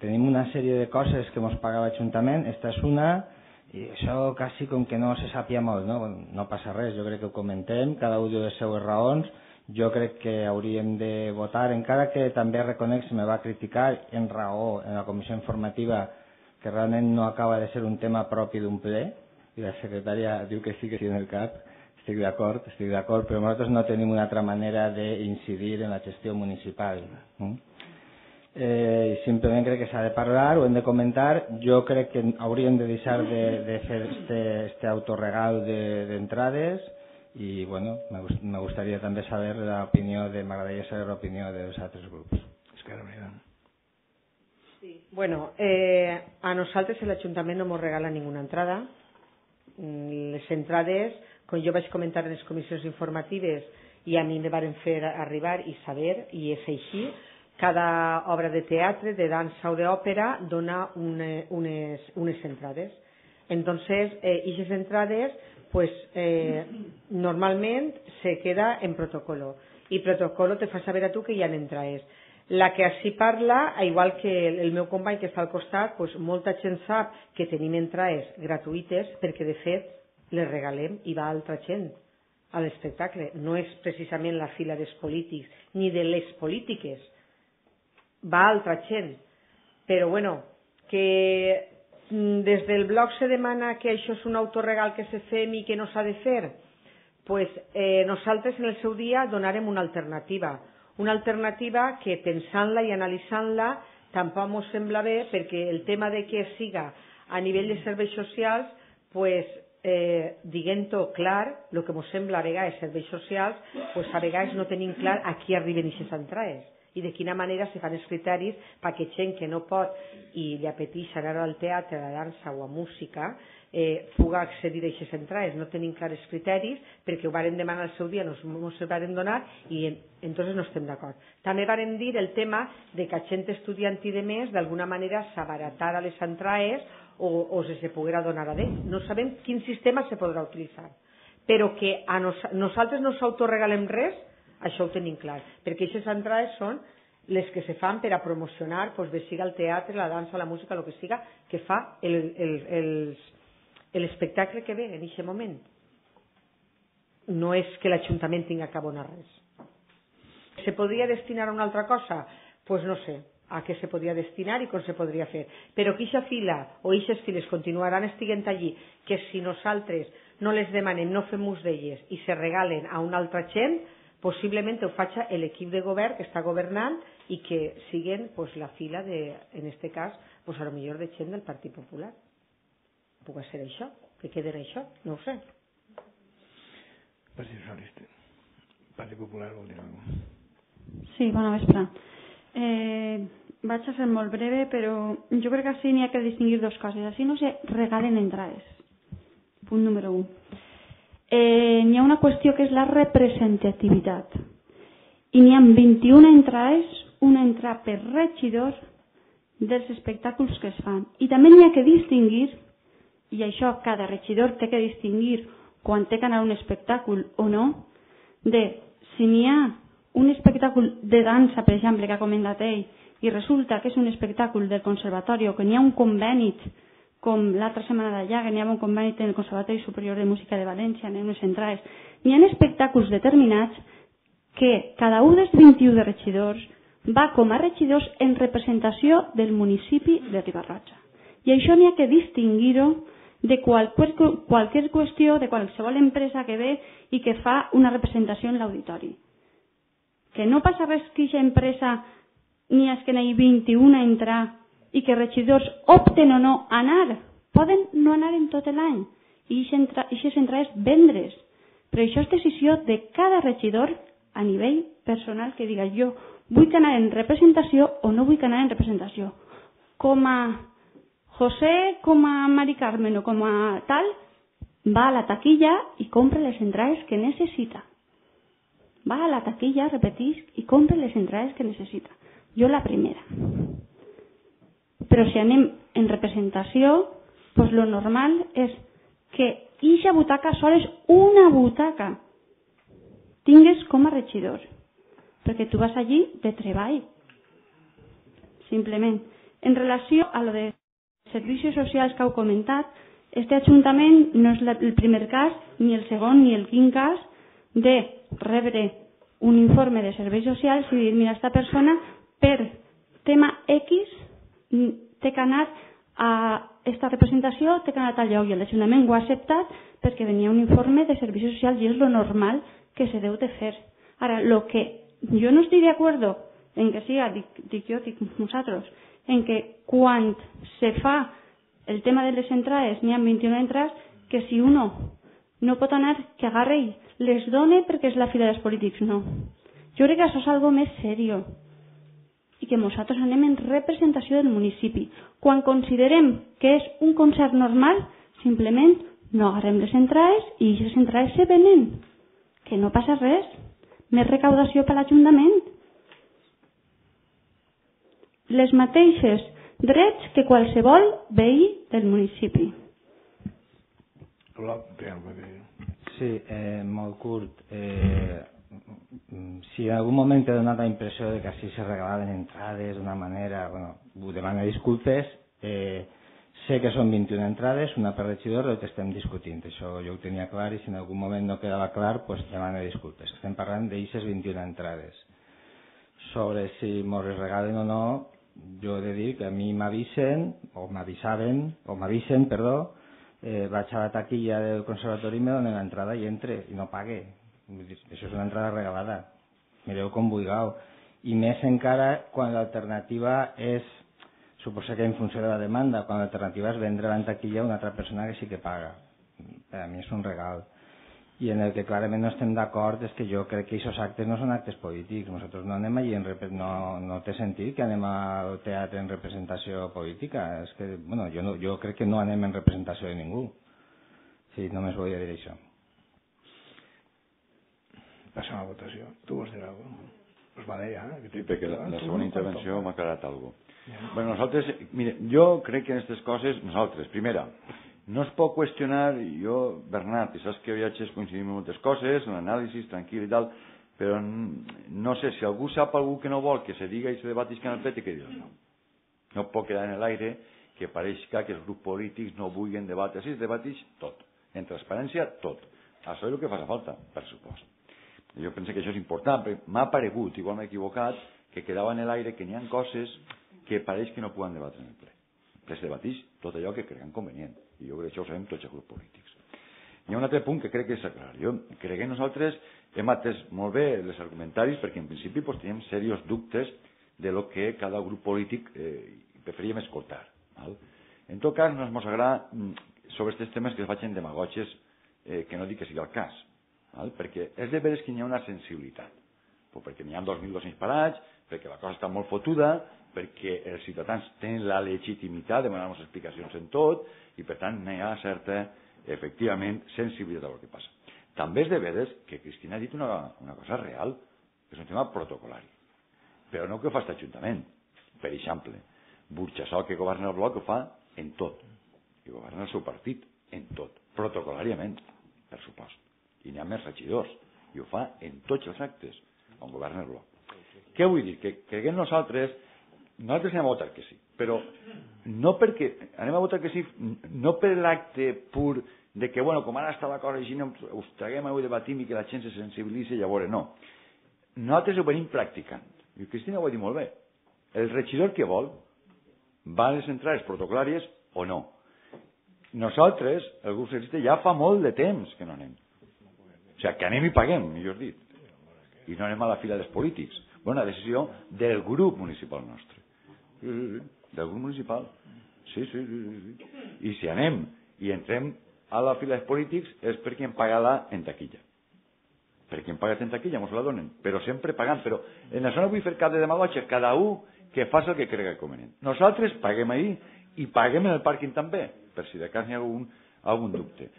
tenim una sèrie de coses que ens paga l'Ajuntament, esta és una, i això quasi com que no se sàpia molt, no? No passa res, jo crec que ho comentem, cada un diu les seues raons. Jo crec que hauríem de votar, encara que també reconec, se me va criticar en raó en la comissió informativa, que realment no acaba de ser un tema propi d'un ple, i la secretària diu que sí en el cap, estic d'acord, però nosaltres no tenim una altra manera d'incidir en la gestió municipal. Simplement crec que s'ha de parlar, ho hem de comentar. Jo crec que hauríem de deixar de fer este autorregal d'entrades. Y bueno, me gustaría també saber m'agradaria saber l'opinió dels altres grups. Sí. Bueno, a nosaltres l'Ajuntament no ens regala ninguna entrada. Les entrades, com jo vaig comentar en les comissions informatives i a mi me varen fer arribar i saber, i és així, cada obra de teatre, de dansa o d'òpera dona unes entrades. Entonces, esas entrades pues normalment se queda en protocolo i protocolo te fa saber a tu que hi ha entrades. La que així parla, igual que el meu company que està al costat, pues molta gent sap que tenim entrades gratuïtes perquè de fet les regalem i va altra gent a l'espectacle. No és precisament la fila dels polítics ni de les polítiques, va altra gent. Però bueno, que des del bloc se demana que això és un autorregal que se fem i que no s'ha de fer, pues nosaltres en el seu dia donarem una alternativa que pensant-la i analitzant-la tampoc ens sembla bé, perquè el tema de que siga a nivell de serveis socials, pues diguem-ho clar, el que ens sembla a vegades serveis socials, pues a vegades no tenim clar a qui arriben aquestes entrades i de quina manera se fan els criteris perquè gent que no pot i li apeteix anar al teatre, a la dansa o a música puga accedir a aquestes entrades. No tenim clars criteris perquè ho varen demanar al seu dia, no ens ho varen donar i entonces no estem d'acord. També varen dir el tema de que a gent estudiant i de més d'alguna manera s'abaratara les entrades o se poguera donar a d'ells. No sabem quin sistema se podrà utilitzar, però que a nosaltres no s'autoregalem res, això ho tenim clar, perquè aquestes entrades són les que se fan per a promocionar, bé siga el teatre, la dansa, la música, el que siga, que fa l'espectacle que ve en aquest moment. No és que l'Ajuntament tinga que abonar res. Se podria destinar a una altra cosa? Doncs no sé a què se podria destinar i com se podria fer. Però que aquesta fila o aquestes files continuaran estiguent allí, que si nosaltres no les demanem, no fem ús d'elles i se regalen a una altra gent, possiblement ho faci l'equip de govern que està governant i que siguen la fila de, en aquest cas, a lo millor de gent del Partit Popular. Puc ser això? Que quede en això? No ho sé. Partit Socialista. Partit Popular vol dir alguna cosa. Sí, bona vespre. Vaig a ser molt breve, però jo crec que així n'hi ha que distingir dues coses. Així no se regalen entrades. Punt número 1. N'hi ha una qüestió que és la representativitat. I n'hi ha 21 entrades, una entrada per regidor dels espectacles que es fan. I també n'hi ha que distingir, i això cada regidor té que distingir quan té que anar a un espectacle o no, de si n'hi ha un espectacle de dansa, per exemple, que ha comentat ell, i resulta que és un espectacle del conservatori o que n'hi ha un conveni, com l'altra setmana d'allà, que n'hi ha un conveni en el Conservatori Superior de Música de València, en unes entrades, n'hi ha espectacles determinats que cada un dels 21 de regidors va com a regidors en representació del municipi de Riba-roja. I això n'hi ha que distingir-ho de qualsevol qüestió, de qualsevol empresa que ve i que fa una representació en l'auditori. Que no passa res que aquesta empresa n'hi ha que n'hi ha 21 a entrar i que regidors opten o no a anar. Poden no anar en tot l'any i aquestes entrades vendre's. Però això és decisió de cada regidor a nivell personal que diga jo vull anar en representació o no vull anar en representació. Com a José, com a Mari Carmen o com a tal, va a la taquilla i compra les entrades que necessita. Va a la taquilla, repetís, i compra les entrades que necessita. Jo la primera. Però si anem en representació, doncs lo normal és que eixa butaca sol és una butaca. Tingues com a regidor. Perquè tu vas allí de treball. Simplement. En relació a lo de servicis socials que heu comentat, este Ajuntament no és el primer cas, ni el segon, ni el quint cas de rebre un informe de serveis socials i dir, mira, esta persona per tema X té que anar a esta representació, té que anar a tal lloc, i l'Ajuntament ho ha acceptat perquè venia un informe de serveis socials i és lo normal que se deu de fer. Ara, lo que jo no estic d'acord en que siga, dic jo, dic nosaltres, en que quan se fa el tema de les entrades, n'hi ha 21 entrades, que si uno no pot anar, que agarre i les done perquè és la fila dels polítics. No. Jo crec que això és algo més seriós i que nosaltres anem en representació del municipi. Quan considerem que és un concert normal, simplement no agarrem les entrades i les entrades se venen. Que no passa res. Més recaudació per l'Ajuntament. Les mateixes drets que qualsevol veí del municipi. Sí, molt curt. Si en algun moment he donat la impressió de que així se regalaven entrades d'una manera, bueno, demano disculpes, sé que són 21 entrades, una per regidor, el que estem discutint. Això jo ho tenia clar i si en algun moment no quedava clar, doncs demano disculpes. Estem parlant d'aixes 21 entrades. Sobre si mos les regalen o no, jo he de dir que a mi m'avisen, o m'avisen, perdó, vaig a la taquilla del conservatori i me donen l'entrada i entre, i no pague. Això és una entrada regalada. Mireu com vulgueu. I més encara quan l'alternativa és, suposo que en funció de la demanda, quan l'alternativa és vendre la taquilla a una altra persona que sí que paga. Per a mi és un regal. i en el que clarament no estem d'acord és que jo crec que aquests actes no són actes polítics. Nosaltres no anem allí, no té sentit que anem al teatre en representació política. És que, bueno, jo crec que no anem en representació de ningú. Sí, només volia dir això. Passem a la votació. Tu vols dir alguna cosa? Pues vale, ja. Sí, perquè la segona intervenció m'ha quedat alguna cosa. Bueno, nosaltres, mire, jo crec que en aquestes coses, nosaltres, primera, no es pot qüestionar, jo, Bernat, i saps que viatges coincidim en moltes coses, en l'anàlisi, tranquil i tal, però no sé, si algú sap algú que no vol que se diga i se debatisca en el pet, que dir no. No pot quedar en l'aire que pareixca que els grups polítics no vulguin debatre. Si es debatix, tot. En transparència, tot. Això és el que fa falta, per supost. Jo penso que això és important, perquè m'ha paregut, igual m'he equivocat, que quedava en l'aire que n'hi ha coses que pareix que no poden debatre en el ple. Es debatix tot allò que creguen convenient, i jo crec que això ho sabem tots els grups polítics. Hi ha un altre punt que crec que és clar. Jo crec que nosaltres hem atès molt bé els argumentaris, perquè en principi teníem serios dubtes de lo que cada grup polític preferíem escoltar. En tot cas, no ens agrada sobre aquests temes que es facin demagògies, que no dic que sigui el cas, perquè és de veres que hi ha una sensibilitat, perquè n'hi ha 2.200 parats, perquè la cosa està molt fotuda, perquè els ciutadans tenen la legitimitat de demanar-nos explicacions en tot, i per tant n'hi ha certa, efectivament, sensibilitat a lo que passa. També és de veres que Cristina ha dit una cosa real, és un tema protocolari, però no que ho fa aquest Ajuntament. Per exemple, Burxassol, que governa el bloc, ho fa en tot, i governa el seu partit en tot, protocolàriament, per supost. I n'hi ha més regidors, i ho fa en tots els actes on governa el bloc. Què vull dir? Que creguem nosaltres anem a votar que sí, però no perquè anem a votar que sí, no per l'acte pur de que, bueno, com ara està la cosa així, us traguem avui debatim i que la gent se sensibilitzi, llavors no. Nosaltres ho venim practicant, i Cristina ho ha dit molt bé. El regidor que vol va a les entrades protocolàries o no. Nosaltres, el grup socialista, ja fa molt de temps que no anem. O sigui, que anem i paguem, millor dit. I no anem a la fila dels polítics. Una decisió del grup municipal nostre. Del grup municipal. Sí. I si anem i entrem a la fila dels polítics és perquè hem pagat en taquilla. Perquè hem pagat en taquilla, ens la donen. Però sempre pagant. Però en això no vull fer cap de demagògia. Cada un que faci el que cregui convenient. Nosaltres paguem ahí i paguem en el pàrquing també, per si de cas n'hi ha algun dubte.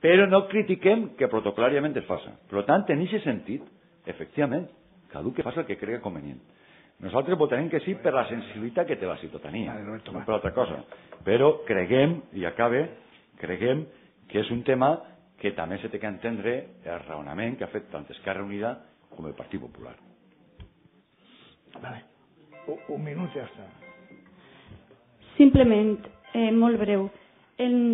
Però no critiquem que protocolàriament es faça. Per tant, en aquest sentit, efectivament, cada un que faci el que cregui convenient. Nosaltres votarem que sí per la sensibilitat que té la ciutadania, no per altra cosa. Però creguem, i acabe, creguem que és un tema que també se té que entendre el raonament que ha fet tant Esquerra Unida com el Partit Popular. Vale. Un minut ja està. Simplement, molt breu.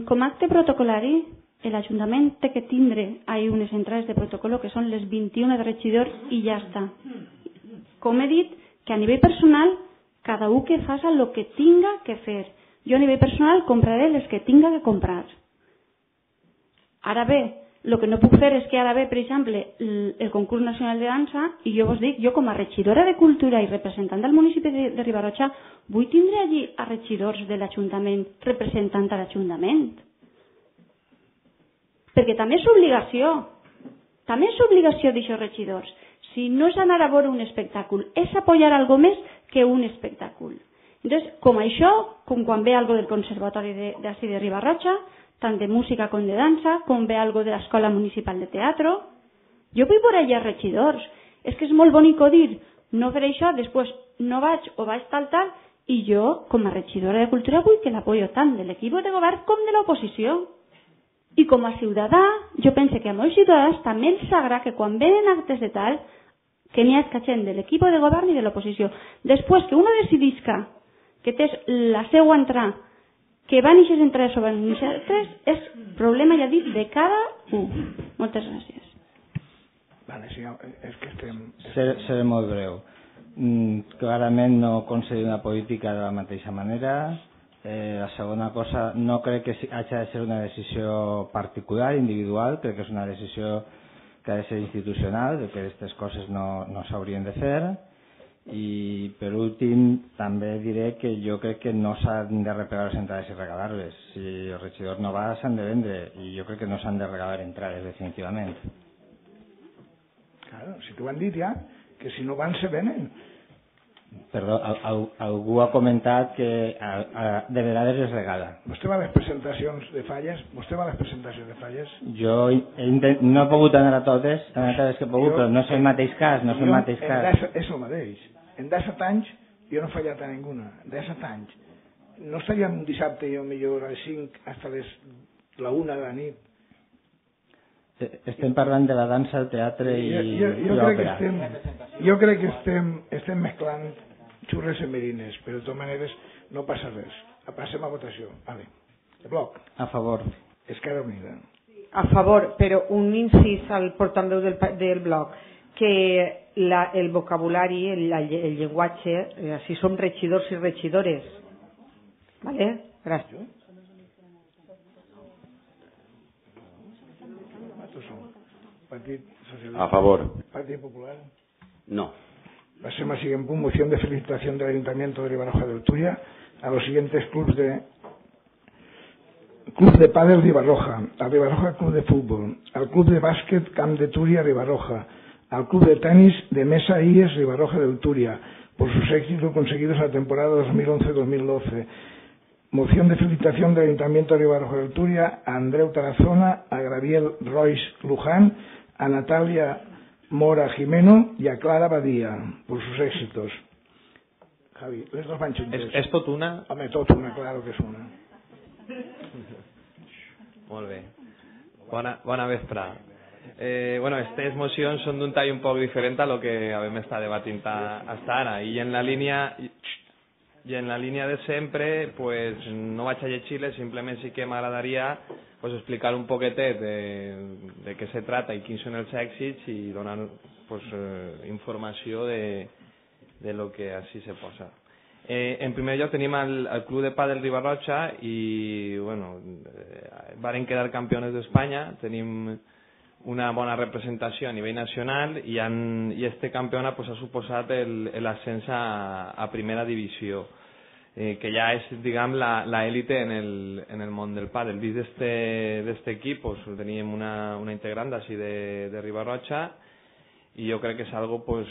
Com a acte protocolari, l'Ajuntament té que tindre unes entrades de protocolo que són les 21 de regidor i ja està. Com he dit, que a nivell personal, cada un que faci el que tinga que fer. Jo a nivell personal compraré les que tinga que comprar. Ara bé, el que no puc fer és que ara ve, per exemple, el concurs nacional de dansa i jo vos dic, jo com a regidora de cultura i representant del municipi de Ribarotxa vull tindre allí a regidors de l'Ajuntament representant a l'Ajuntament. Perquè també és obligació. També és obligació d'aixòs regidors. Si no és anar a veure un espectacle, és apoyar algo més que un espectacle. Entonces, com això, com quan ve algo del Conservatori d'ací de Ribarotxa, tant de música com de dansa, com ve algo de l'Escola Municipal de Teatro, jo vull veure allà regidors. És que és molt bonic dir, no fer això, després no vaig o vaig tal, i jo, com a regidora de cultura, vull que l'apoyo tant de l'equip de govern com de l'oposició. I com a ciutadà, jo penso que a molts ciutadans també els agrada que quan venen actes de tal, que n'hi ha gent de l'equip de govern i de l'oposició. Després que uno decidisca que tens la seva entrada, que van eixes entrades sobre nosaltres, és problema, ja dit, de cada un. Moltes gràcies. Vale, sí, és que estem... Seré molt breu. Clarament no concedir una política de la mateixa manera. La segona cosa, no crec que hagi de ser una decisió particular, individual, crec que és una decisió que ha de ser institucional, que aquestes coses no s'haurien de fer. I per últim també diré que jo crec que no s'han de replegar les entrades i regalar-les. Si el regidor no va s'han de vendre i jo crec que no s'han de regalar entrades definitivament. Claro, si t'ho han dit ja, que si no van se venen. Perdó, algú ha comentat que de vegades es regala. Vostè va a les presentacions de falles? Vostè va a les presentacions de falles? Jo no he pogut anar a totes que he pogut, però no és el mateix cas, no és el mateix cas. És el mateix. En 17 anys jo no he fallat a ninguna. En 17 anys. No estaríem un dissabte jo millor a les 5 fins a la 1 de la nit. Estem parlant de la dansa, el teatre i l'òpera. Jo crec que estem mesclant xurres i merines, però de totes maneres no passa res. Passem a votació. Vale. El bloc. A favor. Esquerra Unida. A favor, però un incís al portaveu del bloc, que el vocabulari, el llenguatge, si som regidors i regidores. Vale? Gràcies. A favor. Partido Popular. No. Pasemos al siguiente punto. Moción de felicitación del Ayuntamiento de Ribarroja de Ulturia a los siguientes clubes Club de Pádel Ribarroja, al Ribarroja Club de Fútbol, al Club de Básquet Camp de Túria Ribarroja, al Club de Tenis de Mesa IES Ribarroja de Ulturia, por sus éxitos conseguidos en la temporada 2011-2012. Moción de felicitación del Ayuntamiento de Ribarroja de Ulturia a Andreu Tarazona, a Gabriel Royce Luján, a Natalia Mora Jimeno y a Clara Badía por sus éxitos. Javi, les dos van juntes. És tot una? Home, tot una, claro que és una. Molt bé. Bona vesprà. Bueno, estas mocions són d'un tall un poc diferent a lo que vam estar debatint hasta ara. I en la línia de sempre, pues, no vaig a llegir-les, simplement sí que m'agradaria pues, explicar un poquetet de què se trata i quins són els èxits i donar pues, informació de lo que així se posa. En primer lloc tenim el Club de Pádel Ribarroja i bueno, varen quedar campeones d'Espanya, tenim una bona representació a nivell nacional i este campeonat pues, ha suposat l'ascens a primera divisió, que ja és, diguem, l'élite en el món del pàdel. Dins d'este equip pues, teníem una integrant d'ací de Ribarroja i jo crec que és algo pues,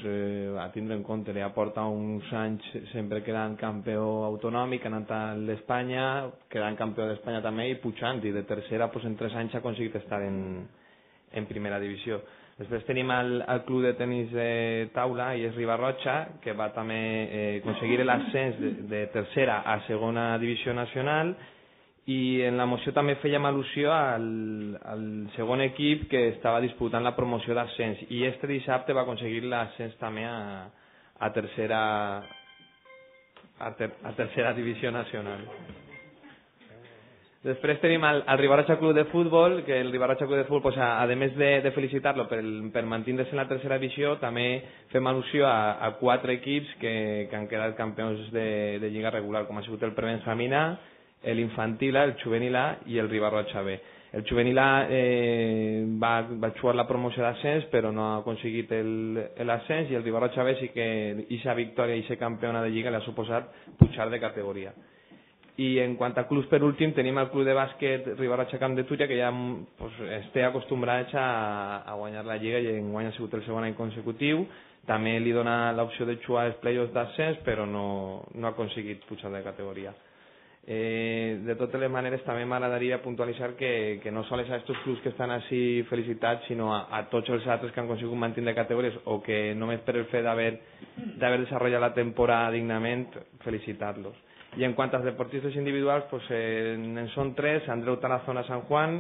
a tindre en compte. Ja porta uns anys sempre quedant campió autonòmic, ha anat a l'Espanya, quedant campió d'Espanya també i pujant, i de tercera pues, en 3 anys ha aconseguit estar en primera divisió. Després tenim el club de tenis de taula i és Ribarroja, que va també aconseguir l'ascens de tercera a segona divisió nacional, i en la moció també fèiem al·lusió al segon equip que estava disputant la promoció d'ascens, i este dissabte va aconseguir l'ascens també a tercera divisió nacional. Després tenim el Ribarroja Club de Futbol, que el Ribarroja Club de Futbol, pues, a més de felicitar-lo per mantindre's en la tercera divisió, també fem al·lusió a 4 equips que han quedat campions de lliga regular, com ha sigut el Prebenjamín, l'Infantil, el Juvenil A i el Ribarroja B. El Juvenil A va jugar la promoció d'ascens, però no ha aconseguit l'ascens, i el Ribarroja B sí que aquesta victòria i ser campiona de lliga li ha suposat pujar de categoria. I en quant a clubs, per últim, tenim el club de bàsquet Ribarroja Camp de Túria, que ja pues, esté acostumbrats a guanyar la lliga i enguany ha sigut el segon any consecutiu. També li dona l'opció de jugar els play-offs d'ascens, però no ha aconseguit pujar de categoria. De totes les maneres, també m'agradaria puntualitzar que no sols a aquests clubs que estan així felicitats, sinó a tots els altres que han aconseguit mantenir categories o que només per el fet d'haver desenvolupat la temporada dignament, felicitar-los. I en quant als deportistes individuals, pues, en són 3, Andreu Tarazona San Juan,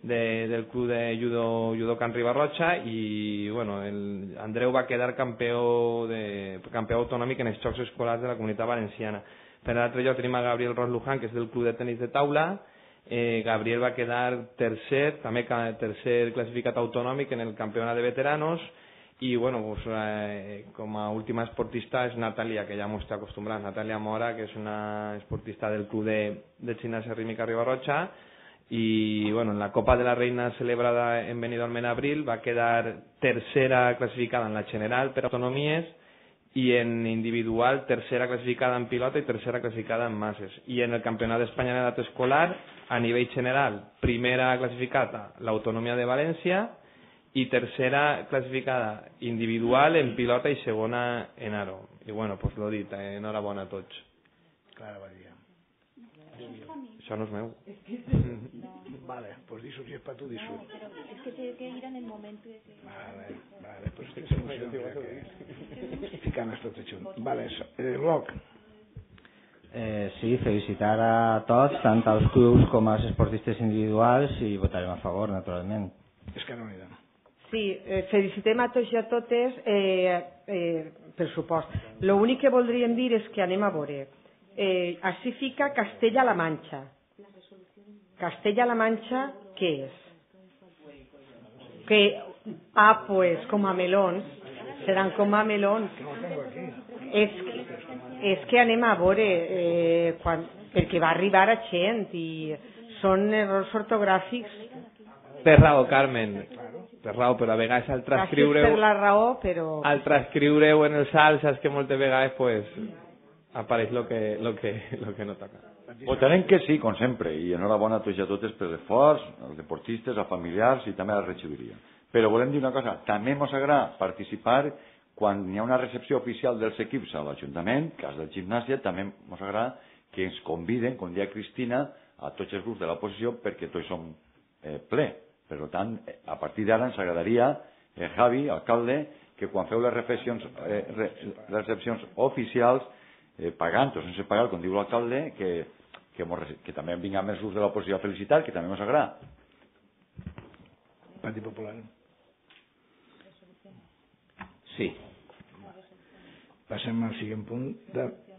del club de judo Can Ribarroja, i bueno, Andreu va quedar campió autonòmic en els Jocs Escolars de la Comunitat Valenciana. Per l'altre lloc tenim a Gabriel Royce Luján, que és del club de tenis de taula. Gabriel va quedar tercer, també tercer classificat autonòmic en el campionat de veteranos. I bueno, pues, com a última esportista és Natalia, que ja m'ho està acostumbrat, Natalia Mora, que és una esportista del club de gimnasia rítmica Ribarroja, i bueno, en la Copa de la Reina celebrada en Benidorm en abril va quedar tercera classificada en la general per autonomies y en individual tercera clasificada en pilota y tercera clasificada en masses. Y en el Campionat d'Espanya en edat escolar, a nivell general, primera clasificada l'Autonomia de València y tercera clasificada individual en pilota y segona en aro. Y bueno, pues lo dit, enhorabona a tots. Clara Badia. Això no és meu. Vale, pues disso, si és per tu, disso. No, pero es que tiene que ir en el momento de que... Vale, pues estic segur que ficant tots junts. Vale, Bloc. Sí, felicitar a tots, tant als clubs com als esportistes individuals, i votarem a favor, naturalment. Esquerra Unida. Sí, felicitem a tots i a totes, per supost. L'únic que voldríem dir és que anem a veure. Així fica Castella-La Manxa. Castella-La Manxa, què és? Pues com a melons. Seran com a melons. És que anem a veure, perquè va arribar a gent i són errors ortogràfics. Per raó, Carmen. Per raó, però a vegades al transcriure-ho... Per la raó, però... Al transcriure-ho en els alts, saps que moltes vegades pues, apareix lo que no toca. Votarem que sí, com sempre, i enhorabona a tots i a totes per l'esforç, als deportistes, als familiars i també a la regidoria. Però volem dir una cosa, també ens agrada participar quan hi ha una recepció oficial dels equips a l'Ajuntament, cas del gimnàsia, també ens agrada que ens conviden, com dia Cristina, a tots els grups de l'oposició perquè tots som ple. Per tant, a partir d'ara ens agradaria, Javi, alcalde, que quan feu les recepcions oficials, pagant o sense pagar, com diu l'alcalde, que també vinguem els grups de l'oposició a felicitar, que també ens agrada. Partit Popular. Sí. Passem al siguiente punt.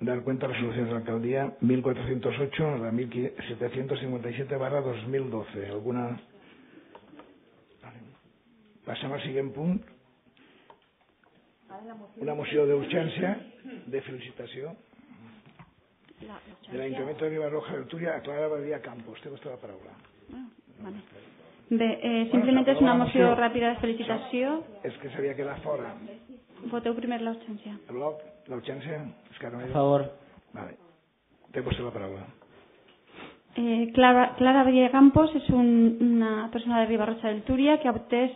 Dar cuenta de resoluciones de la alcaldía 1408 a la 1757/2012. ¿Alguna? Passem al siguiente punt. Una moció d'urgència de felicitació de l'Ajuntament de Ribarroja del Túria a Clara Badia Campos. Té vostè la paraula. Vale. Bé, simplement és una moció ràpida de felicitació. És que s'havia quedat fora. Voteu primer l'urgència. El bloc, l'urgència, Esquerra Unida. A favor. Vale. Té vostè la paraula. Clara Badia Campos és una persona de Ribarroja del Túria que ha obtès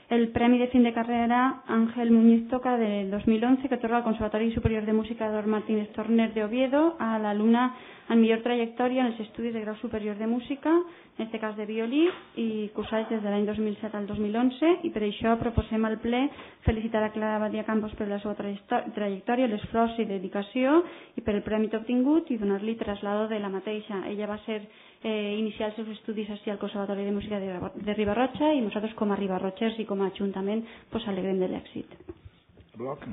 el Premi de Fin de Carrera Ángel Muñiz Toca del 2011 que otorga al Conservatori Superior de Música Dor Martínez Torner de Oviedo a l'alumna amb millor trajectòria en els estudis de grau superior de música, en aquest cas de violí, i cursats des de l'any 2007 al 2011, i per això proposem al ple felicitar a Clara Badia Campos per la seva trajectòria, l'esforç i dedicació i per el premi obtingut i donar-li traslado de la mateixa. Ella va iniciar els seus estudis així al Conservatori de Música de Ribarroja i nosaltres com a ribarrotxers i com a Ajuntament pues alegrem de l'èxit. Bloc.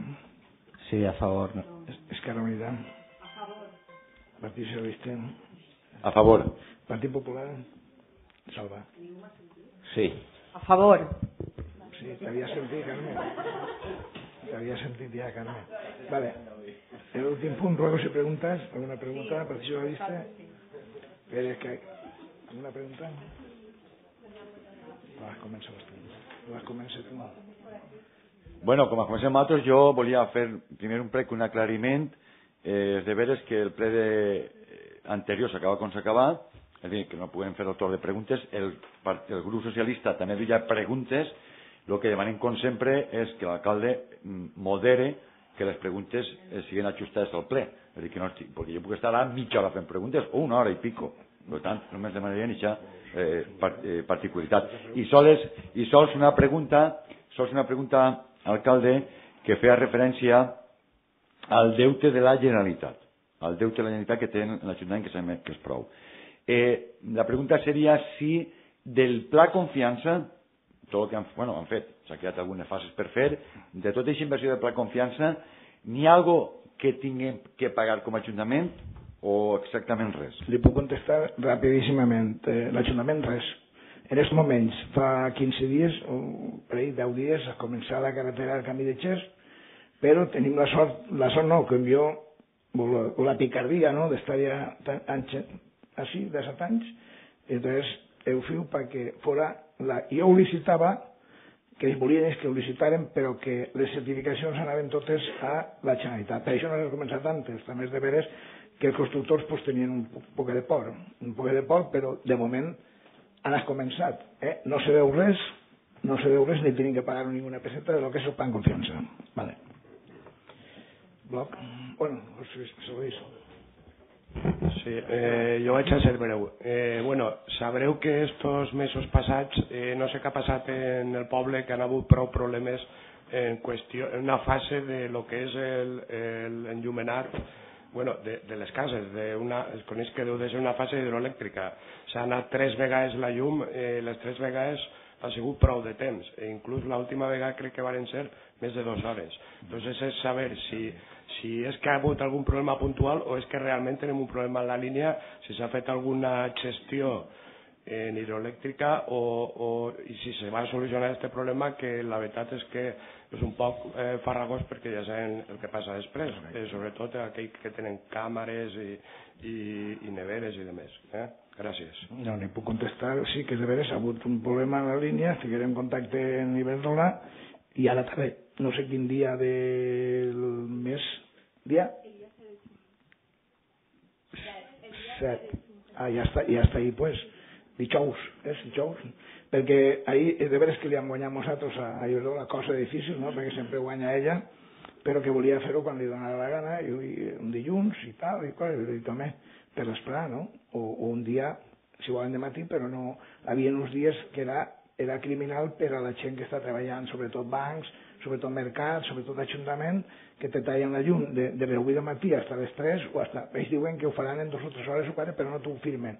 Sí, a favor. Esquerra Unida. A favor. Partit Socialista. A favor. Partit Popular. Salva. Sí. A favor. Sí, t'havia sentit, Carme. T'havia sentit ja, Carme. Vale. El últim punt, ruegos y preguntas. ¿Alguna pregunta? Partit Socialista. Pérez, ¿alguna pregunta? Comença les comença tu. Bueno, com a comencem altres, jo volia fer primer un prec, un aclariment. Els deberes que el ple anterior s'acaba com s'acaba, és a dir, que no podem fer el torn de preguntes. El grup socialista també havia preguntes. El que demanem, com sempre, és que l'alcalde modere que les preguntes siguin ajustades al ple. És a dir, que no estic, perquè jo puc estar a mitja hora fent preguntes o una hora i pico. Per tant, només demanaria aquesta particularitat. I sols una pregunta, alcalde, que feia referència al deute de la Generalitat. Al deute de la Generalitat que té l'Ajuntament, que sabem que és prou. La pregunta seria si del pla confiança, tot el que han fet, s'ha quedat algunes fases per fer, de tota aquesta inversió del pla confiança, n'hi ha alguna cosa que tinguem que pagar com a Ajuntament o exactament res? Li puc contestar rapidíssimament. L'Ajuntament res. En aquests moments, fa 15 dies, o per ahí 10 dies, ha començat la carretera del Camí de Xers, però tenim la sort no, que jo, o la picardia, no?, d'estar ja així, de 7 anys, entonces eu fiu perquè fora, jo ho licitava que ells volien és que ho licitaren, però que les certificacions anaven totes a la Generalitat. Per això no s'ha començat antes. També és de veres que els constructors pues, tenien un poc de por, però de moment han començat. No se veu res, ni tenen que pagar ninguna peseta de lo que és el plan confiança. Vale. Bloc. Bueno, Luis. Sí, jo vaig a ser breu. Sabreu que estos mesos passats no sé què ha passat en el poble, que han hagut prou problemes en una fase de lo que és l'enllumenat de les cases. Es coneix que deu de ser una fase hidroelèctrica. S'ha anat 3 vegades la llum, les 3 vegades ha sigut prou de temps. Inclús l'última vegada crec que van ser més de 2 hores. Entonces és saber si és que ha hagut algun problema puntual o és que realment tenim un problema en la línia, si s'ha fet alguna gestió en hidroelèctrica i si se va solucionar aquest problema, que la veritat és que és un poc farragós perquè ja saben el que passa després, sobretot aquells que tenen càmeres i neveres i demés. Gràcies. No, n'hi puc contestar, sí que de veres ha hagut un problema en la línia, ficarem en contacte en Iberdrola i ara també, no sé quin dia del mes, dia? 7. Ja està ahí, pues, dijous, perquè ahir de veres que li hem guanyat nosaltres a Iberdrola, cosa difícil, no?, perquè sempre guanya ella, però que volia fer-ho quan li donava la gana, i un dilluns i tal, i també per l'esperar, no? O un dia, si volen de matí, però no, hi havia uns dies que era criminal per a la gent que està treballant, sobretot bancs, sobretot mercats, sobretot ajuntament, que te tallen la llum de les 8 del matí fins a les 3, o ells diuen que ho faran en 2 o 3 hores o 4, però no t'ho firmen.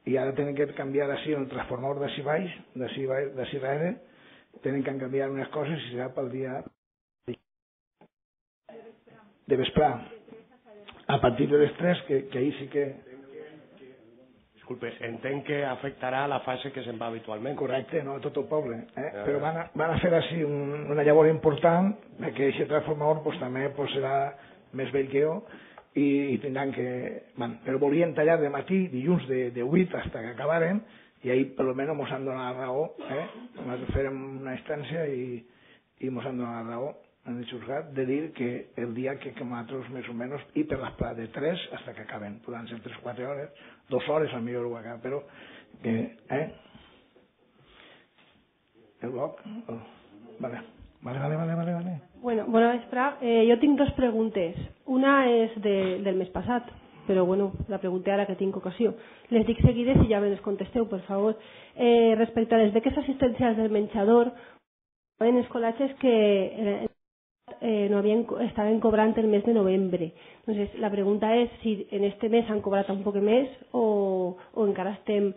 I ara tenen que canviar així el transformador d'ací baix, d'ací darrere, tenen que canviar unes coses i serà pel dia de vesprà. A partir de les 3, que ahir sí que... Disculpe, entenc que afectarà la fase que se'n va habitualment. Correcte, no a tot el poble. Però van a fer així una llavor important, perquè aquest transformador també serà més vell que jo, i tindran que... Però volien tallar de matí, dilluns de 8 fins que acabaren, i ahir per almenys mos han donat la raó. Nosaltres fèrem una instància i mos han donat la raó en el juzgat de dir que el dia que nosaltres més o menys, i per l'esplà de 3 fins que acaben, poden ser 3 o 4 hores, 2 hores al millor ho acaba, però el bloc vale. Bueno, bona vesprà. Jo tinc 2 preguntes. Una és del mes passat, però bueno, la pregunta ara que tinc ocasió. Les dic seguides i ja me les contesteu, per favor. Respecte a les beques assistencials del menjador, en escolatges que estaven cobrant el mes de novembre. Entonces, la pregunta és si en este mes han cobrat un poc més o encara estem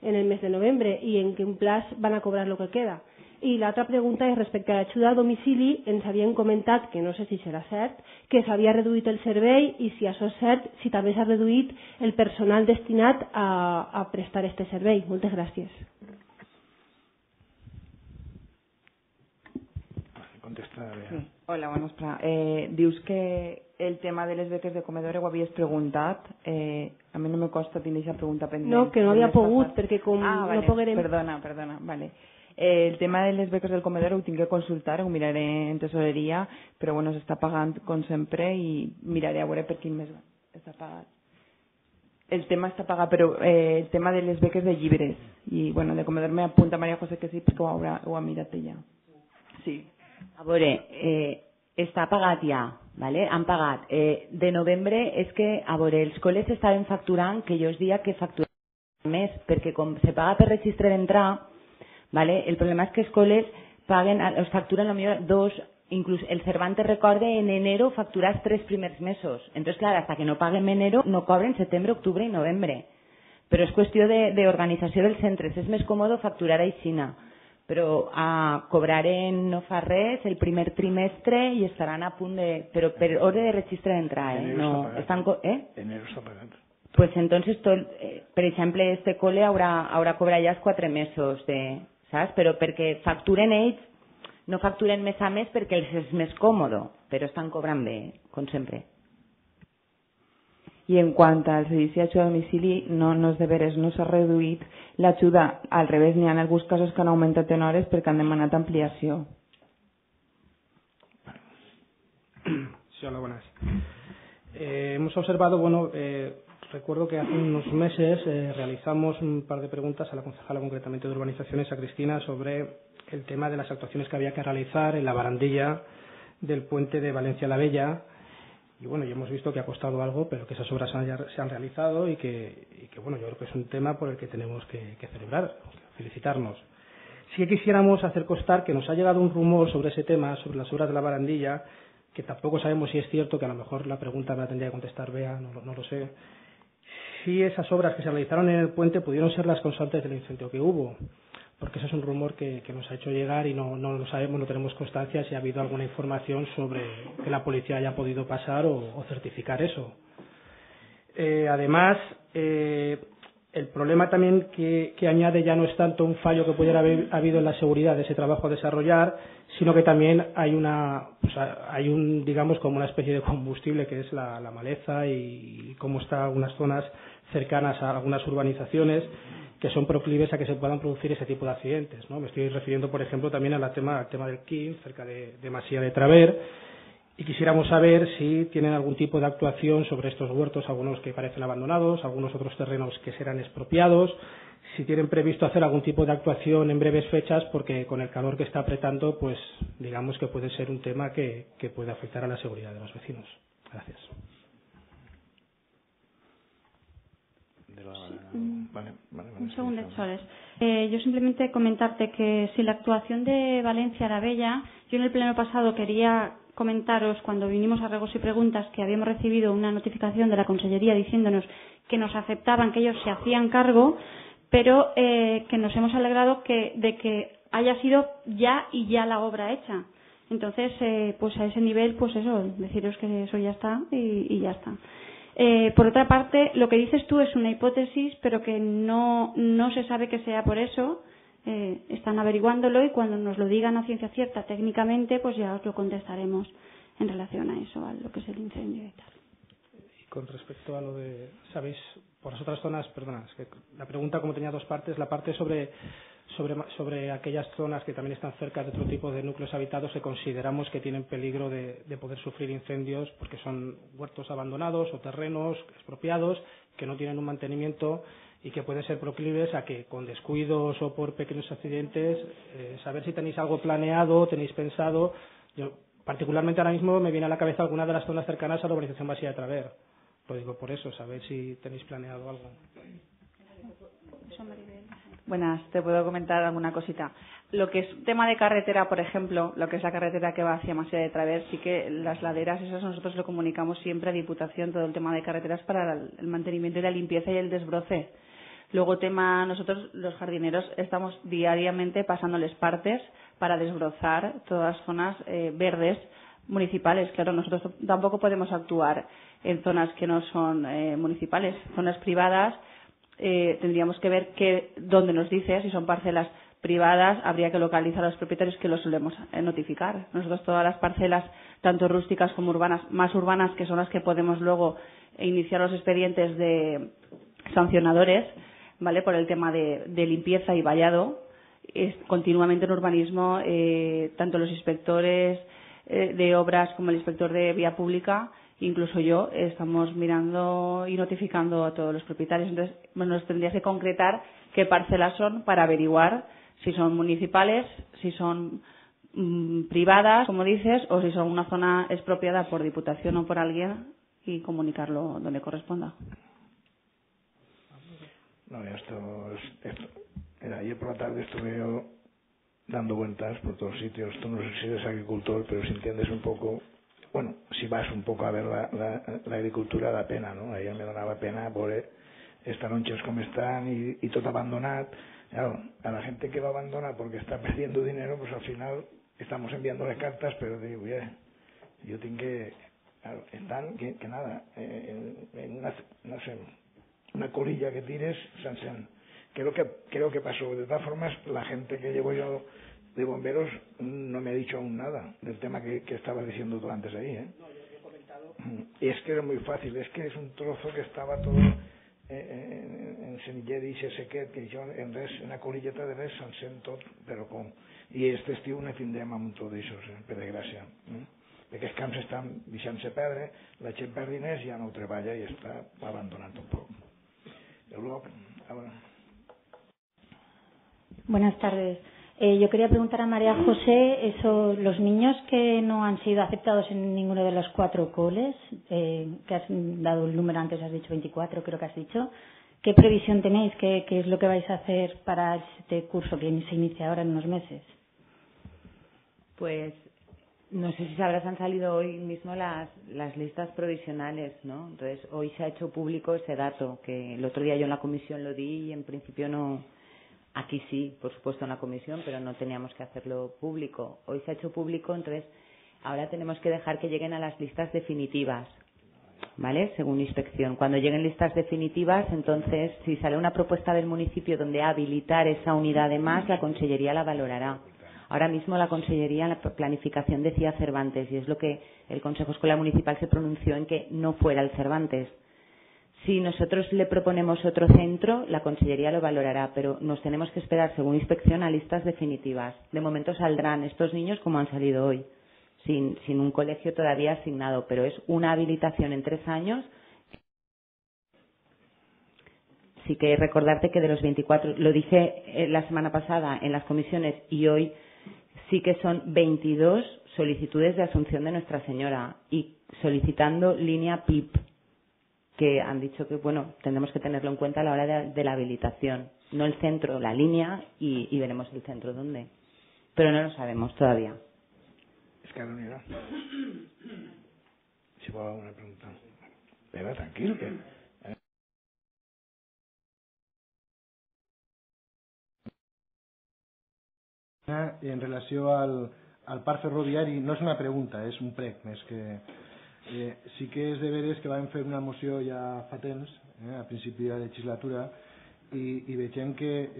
en el mes de novembre i en quin plaç van a cobrar el que queda. I l'altra pregunta és respecte a l'ajuda a domicili. Ens havien comentat, que no sé si serà cert, que s'havia reduït el servei i si això és cert, si també s'ha reduït el personal destinat a prestar este servei. Moltes gràcies. Sí. Hola, bona vesprà. Dius que el tema de les beques de comedor ho havies preguntat. A mi no me costa tenir aquesta pregunta pendent. No, que no havia pogut, perquè com vale. no poguerem... Perdona, vale. El tema de les beques del comedor ho tinc que consultar, ho miraré en tesoreria, però bueno, s'està pagant com sempre i miraré a veure per quin mes està pagat. El tema està pagat, però el tema de les beques de llibres i bueno, de comedor me apunta Maria José que sí, perquè ho ha mirat ella. Sí. A veure, està pagat ja, ¿vale? Han pagat. De novembre és que, a veure, els col·les estaven facturant, que jo us dia que facturaven més, perquè com se paga per registre d'entrar, ¿vale? El problema és que els col·les paguen, els facturen potser 2, inclús el Cervantes recorde en enero facturar els 3 primers mesos. Entonces, clar, hasta que no paguen enero no cobren setembre, octubre i novembre. Però és qüestió d'organització dels centres. És més còmode facturar a Xina. Però cobraren no fa res el primer trimestre i estaran a punt de... Però per hora de registre d'entrar, Enero està pagat. Pues entonces, per exemple, este cole haurà cobrat ja els 4 mesos, saps? Però perquè facturen ells, no facturen mes a mes perquè els és més còmode, però estan cobrant bé, com sempre. I en quant al servici d'ajuda a domicili, no és de veres, no s'ha reduït l'ajuda, al revés, n'hi ha alguns casos que han augmentat en hores perquè han demanat ampliació. Sí, hola, buenas. Hemos observado, recuerdo que hace unos meses realizamos un par de preguntas a la concejala concretamente de Urbanizaciones, a Cristina, sobre el tema de las actuaciones que había que realizar en la barandilla del puente de Valencia la Bella. Y ya hemos visto que ha costado algo, pero que esas obras se han realizado y que yo creo que es un tema por el que tenemos que celebrar, felicitarnos. Sí que quisiéramos hacer constar que nos ha llegado un rumor sobre ese tema, sobre las obras de la barandilla, que tampoco sabemos si es cierto, que a lo mejor la pregunta me la tendría que contestar Bea, no lo sé. Si esas obras que se realizaron en el puente pudieron ser las causantes del incendio que hubo, porque eso es un rumor que nos ha hecho llegar y no lo sabemos, no tenemos constancia si ha habido alguna información sobre que la policía haya podido pasar o certificar eso. Además, el problema también que añade ya no es tanto un fallo que pudiera haber habido en la seguridad de ese trabajo a desarrollar, sino que también hay digamos, como una especie de combustible que es la maleza y cómo están algunas zonas cercanas a algunas urbanizaciones que son proclives a que se puedan producir ese tipo de accidentes, ¿no? Me estoy refiriendo, por ejemplo, también al tema del Quim, cerca de Masía de Traver, y quisiéramos saber si tienen algún tipo de actuación sobre estos huertos, algunos que parecen abandonados, algunos otros terrenos que serán expropiados, si tienen previsto hacer algún tipo de actuación en breves fechas, porque con el calor que está apretando, pues digamos que puede ser un tema que puede afectar a la seguridad de los vecinos. Gracias. Un segundo, Soles. Yo simplemente comentarte que si la actuación de Valencia la Bella, yo en el pleno pasado quería comentaros, cuando vinimos a Regos y Preguntas, que habíamos recibido una notificación de la Consellería diciéndonos que nos aceptaban, que ellos se hacían cargo, pero que nos hemos alegrado de que haya sido ya la obra hecha. Entonces, pues a ese nivel, pues eso, deciros que eso ya está y ya está. Por otra parte, lo que dices tú es una hipótesis, pero que no se sabe que sea por eso. Están averiguándolo y cuando nos lo digan a ciencia cierta técnicamente, pues ya os lo contestaremos en relación a eso, a lo que es el incendio y tal. Y con respecto a lo de, ¿sabéis? Por las otras zonas, perdona, es que la pregunta como tenía dos partes, la parte sobre aquellas zonas que también están cerca de otro tipo de núcleos habitados que consideramos que tienen peligro de poder sufrir incendios porque son huertos abandonados o terrenos expropiados que no tienen un mantenimiento y que pueden ser proclives a que con descuidos o por pequeños accidentes, saber si tenéis algo planeado, tenéis pensado. Yo particularmente ahora mismo me viene a la cabeza alguna de las zonas cercanas a la urbanización Masía de Traver. Lo digo por eso, saber si tenéis planeado algo. Buenas, te puedo comentar alguna cosita. Lo que es tema de carretera, por ejemplo, lo que es la carretera que va hacia Masía de Traver, sí que las laderas, esas nosotros lo comunicamos siempre a Diputación, todo el tema de carreteras para el mantenimiento y la limpieza y el desbroce. Luego nosotros los jardineros estamos diariamente pasándoles partes para desbrozar todas las zonas verdes municipales. Claro, nosotros tampoco podemos actuar en zonas que no son municipales, zonas privadas. Tendríamos que ver dónde nos dice, si son parcelas privadas, habría que localizar a los propietarios, que los solemos notificar. Nosotros todas las parcelas, tanto rústicas como urbanas, más urbanas, que son las que podemos luego iniciar los expedientes de sancionadores, ¿vale? Por el tema de limpieza y vallado, continuamente en urbanismo, tanto los inspectores de obras como el inspector de vía pública, incluso yo, estamos mirando y notificando a todos los propietarios. Entonces, nos tendrías que concretar qué parcelas son para averiguar si son municipales, si son privadas, como dices, o si son una zona expropiada por Diputación o por alguien y comunicarlo donde corresponda. No, ayer por la tarde estuve yo dando vueltas por todos sitios. Tú no sé si eres agricultor, pero si entiendes un poco, bueno, si vas un poco a ver la agricultura da pena, ¿no? Ayer me donava pena veure estas lonches com estan i tot abandonat. Claro, a la gente que lo abandona porque está perdiendo dinero, pues al final estamos enviándole cartas, pero digo, yo tengo que, claro, están que nada, en una, no sé, una colilla que tires, creo que pasó. De todas formas, la gente que llevo yo de bomberos no me ha dicho aún nada del tema que estabas diciendo tú antes ahí, ¿eh? No, yo he comentado es que era muy fácil, es que és un trozo que estava tot en Senillera i Sequet, que jo en res, en una colilleta de res se'n tot, però com? I aquest estiu ne tindrem amb tot això, per desgràcia. Perquè els camps estan deixant-se perdre, la gent perd diners, ja no ho treballa i està abandonant un poc. El bloc, ahora. Buenas tardes. Yo quería preguntar a María José, los niños que no han sido aceptados en ninguno de los 4 coles, que has dado el número antes, has dicho 24, creo que has dicho, ¿qué previsión tenéis? ¿Qué es lo que vais a hacer para este curso que se inicia ahora en unos meses? Pues no sé si sabrás, han salido hoy mismo las listas provisionales, ¿no? Entonces, hoy se ha hecho público ese dato, que el otro día yo en la comisión lo di y en principio no. Aquí sí, por supuesto en la comisión, pero no teníamos que hacerlo público. Hoy se ha hecho público, entonces ahora tenemos que dejar que lleguen a las listas definitivas, ¿vale? Según inspección. Cuando lleguen listas definitivas, entonces, si sale una propuesta del municipio donde habilitar esa unidad de más, la Consellería la valorará. Ahora mismo la Consellería en la planificación decía Cervantes, y es lo que el Consejo Escolar Municipal se pronunció en que no fuera el Cervantes. Si nosotros le proponemos otro centro, la Consellería lo valorará, pero nos tenemos que esperar, según inspección, a listas definitivas. De momento saldrán estos niños como han salido hoy, sin un colegio todavía asignado, pero es una habilitación en 3 años. Sí que recordarte que de los 24, lo dije la semana pasada en las comisiones y hoy sí que son 22 solicitudes de asunción de Nuestra Señora y solicitando línea PIP, que han dicho que, bueno, tendremos que tenerlo en cuenta a la hora de la habilitación. No el centro, la línea y veremos el centro dónde. Pero no lo sabemos todavía. Es que unidad. Si puedo alguna pregunta. Pero tranquilo que... En relació al parc ferroviari, no és una pregunta, és un prec més que... sí que és de veres que vam fer una moció ja fa temps, a principi de la legislatura, i vegem que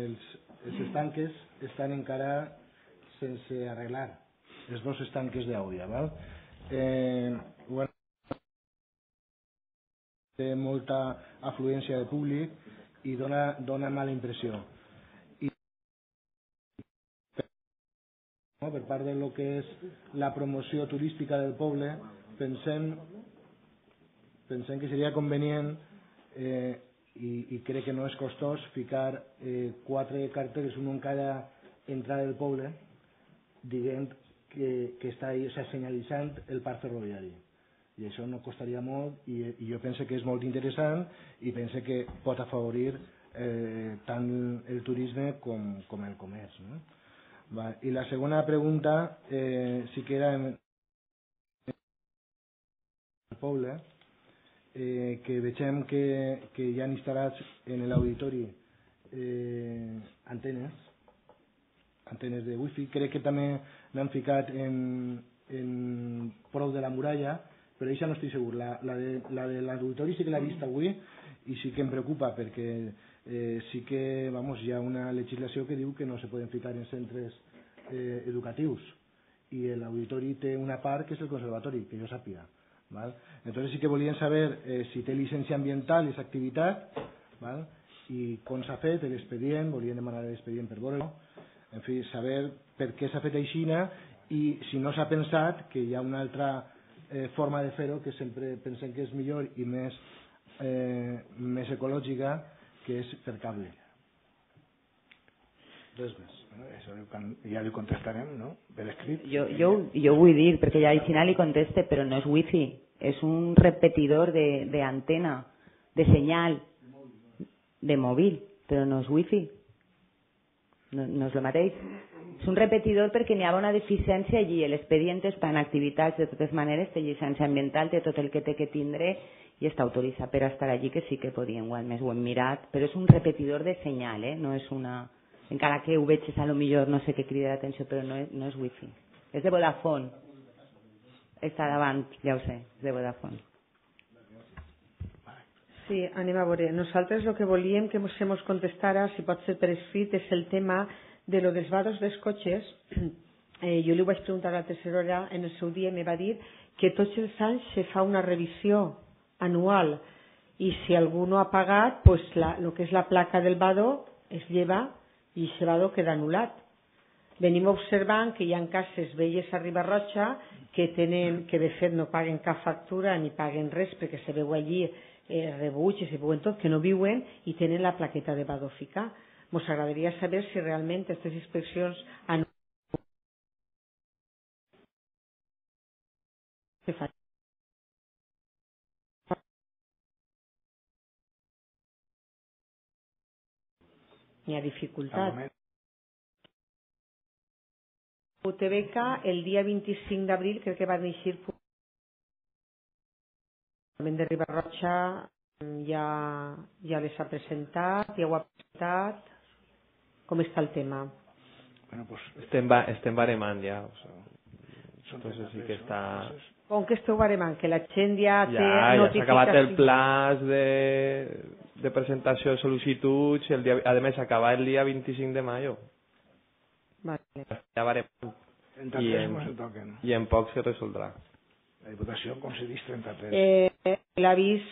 els estanques estan encara sense arreglar, els 2 estanques d'Àudia, val? Bueno, té molta afluència de públic i dona mala impressió. Per part de lo que és la promoció turística del poble, pensem que seria convenient i crec que no és costós ficar 4 cartells, un en cada entrada del poble, dient que està ahí, o sigui, senyalitzant el parc ferroviari. I això no costaria molt i jo penso que és molt interessant i penso que pot afavorir tant el turisme com el comerç, no? I la segona pregunta sí que era en el poble, que vegem que hi ha instal·lats en l'auditori antenes de wifi. Crec que també n'han ficat en prou de la muralla, però això no estic segur. La de l'auditori sí que l'he vist avui i sí que em preocupa perquè sí que hi ha una legislació que diu que no se poden ficar en centres educatius i l'auditori té una part que és el conservatori, que jo sàpiga. Entonces sí que volien saber si té llicència ambiental aquesta activitat i com s'ha fet l'expedient, volien demanar l'expedient per veure-ho, en fi, saber per què s'ha fet aixina i si no s'ha pensat que hi ha una altra forma de fer-ho que sempre pensem que és millor i més ecològica, que és per cable. Res més. Això ja li contestarem, no? Per escrit. Jo vull dir, perquè ja al final li conteste, però no és wifi, és un repetidor de antena, de senyal, de mòbil, però no és wifi. No és el mateix. És un repetidor perquè n'hi ha una deficiència allí. L'expedient és per activitats, de totes maneres, té llicència ambiental, té tot el que té que tindre i està autoritzat per estar allí, que sí que podien, igual més ho hem mirat, però és un repetidor de senyal, no és una... Encara que ho veig, a lo millor no sé què crida l'atenció, però no és wifi. És de Vodafone. Està davant, ja ho sé, és de Vodafone. Sí, anem a veure. Nosaltres el que volíem que se mos contestara, si pot ser per escrit, és el tema de lo dels vados dels cotxes. Jo li ho vaig preguntar a la tercera hora, en el seu dia me va dir que tots els anys se fa una revisió anual i si algú no ha pagat, pues el que és la placa del vado es lleva i aquest vado queda anul·lat. Venim observant que hi ha cases velles a Riba-roja que de fet no paguen cap factura ni paguen res perquè se veu allí rebuig i se veuen tot, que no viuen i tenen la plaqueta de vado ficar. Ens agradaria saber si realment aquestes inspeccions se fan. Hi ha dificultat. UTBK el dia 25 d'abril crec que va néixer de Riba-roja, ja les ha presentat, ja ho ha presentat. Com està el tema? Bueno, pues estem baremant ja. Entonces sí que està... Com que esteu baremant? Que la gent ja té notificació. Ja s'ha acabat el plaç de presentació de sol·licituds, a més s'acaba el dia 25 de mayo. Vale. Ja baremant. I en poc se resoldrà. La Diputació concedeix 33. L'avís,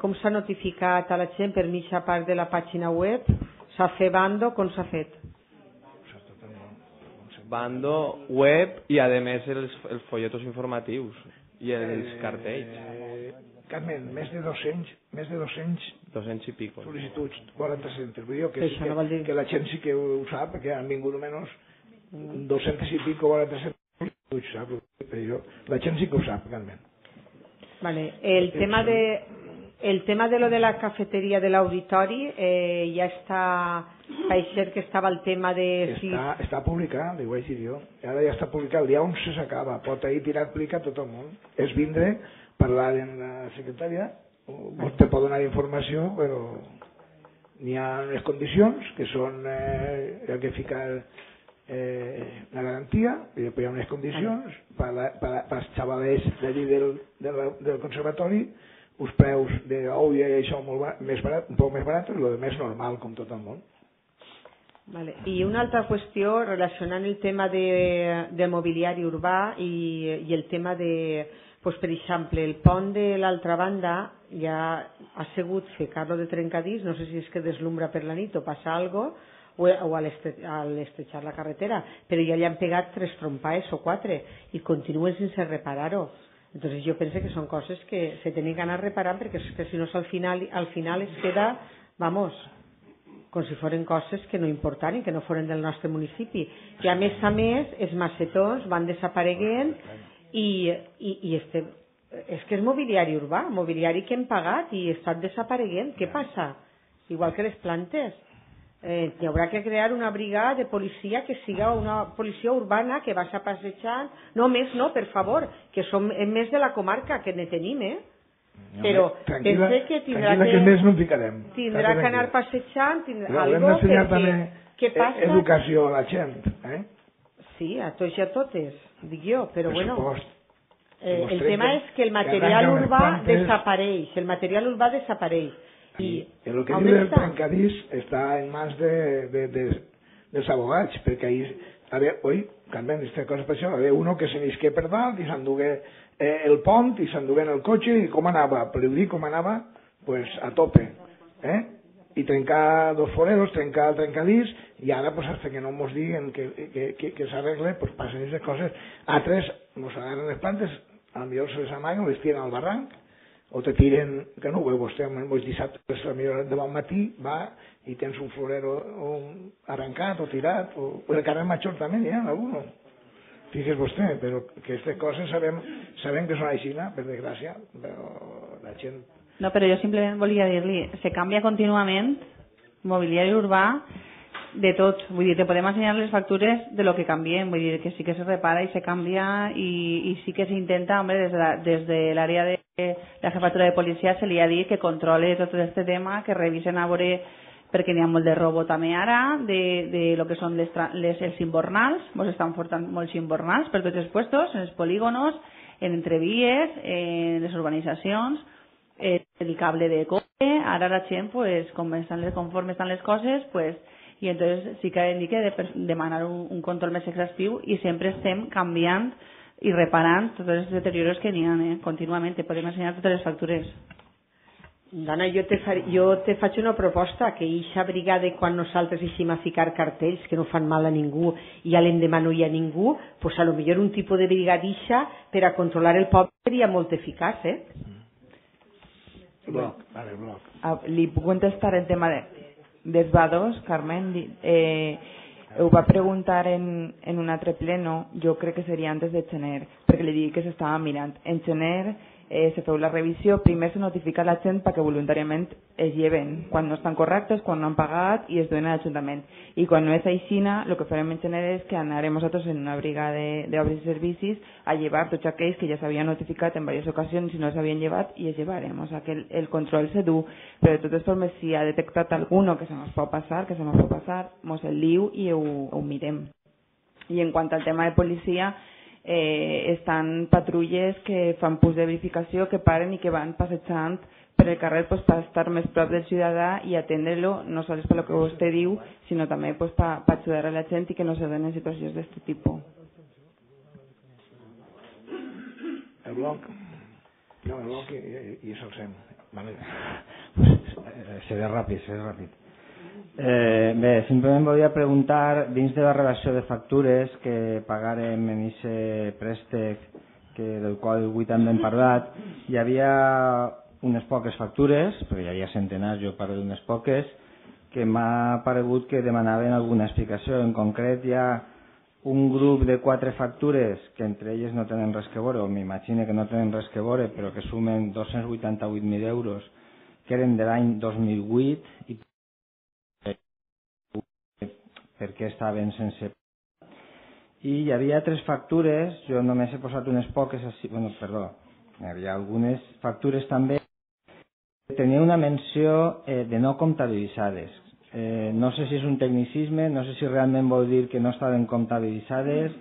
com s'ha notificat a la gent per mitja part de la pàgina web? S'ha fet bando? Com s'ha fet? Bando, web i a més els folletos informatius i els cartells. Carmen, més de 200 i pico sol·licituds, 40 centres. Vull dir que la gent sí que ho sap, perquè han vingut almenys 200 i pico, 40 centres, sap? La gent sí que ho sap, Carmen. Vale. El tema de lo de la cafetería del auditori ja està, pareixer que estava el tema de... Està publicat, li ho vaig dir jo. Ara ja està publicat, el dia 11 s'acaba. Pot ahir tirar a aplicar tot el món. És vindre, parlar amb la secretària, vostè pot donar informació, però n'hi ha unes condicions que són el que fica la garantia, i després hi ha unes condicions per als xavalers d'allí del conservatori, uns preus d'ou i això més barat, un poc més barat, i el més normal, com tot el món. Vale. I una altra qüestió relacionant el tema de mobiliari urbà i el tema de, pues, per exemple, el pont de l'altra banda ja ha sigut ficar-lo de trencadís, no sé si és que deslumbra per la nit o passa alguna cosa, o al estrechar la carretera, però ja li han pegat 3 trompaes o 4 i continuen sense reparar-ho. Entonces yo pensé que son cosas que se tienen que anar reparant perquè és que si no al final es queda, vamos, com si foren coses que no importan i que no foren del nostre municipi. I a més, els macetons van desapareguent i és que és mobiliari urbà, mobiliari que hem pagat i està desapareguent. Què passa? Igual que les plantes. Hi haurà que crear una brigada de policia que siga una policia urbana que vagi passejant. No, més no, per favor, que som més de la comarca, que ne tenim, però pense que tindrà que anar passejant, algo que passa... Educació a la gent, Sí, a tots i a totes, dic jo, però bueno... El tema és que el material urbà desapareix, I el que diu del trencadís està en mans dels abogats, perquè ahir, Carmen, aquesta cosa per això, hi havia uno que se n'isqué per dalt i s'endugué el pont i s'endugué en el cotxe i com anava, per dir com anava, pues a tope, i trencar 2 foreros, trencar el trencadís, i ara, pues, hasta que no mos diguen que s'arregle, pues passen aquestes coses. Altres mos agarren les plantes, potser se les amaguen, les tiren al barranc, o te tiren, que no ho veu vostè, els dissabtes de bon matí va i tens un florero arrencat o tirat, o el carrer Major també n'hi ha alguno. Fixes vostè, però que aquestes coses sabem que són així, per desgràcia, però la gent... No, però jo simplement volia dir-li, se canvia contínuament mobiliari urbà de tot, vull dir, te podem ensenyar les factures de lo que canviem, vull dir que sí que se repara i se canvia i sí que s'intenta, hombre, des de l'àrea de la jefatura de policia se li ha dit que controle tot aquest tema, que revisen a veure, perquè n'hi ha molt de robo també ara, de lo que són els imbornals, ens estan portant molts imbornals per tots els puestos, en els polígonos, en entrevies, en les urbanitzacions, el cable de cobre, ara la gent, pues, conforme estan les coses, pues, i entonces sí que hem de demanar un control més exhaustiu i sempre estem canviant i reparant tots els deterioros que n'hi ha contínuament. Podem ensenyar totes les factures. Dana, jo te faig una proposta, que eixa brigada quan nosaltres eixim a ficar cartells que no fan mal a ningú i a l'endemà no hi ha ningú, pues a lo millor un tipus de brigadixa per a controlar el poble seria molt eficaç, Bloc. Li puc contestar el tema dels vados, Carmen? Ho va preguntar en un altre pleno, jo crec que seria antes de gener, perquè li dic que s'estava mirant. En gener se feu la revisió, primer se notifica a la gent perquè voluntàriament es lleven, quan no estan correctes, quan no han pagat i es duen a l'Ajuntament. I quan no és aixina, el que farem en gener és que anarem nosaltres en una brigada d'obres i servicis a llevar tots aquells que ja s'havien notificat en diverses ocasions i no s'havien llevat i es llevarem. O sigui que el control se du, però de totes formes si ha detectat alguno que se nos pot passar, mos el diu i ho mirem. I en quant al tema de policia, estan patrulles que fan punts de verificació, que paren i que van passejant per el carrer per estar més prop del ciutadà i atendre-lo, no sols per el que vostè diu, sinó també per ajudar a la gent i que no se donen situacions d'aquest tipus. El bloc? No, el bloc i Salsem. Vale. Seré ràpid. Bé, simplement volia preguntar, dins de la relació de factures que pagarem en aquest préstec del qual avui també hem parlat, hi havia unes poques factures, perquè hi havia centenars, jo parlo d'unes poques, que m'ha paregut que demanaven alguna explicació. En concret hi ha un grup de 4 factures que entre elles no tenen res que veure, o m'imagino que no tenen res que veure, però que sumen 288.000 euros, que eren de l'any 2008 i perquè estaven sense... I hi havia 3 factures, jo només he posat unes poques, hi havia algunes factures també que tenia una menció de no comptabilitzades. No sé si és un tecnicisme, no sé si realment vol dir que no estaven comptabilitzades,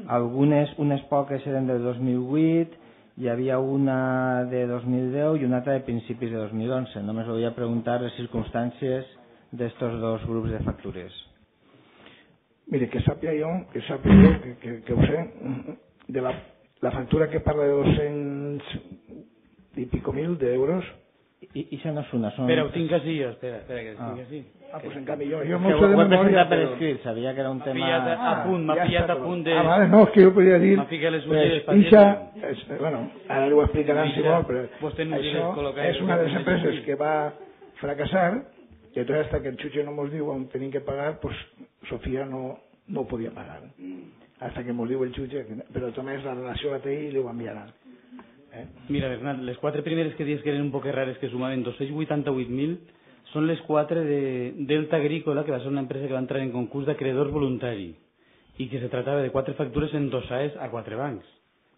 unes poques eren del 2008, hi havia una de 2010 i una altra de principis de 2011. Només volia preguntar les circumstàncies d'estos 2 grups de factures. Mire, que sàpiga jo, que ho sé, de la factura que parla de 200 i pico mil d'euros. I això no és una, són... Espera, ho tinc així jo, espera que estic així. Pues en canvi jo m'ho sé de memòria, per escrit, sabia que era un tema... M'ha pillat a punt de... vale, no, és que jo podria dir... M'ha ficat les ulleres patientes. Bueno, ara ho explicaran si vol, però això és una de les empreses que va fracassar, i entonces hasta que el Chuche no nos diu on tenim que pagar, pues Sofía no podia pagar. Hasta que nos diu el Chuche, però també la relació la té i li ho enviaran. Mira, Bernat, les 4 primeres que dius que eren un poc rares, que sumaven 288.000, són les 4 de Delta Agrícola, que va ser una empresa que va entrar en concurs d'acreedor voluntari i que se tratava de 4 factures endossades a 4 bancs.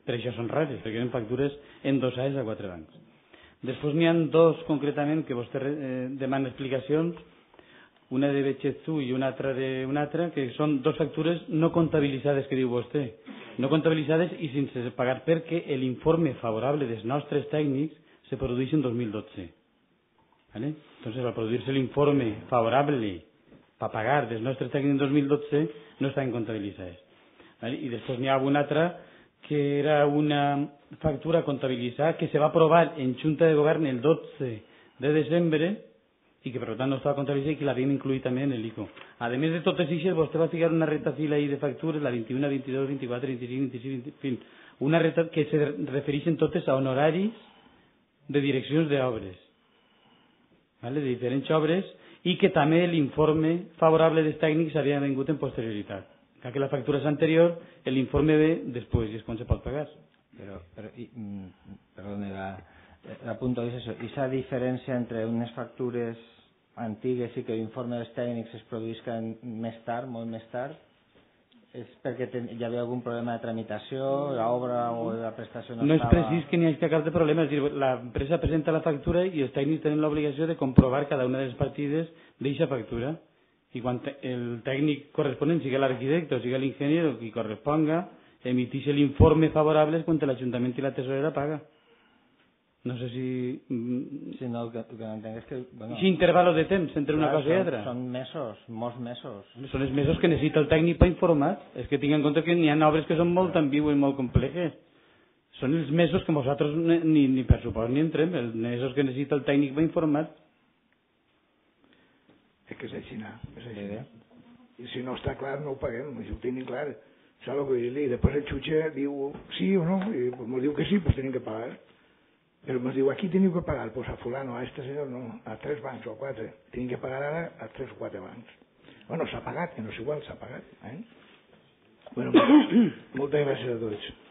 Per això són rares, perquè eren factures endossades a 4 bancs. Després n'hi ha 2 concretament que vostè demana explicacions, una de Betxezú i una altra d'un altre, que són 2 factures no comptabilitzades, que diu vostè. No comptabilitzades i sense pagar perquè l'informe favorable dels nostres tècnics se produeix en 2012. ¿Vale? Entonces, al produirse el informe favorable para pagar dels nostres tècnics en 2012, no estaven comptabilitzades. ¿Vale? I després n'hi ha una altra que era una factura comptabilitzada que se va aprovar en Junta de Govern el 12 de desembre i que per tant no estava comptabilitzada i que l'havíem incluït també en l'ICO. A més de totes aquestes, vostè va ficar una retafila ahí de factures, la 21, 22, 24, 25, 26, en fin, una reta que se refereixen totes a honoraris de direccions d'obres, ¿vale? De diferents obres, i que també l'informe favorable dels tècnics havia vingut en posterioritat. Que la factura és anterior, l'informe ve després i és quan se pot pagar. Perdone, l'apunto és això. Esa diferència entre unes factures antigues i que l'informe dels tècnics es produïsca més tard, molt més tard, és perquè hi havia algun problema de tramitació, l'obra o la prestació no estava... No és precís que n'hi hagi cap problema, és a dir, l'empresa presenta la factura i els tècnics tenen l'obligació de comprovar cada una de les partides d'aquesta factura. I quan el tècnic corresponent, sigui l'arquitecte o sigui l'ingeniero, qui corresponga, emiteix l'informe favorable quan l'Ajuntament i la tesorera paga. No sé si... Si no, el que entenc és que... Bueno, si intervalo de temps entre una cosa i altra. Són mesos, molts mesos. Són els mesos que necessita el tècnic per informar. És que tinc en compte que n'hi ha obres que són molt ambigües i molt complexes. Són els mesos que nosaltres ni per supost ni entrem, els mesos que necessita el tècnic per informar. És que és així, I si no està clar, no ho paguem, si ho tenim clar. Saps el que vull dir? Després el jutge diu sí o no, i ens diu que sí, doncs tenim que pagar. Però ens diu, aquí teniu que pagar, pues a fulano, a este senyor no, a 3 bancs o a 4. Tenim que pagar ara a 3 o 4 bancs. Bueno, s'ha pagat, que no és igual, s'ha pagat. Bueno, moltes gràcies a tots.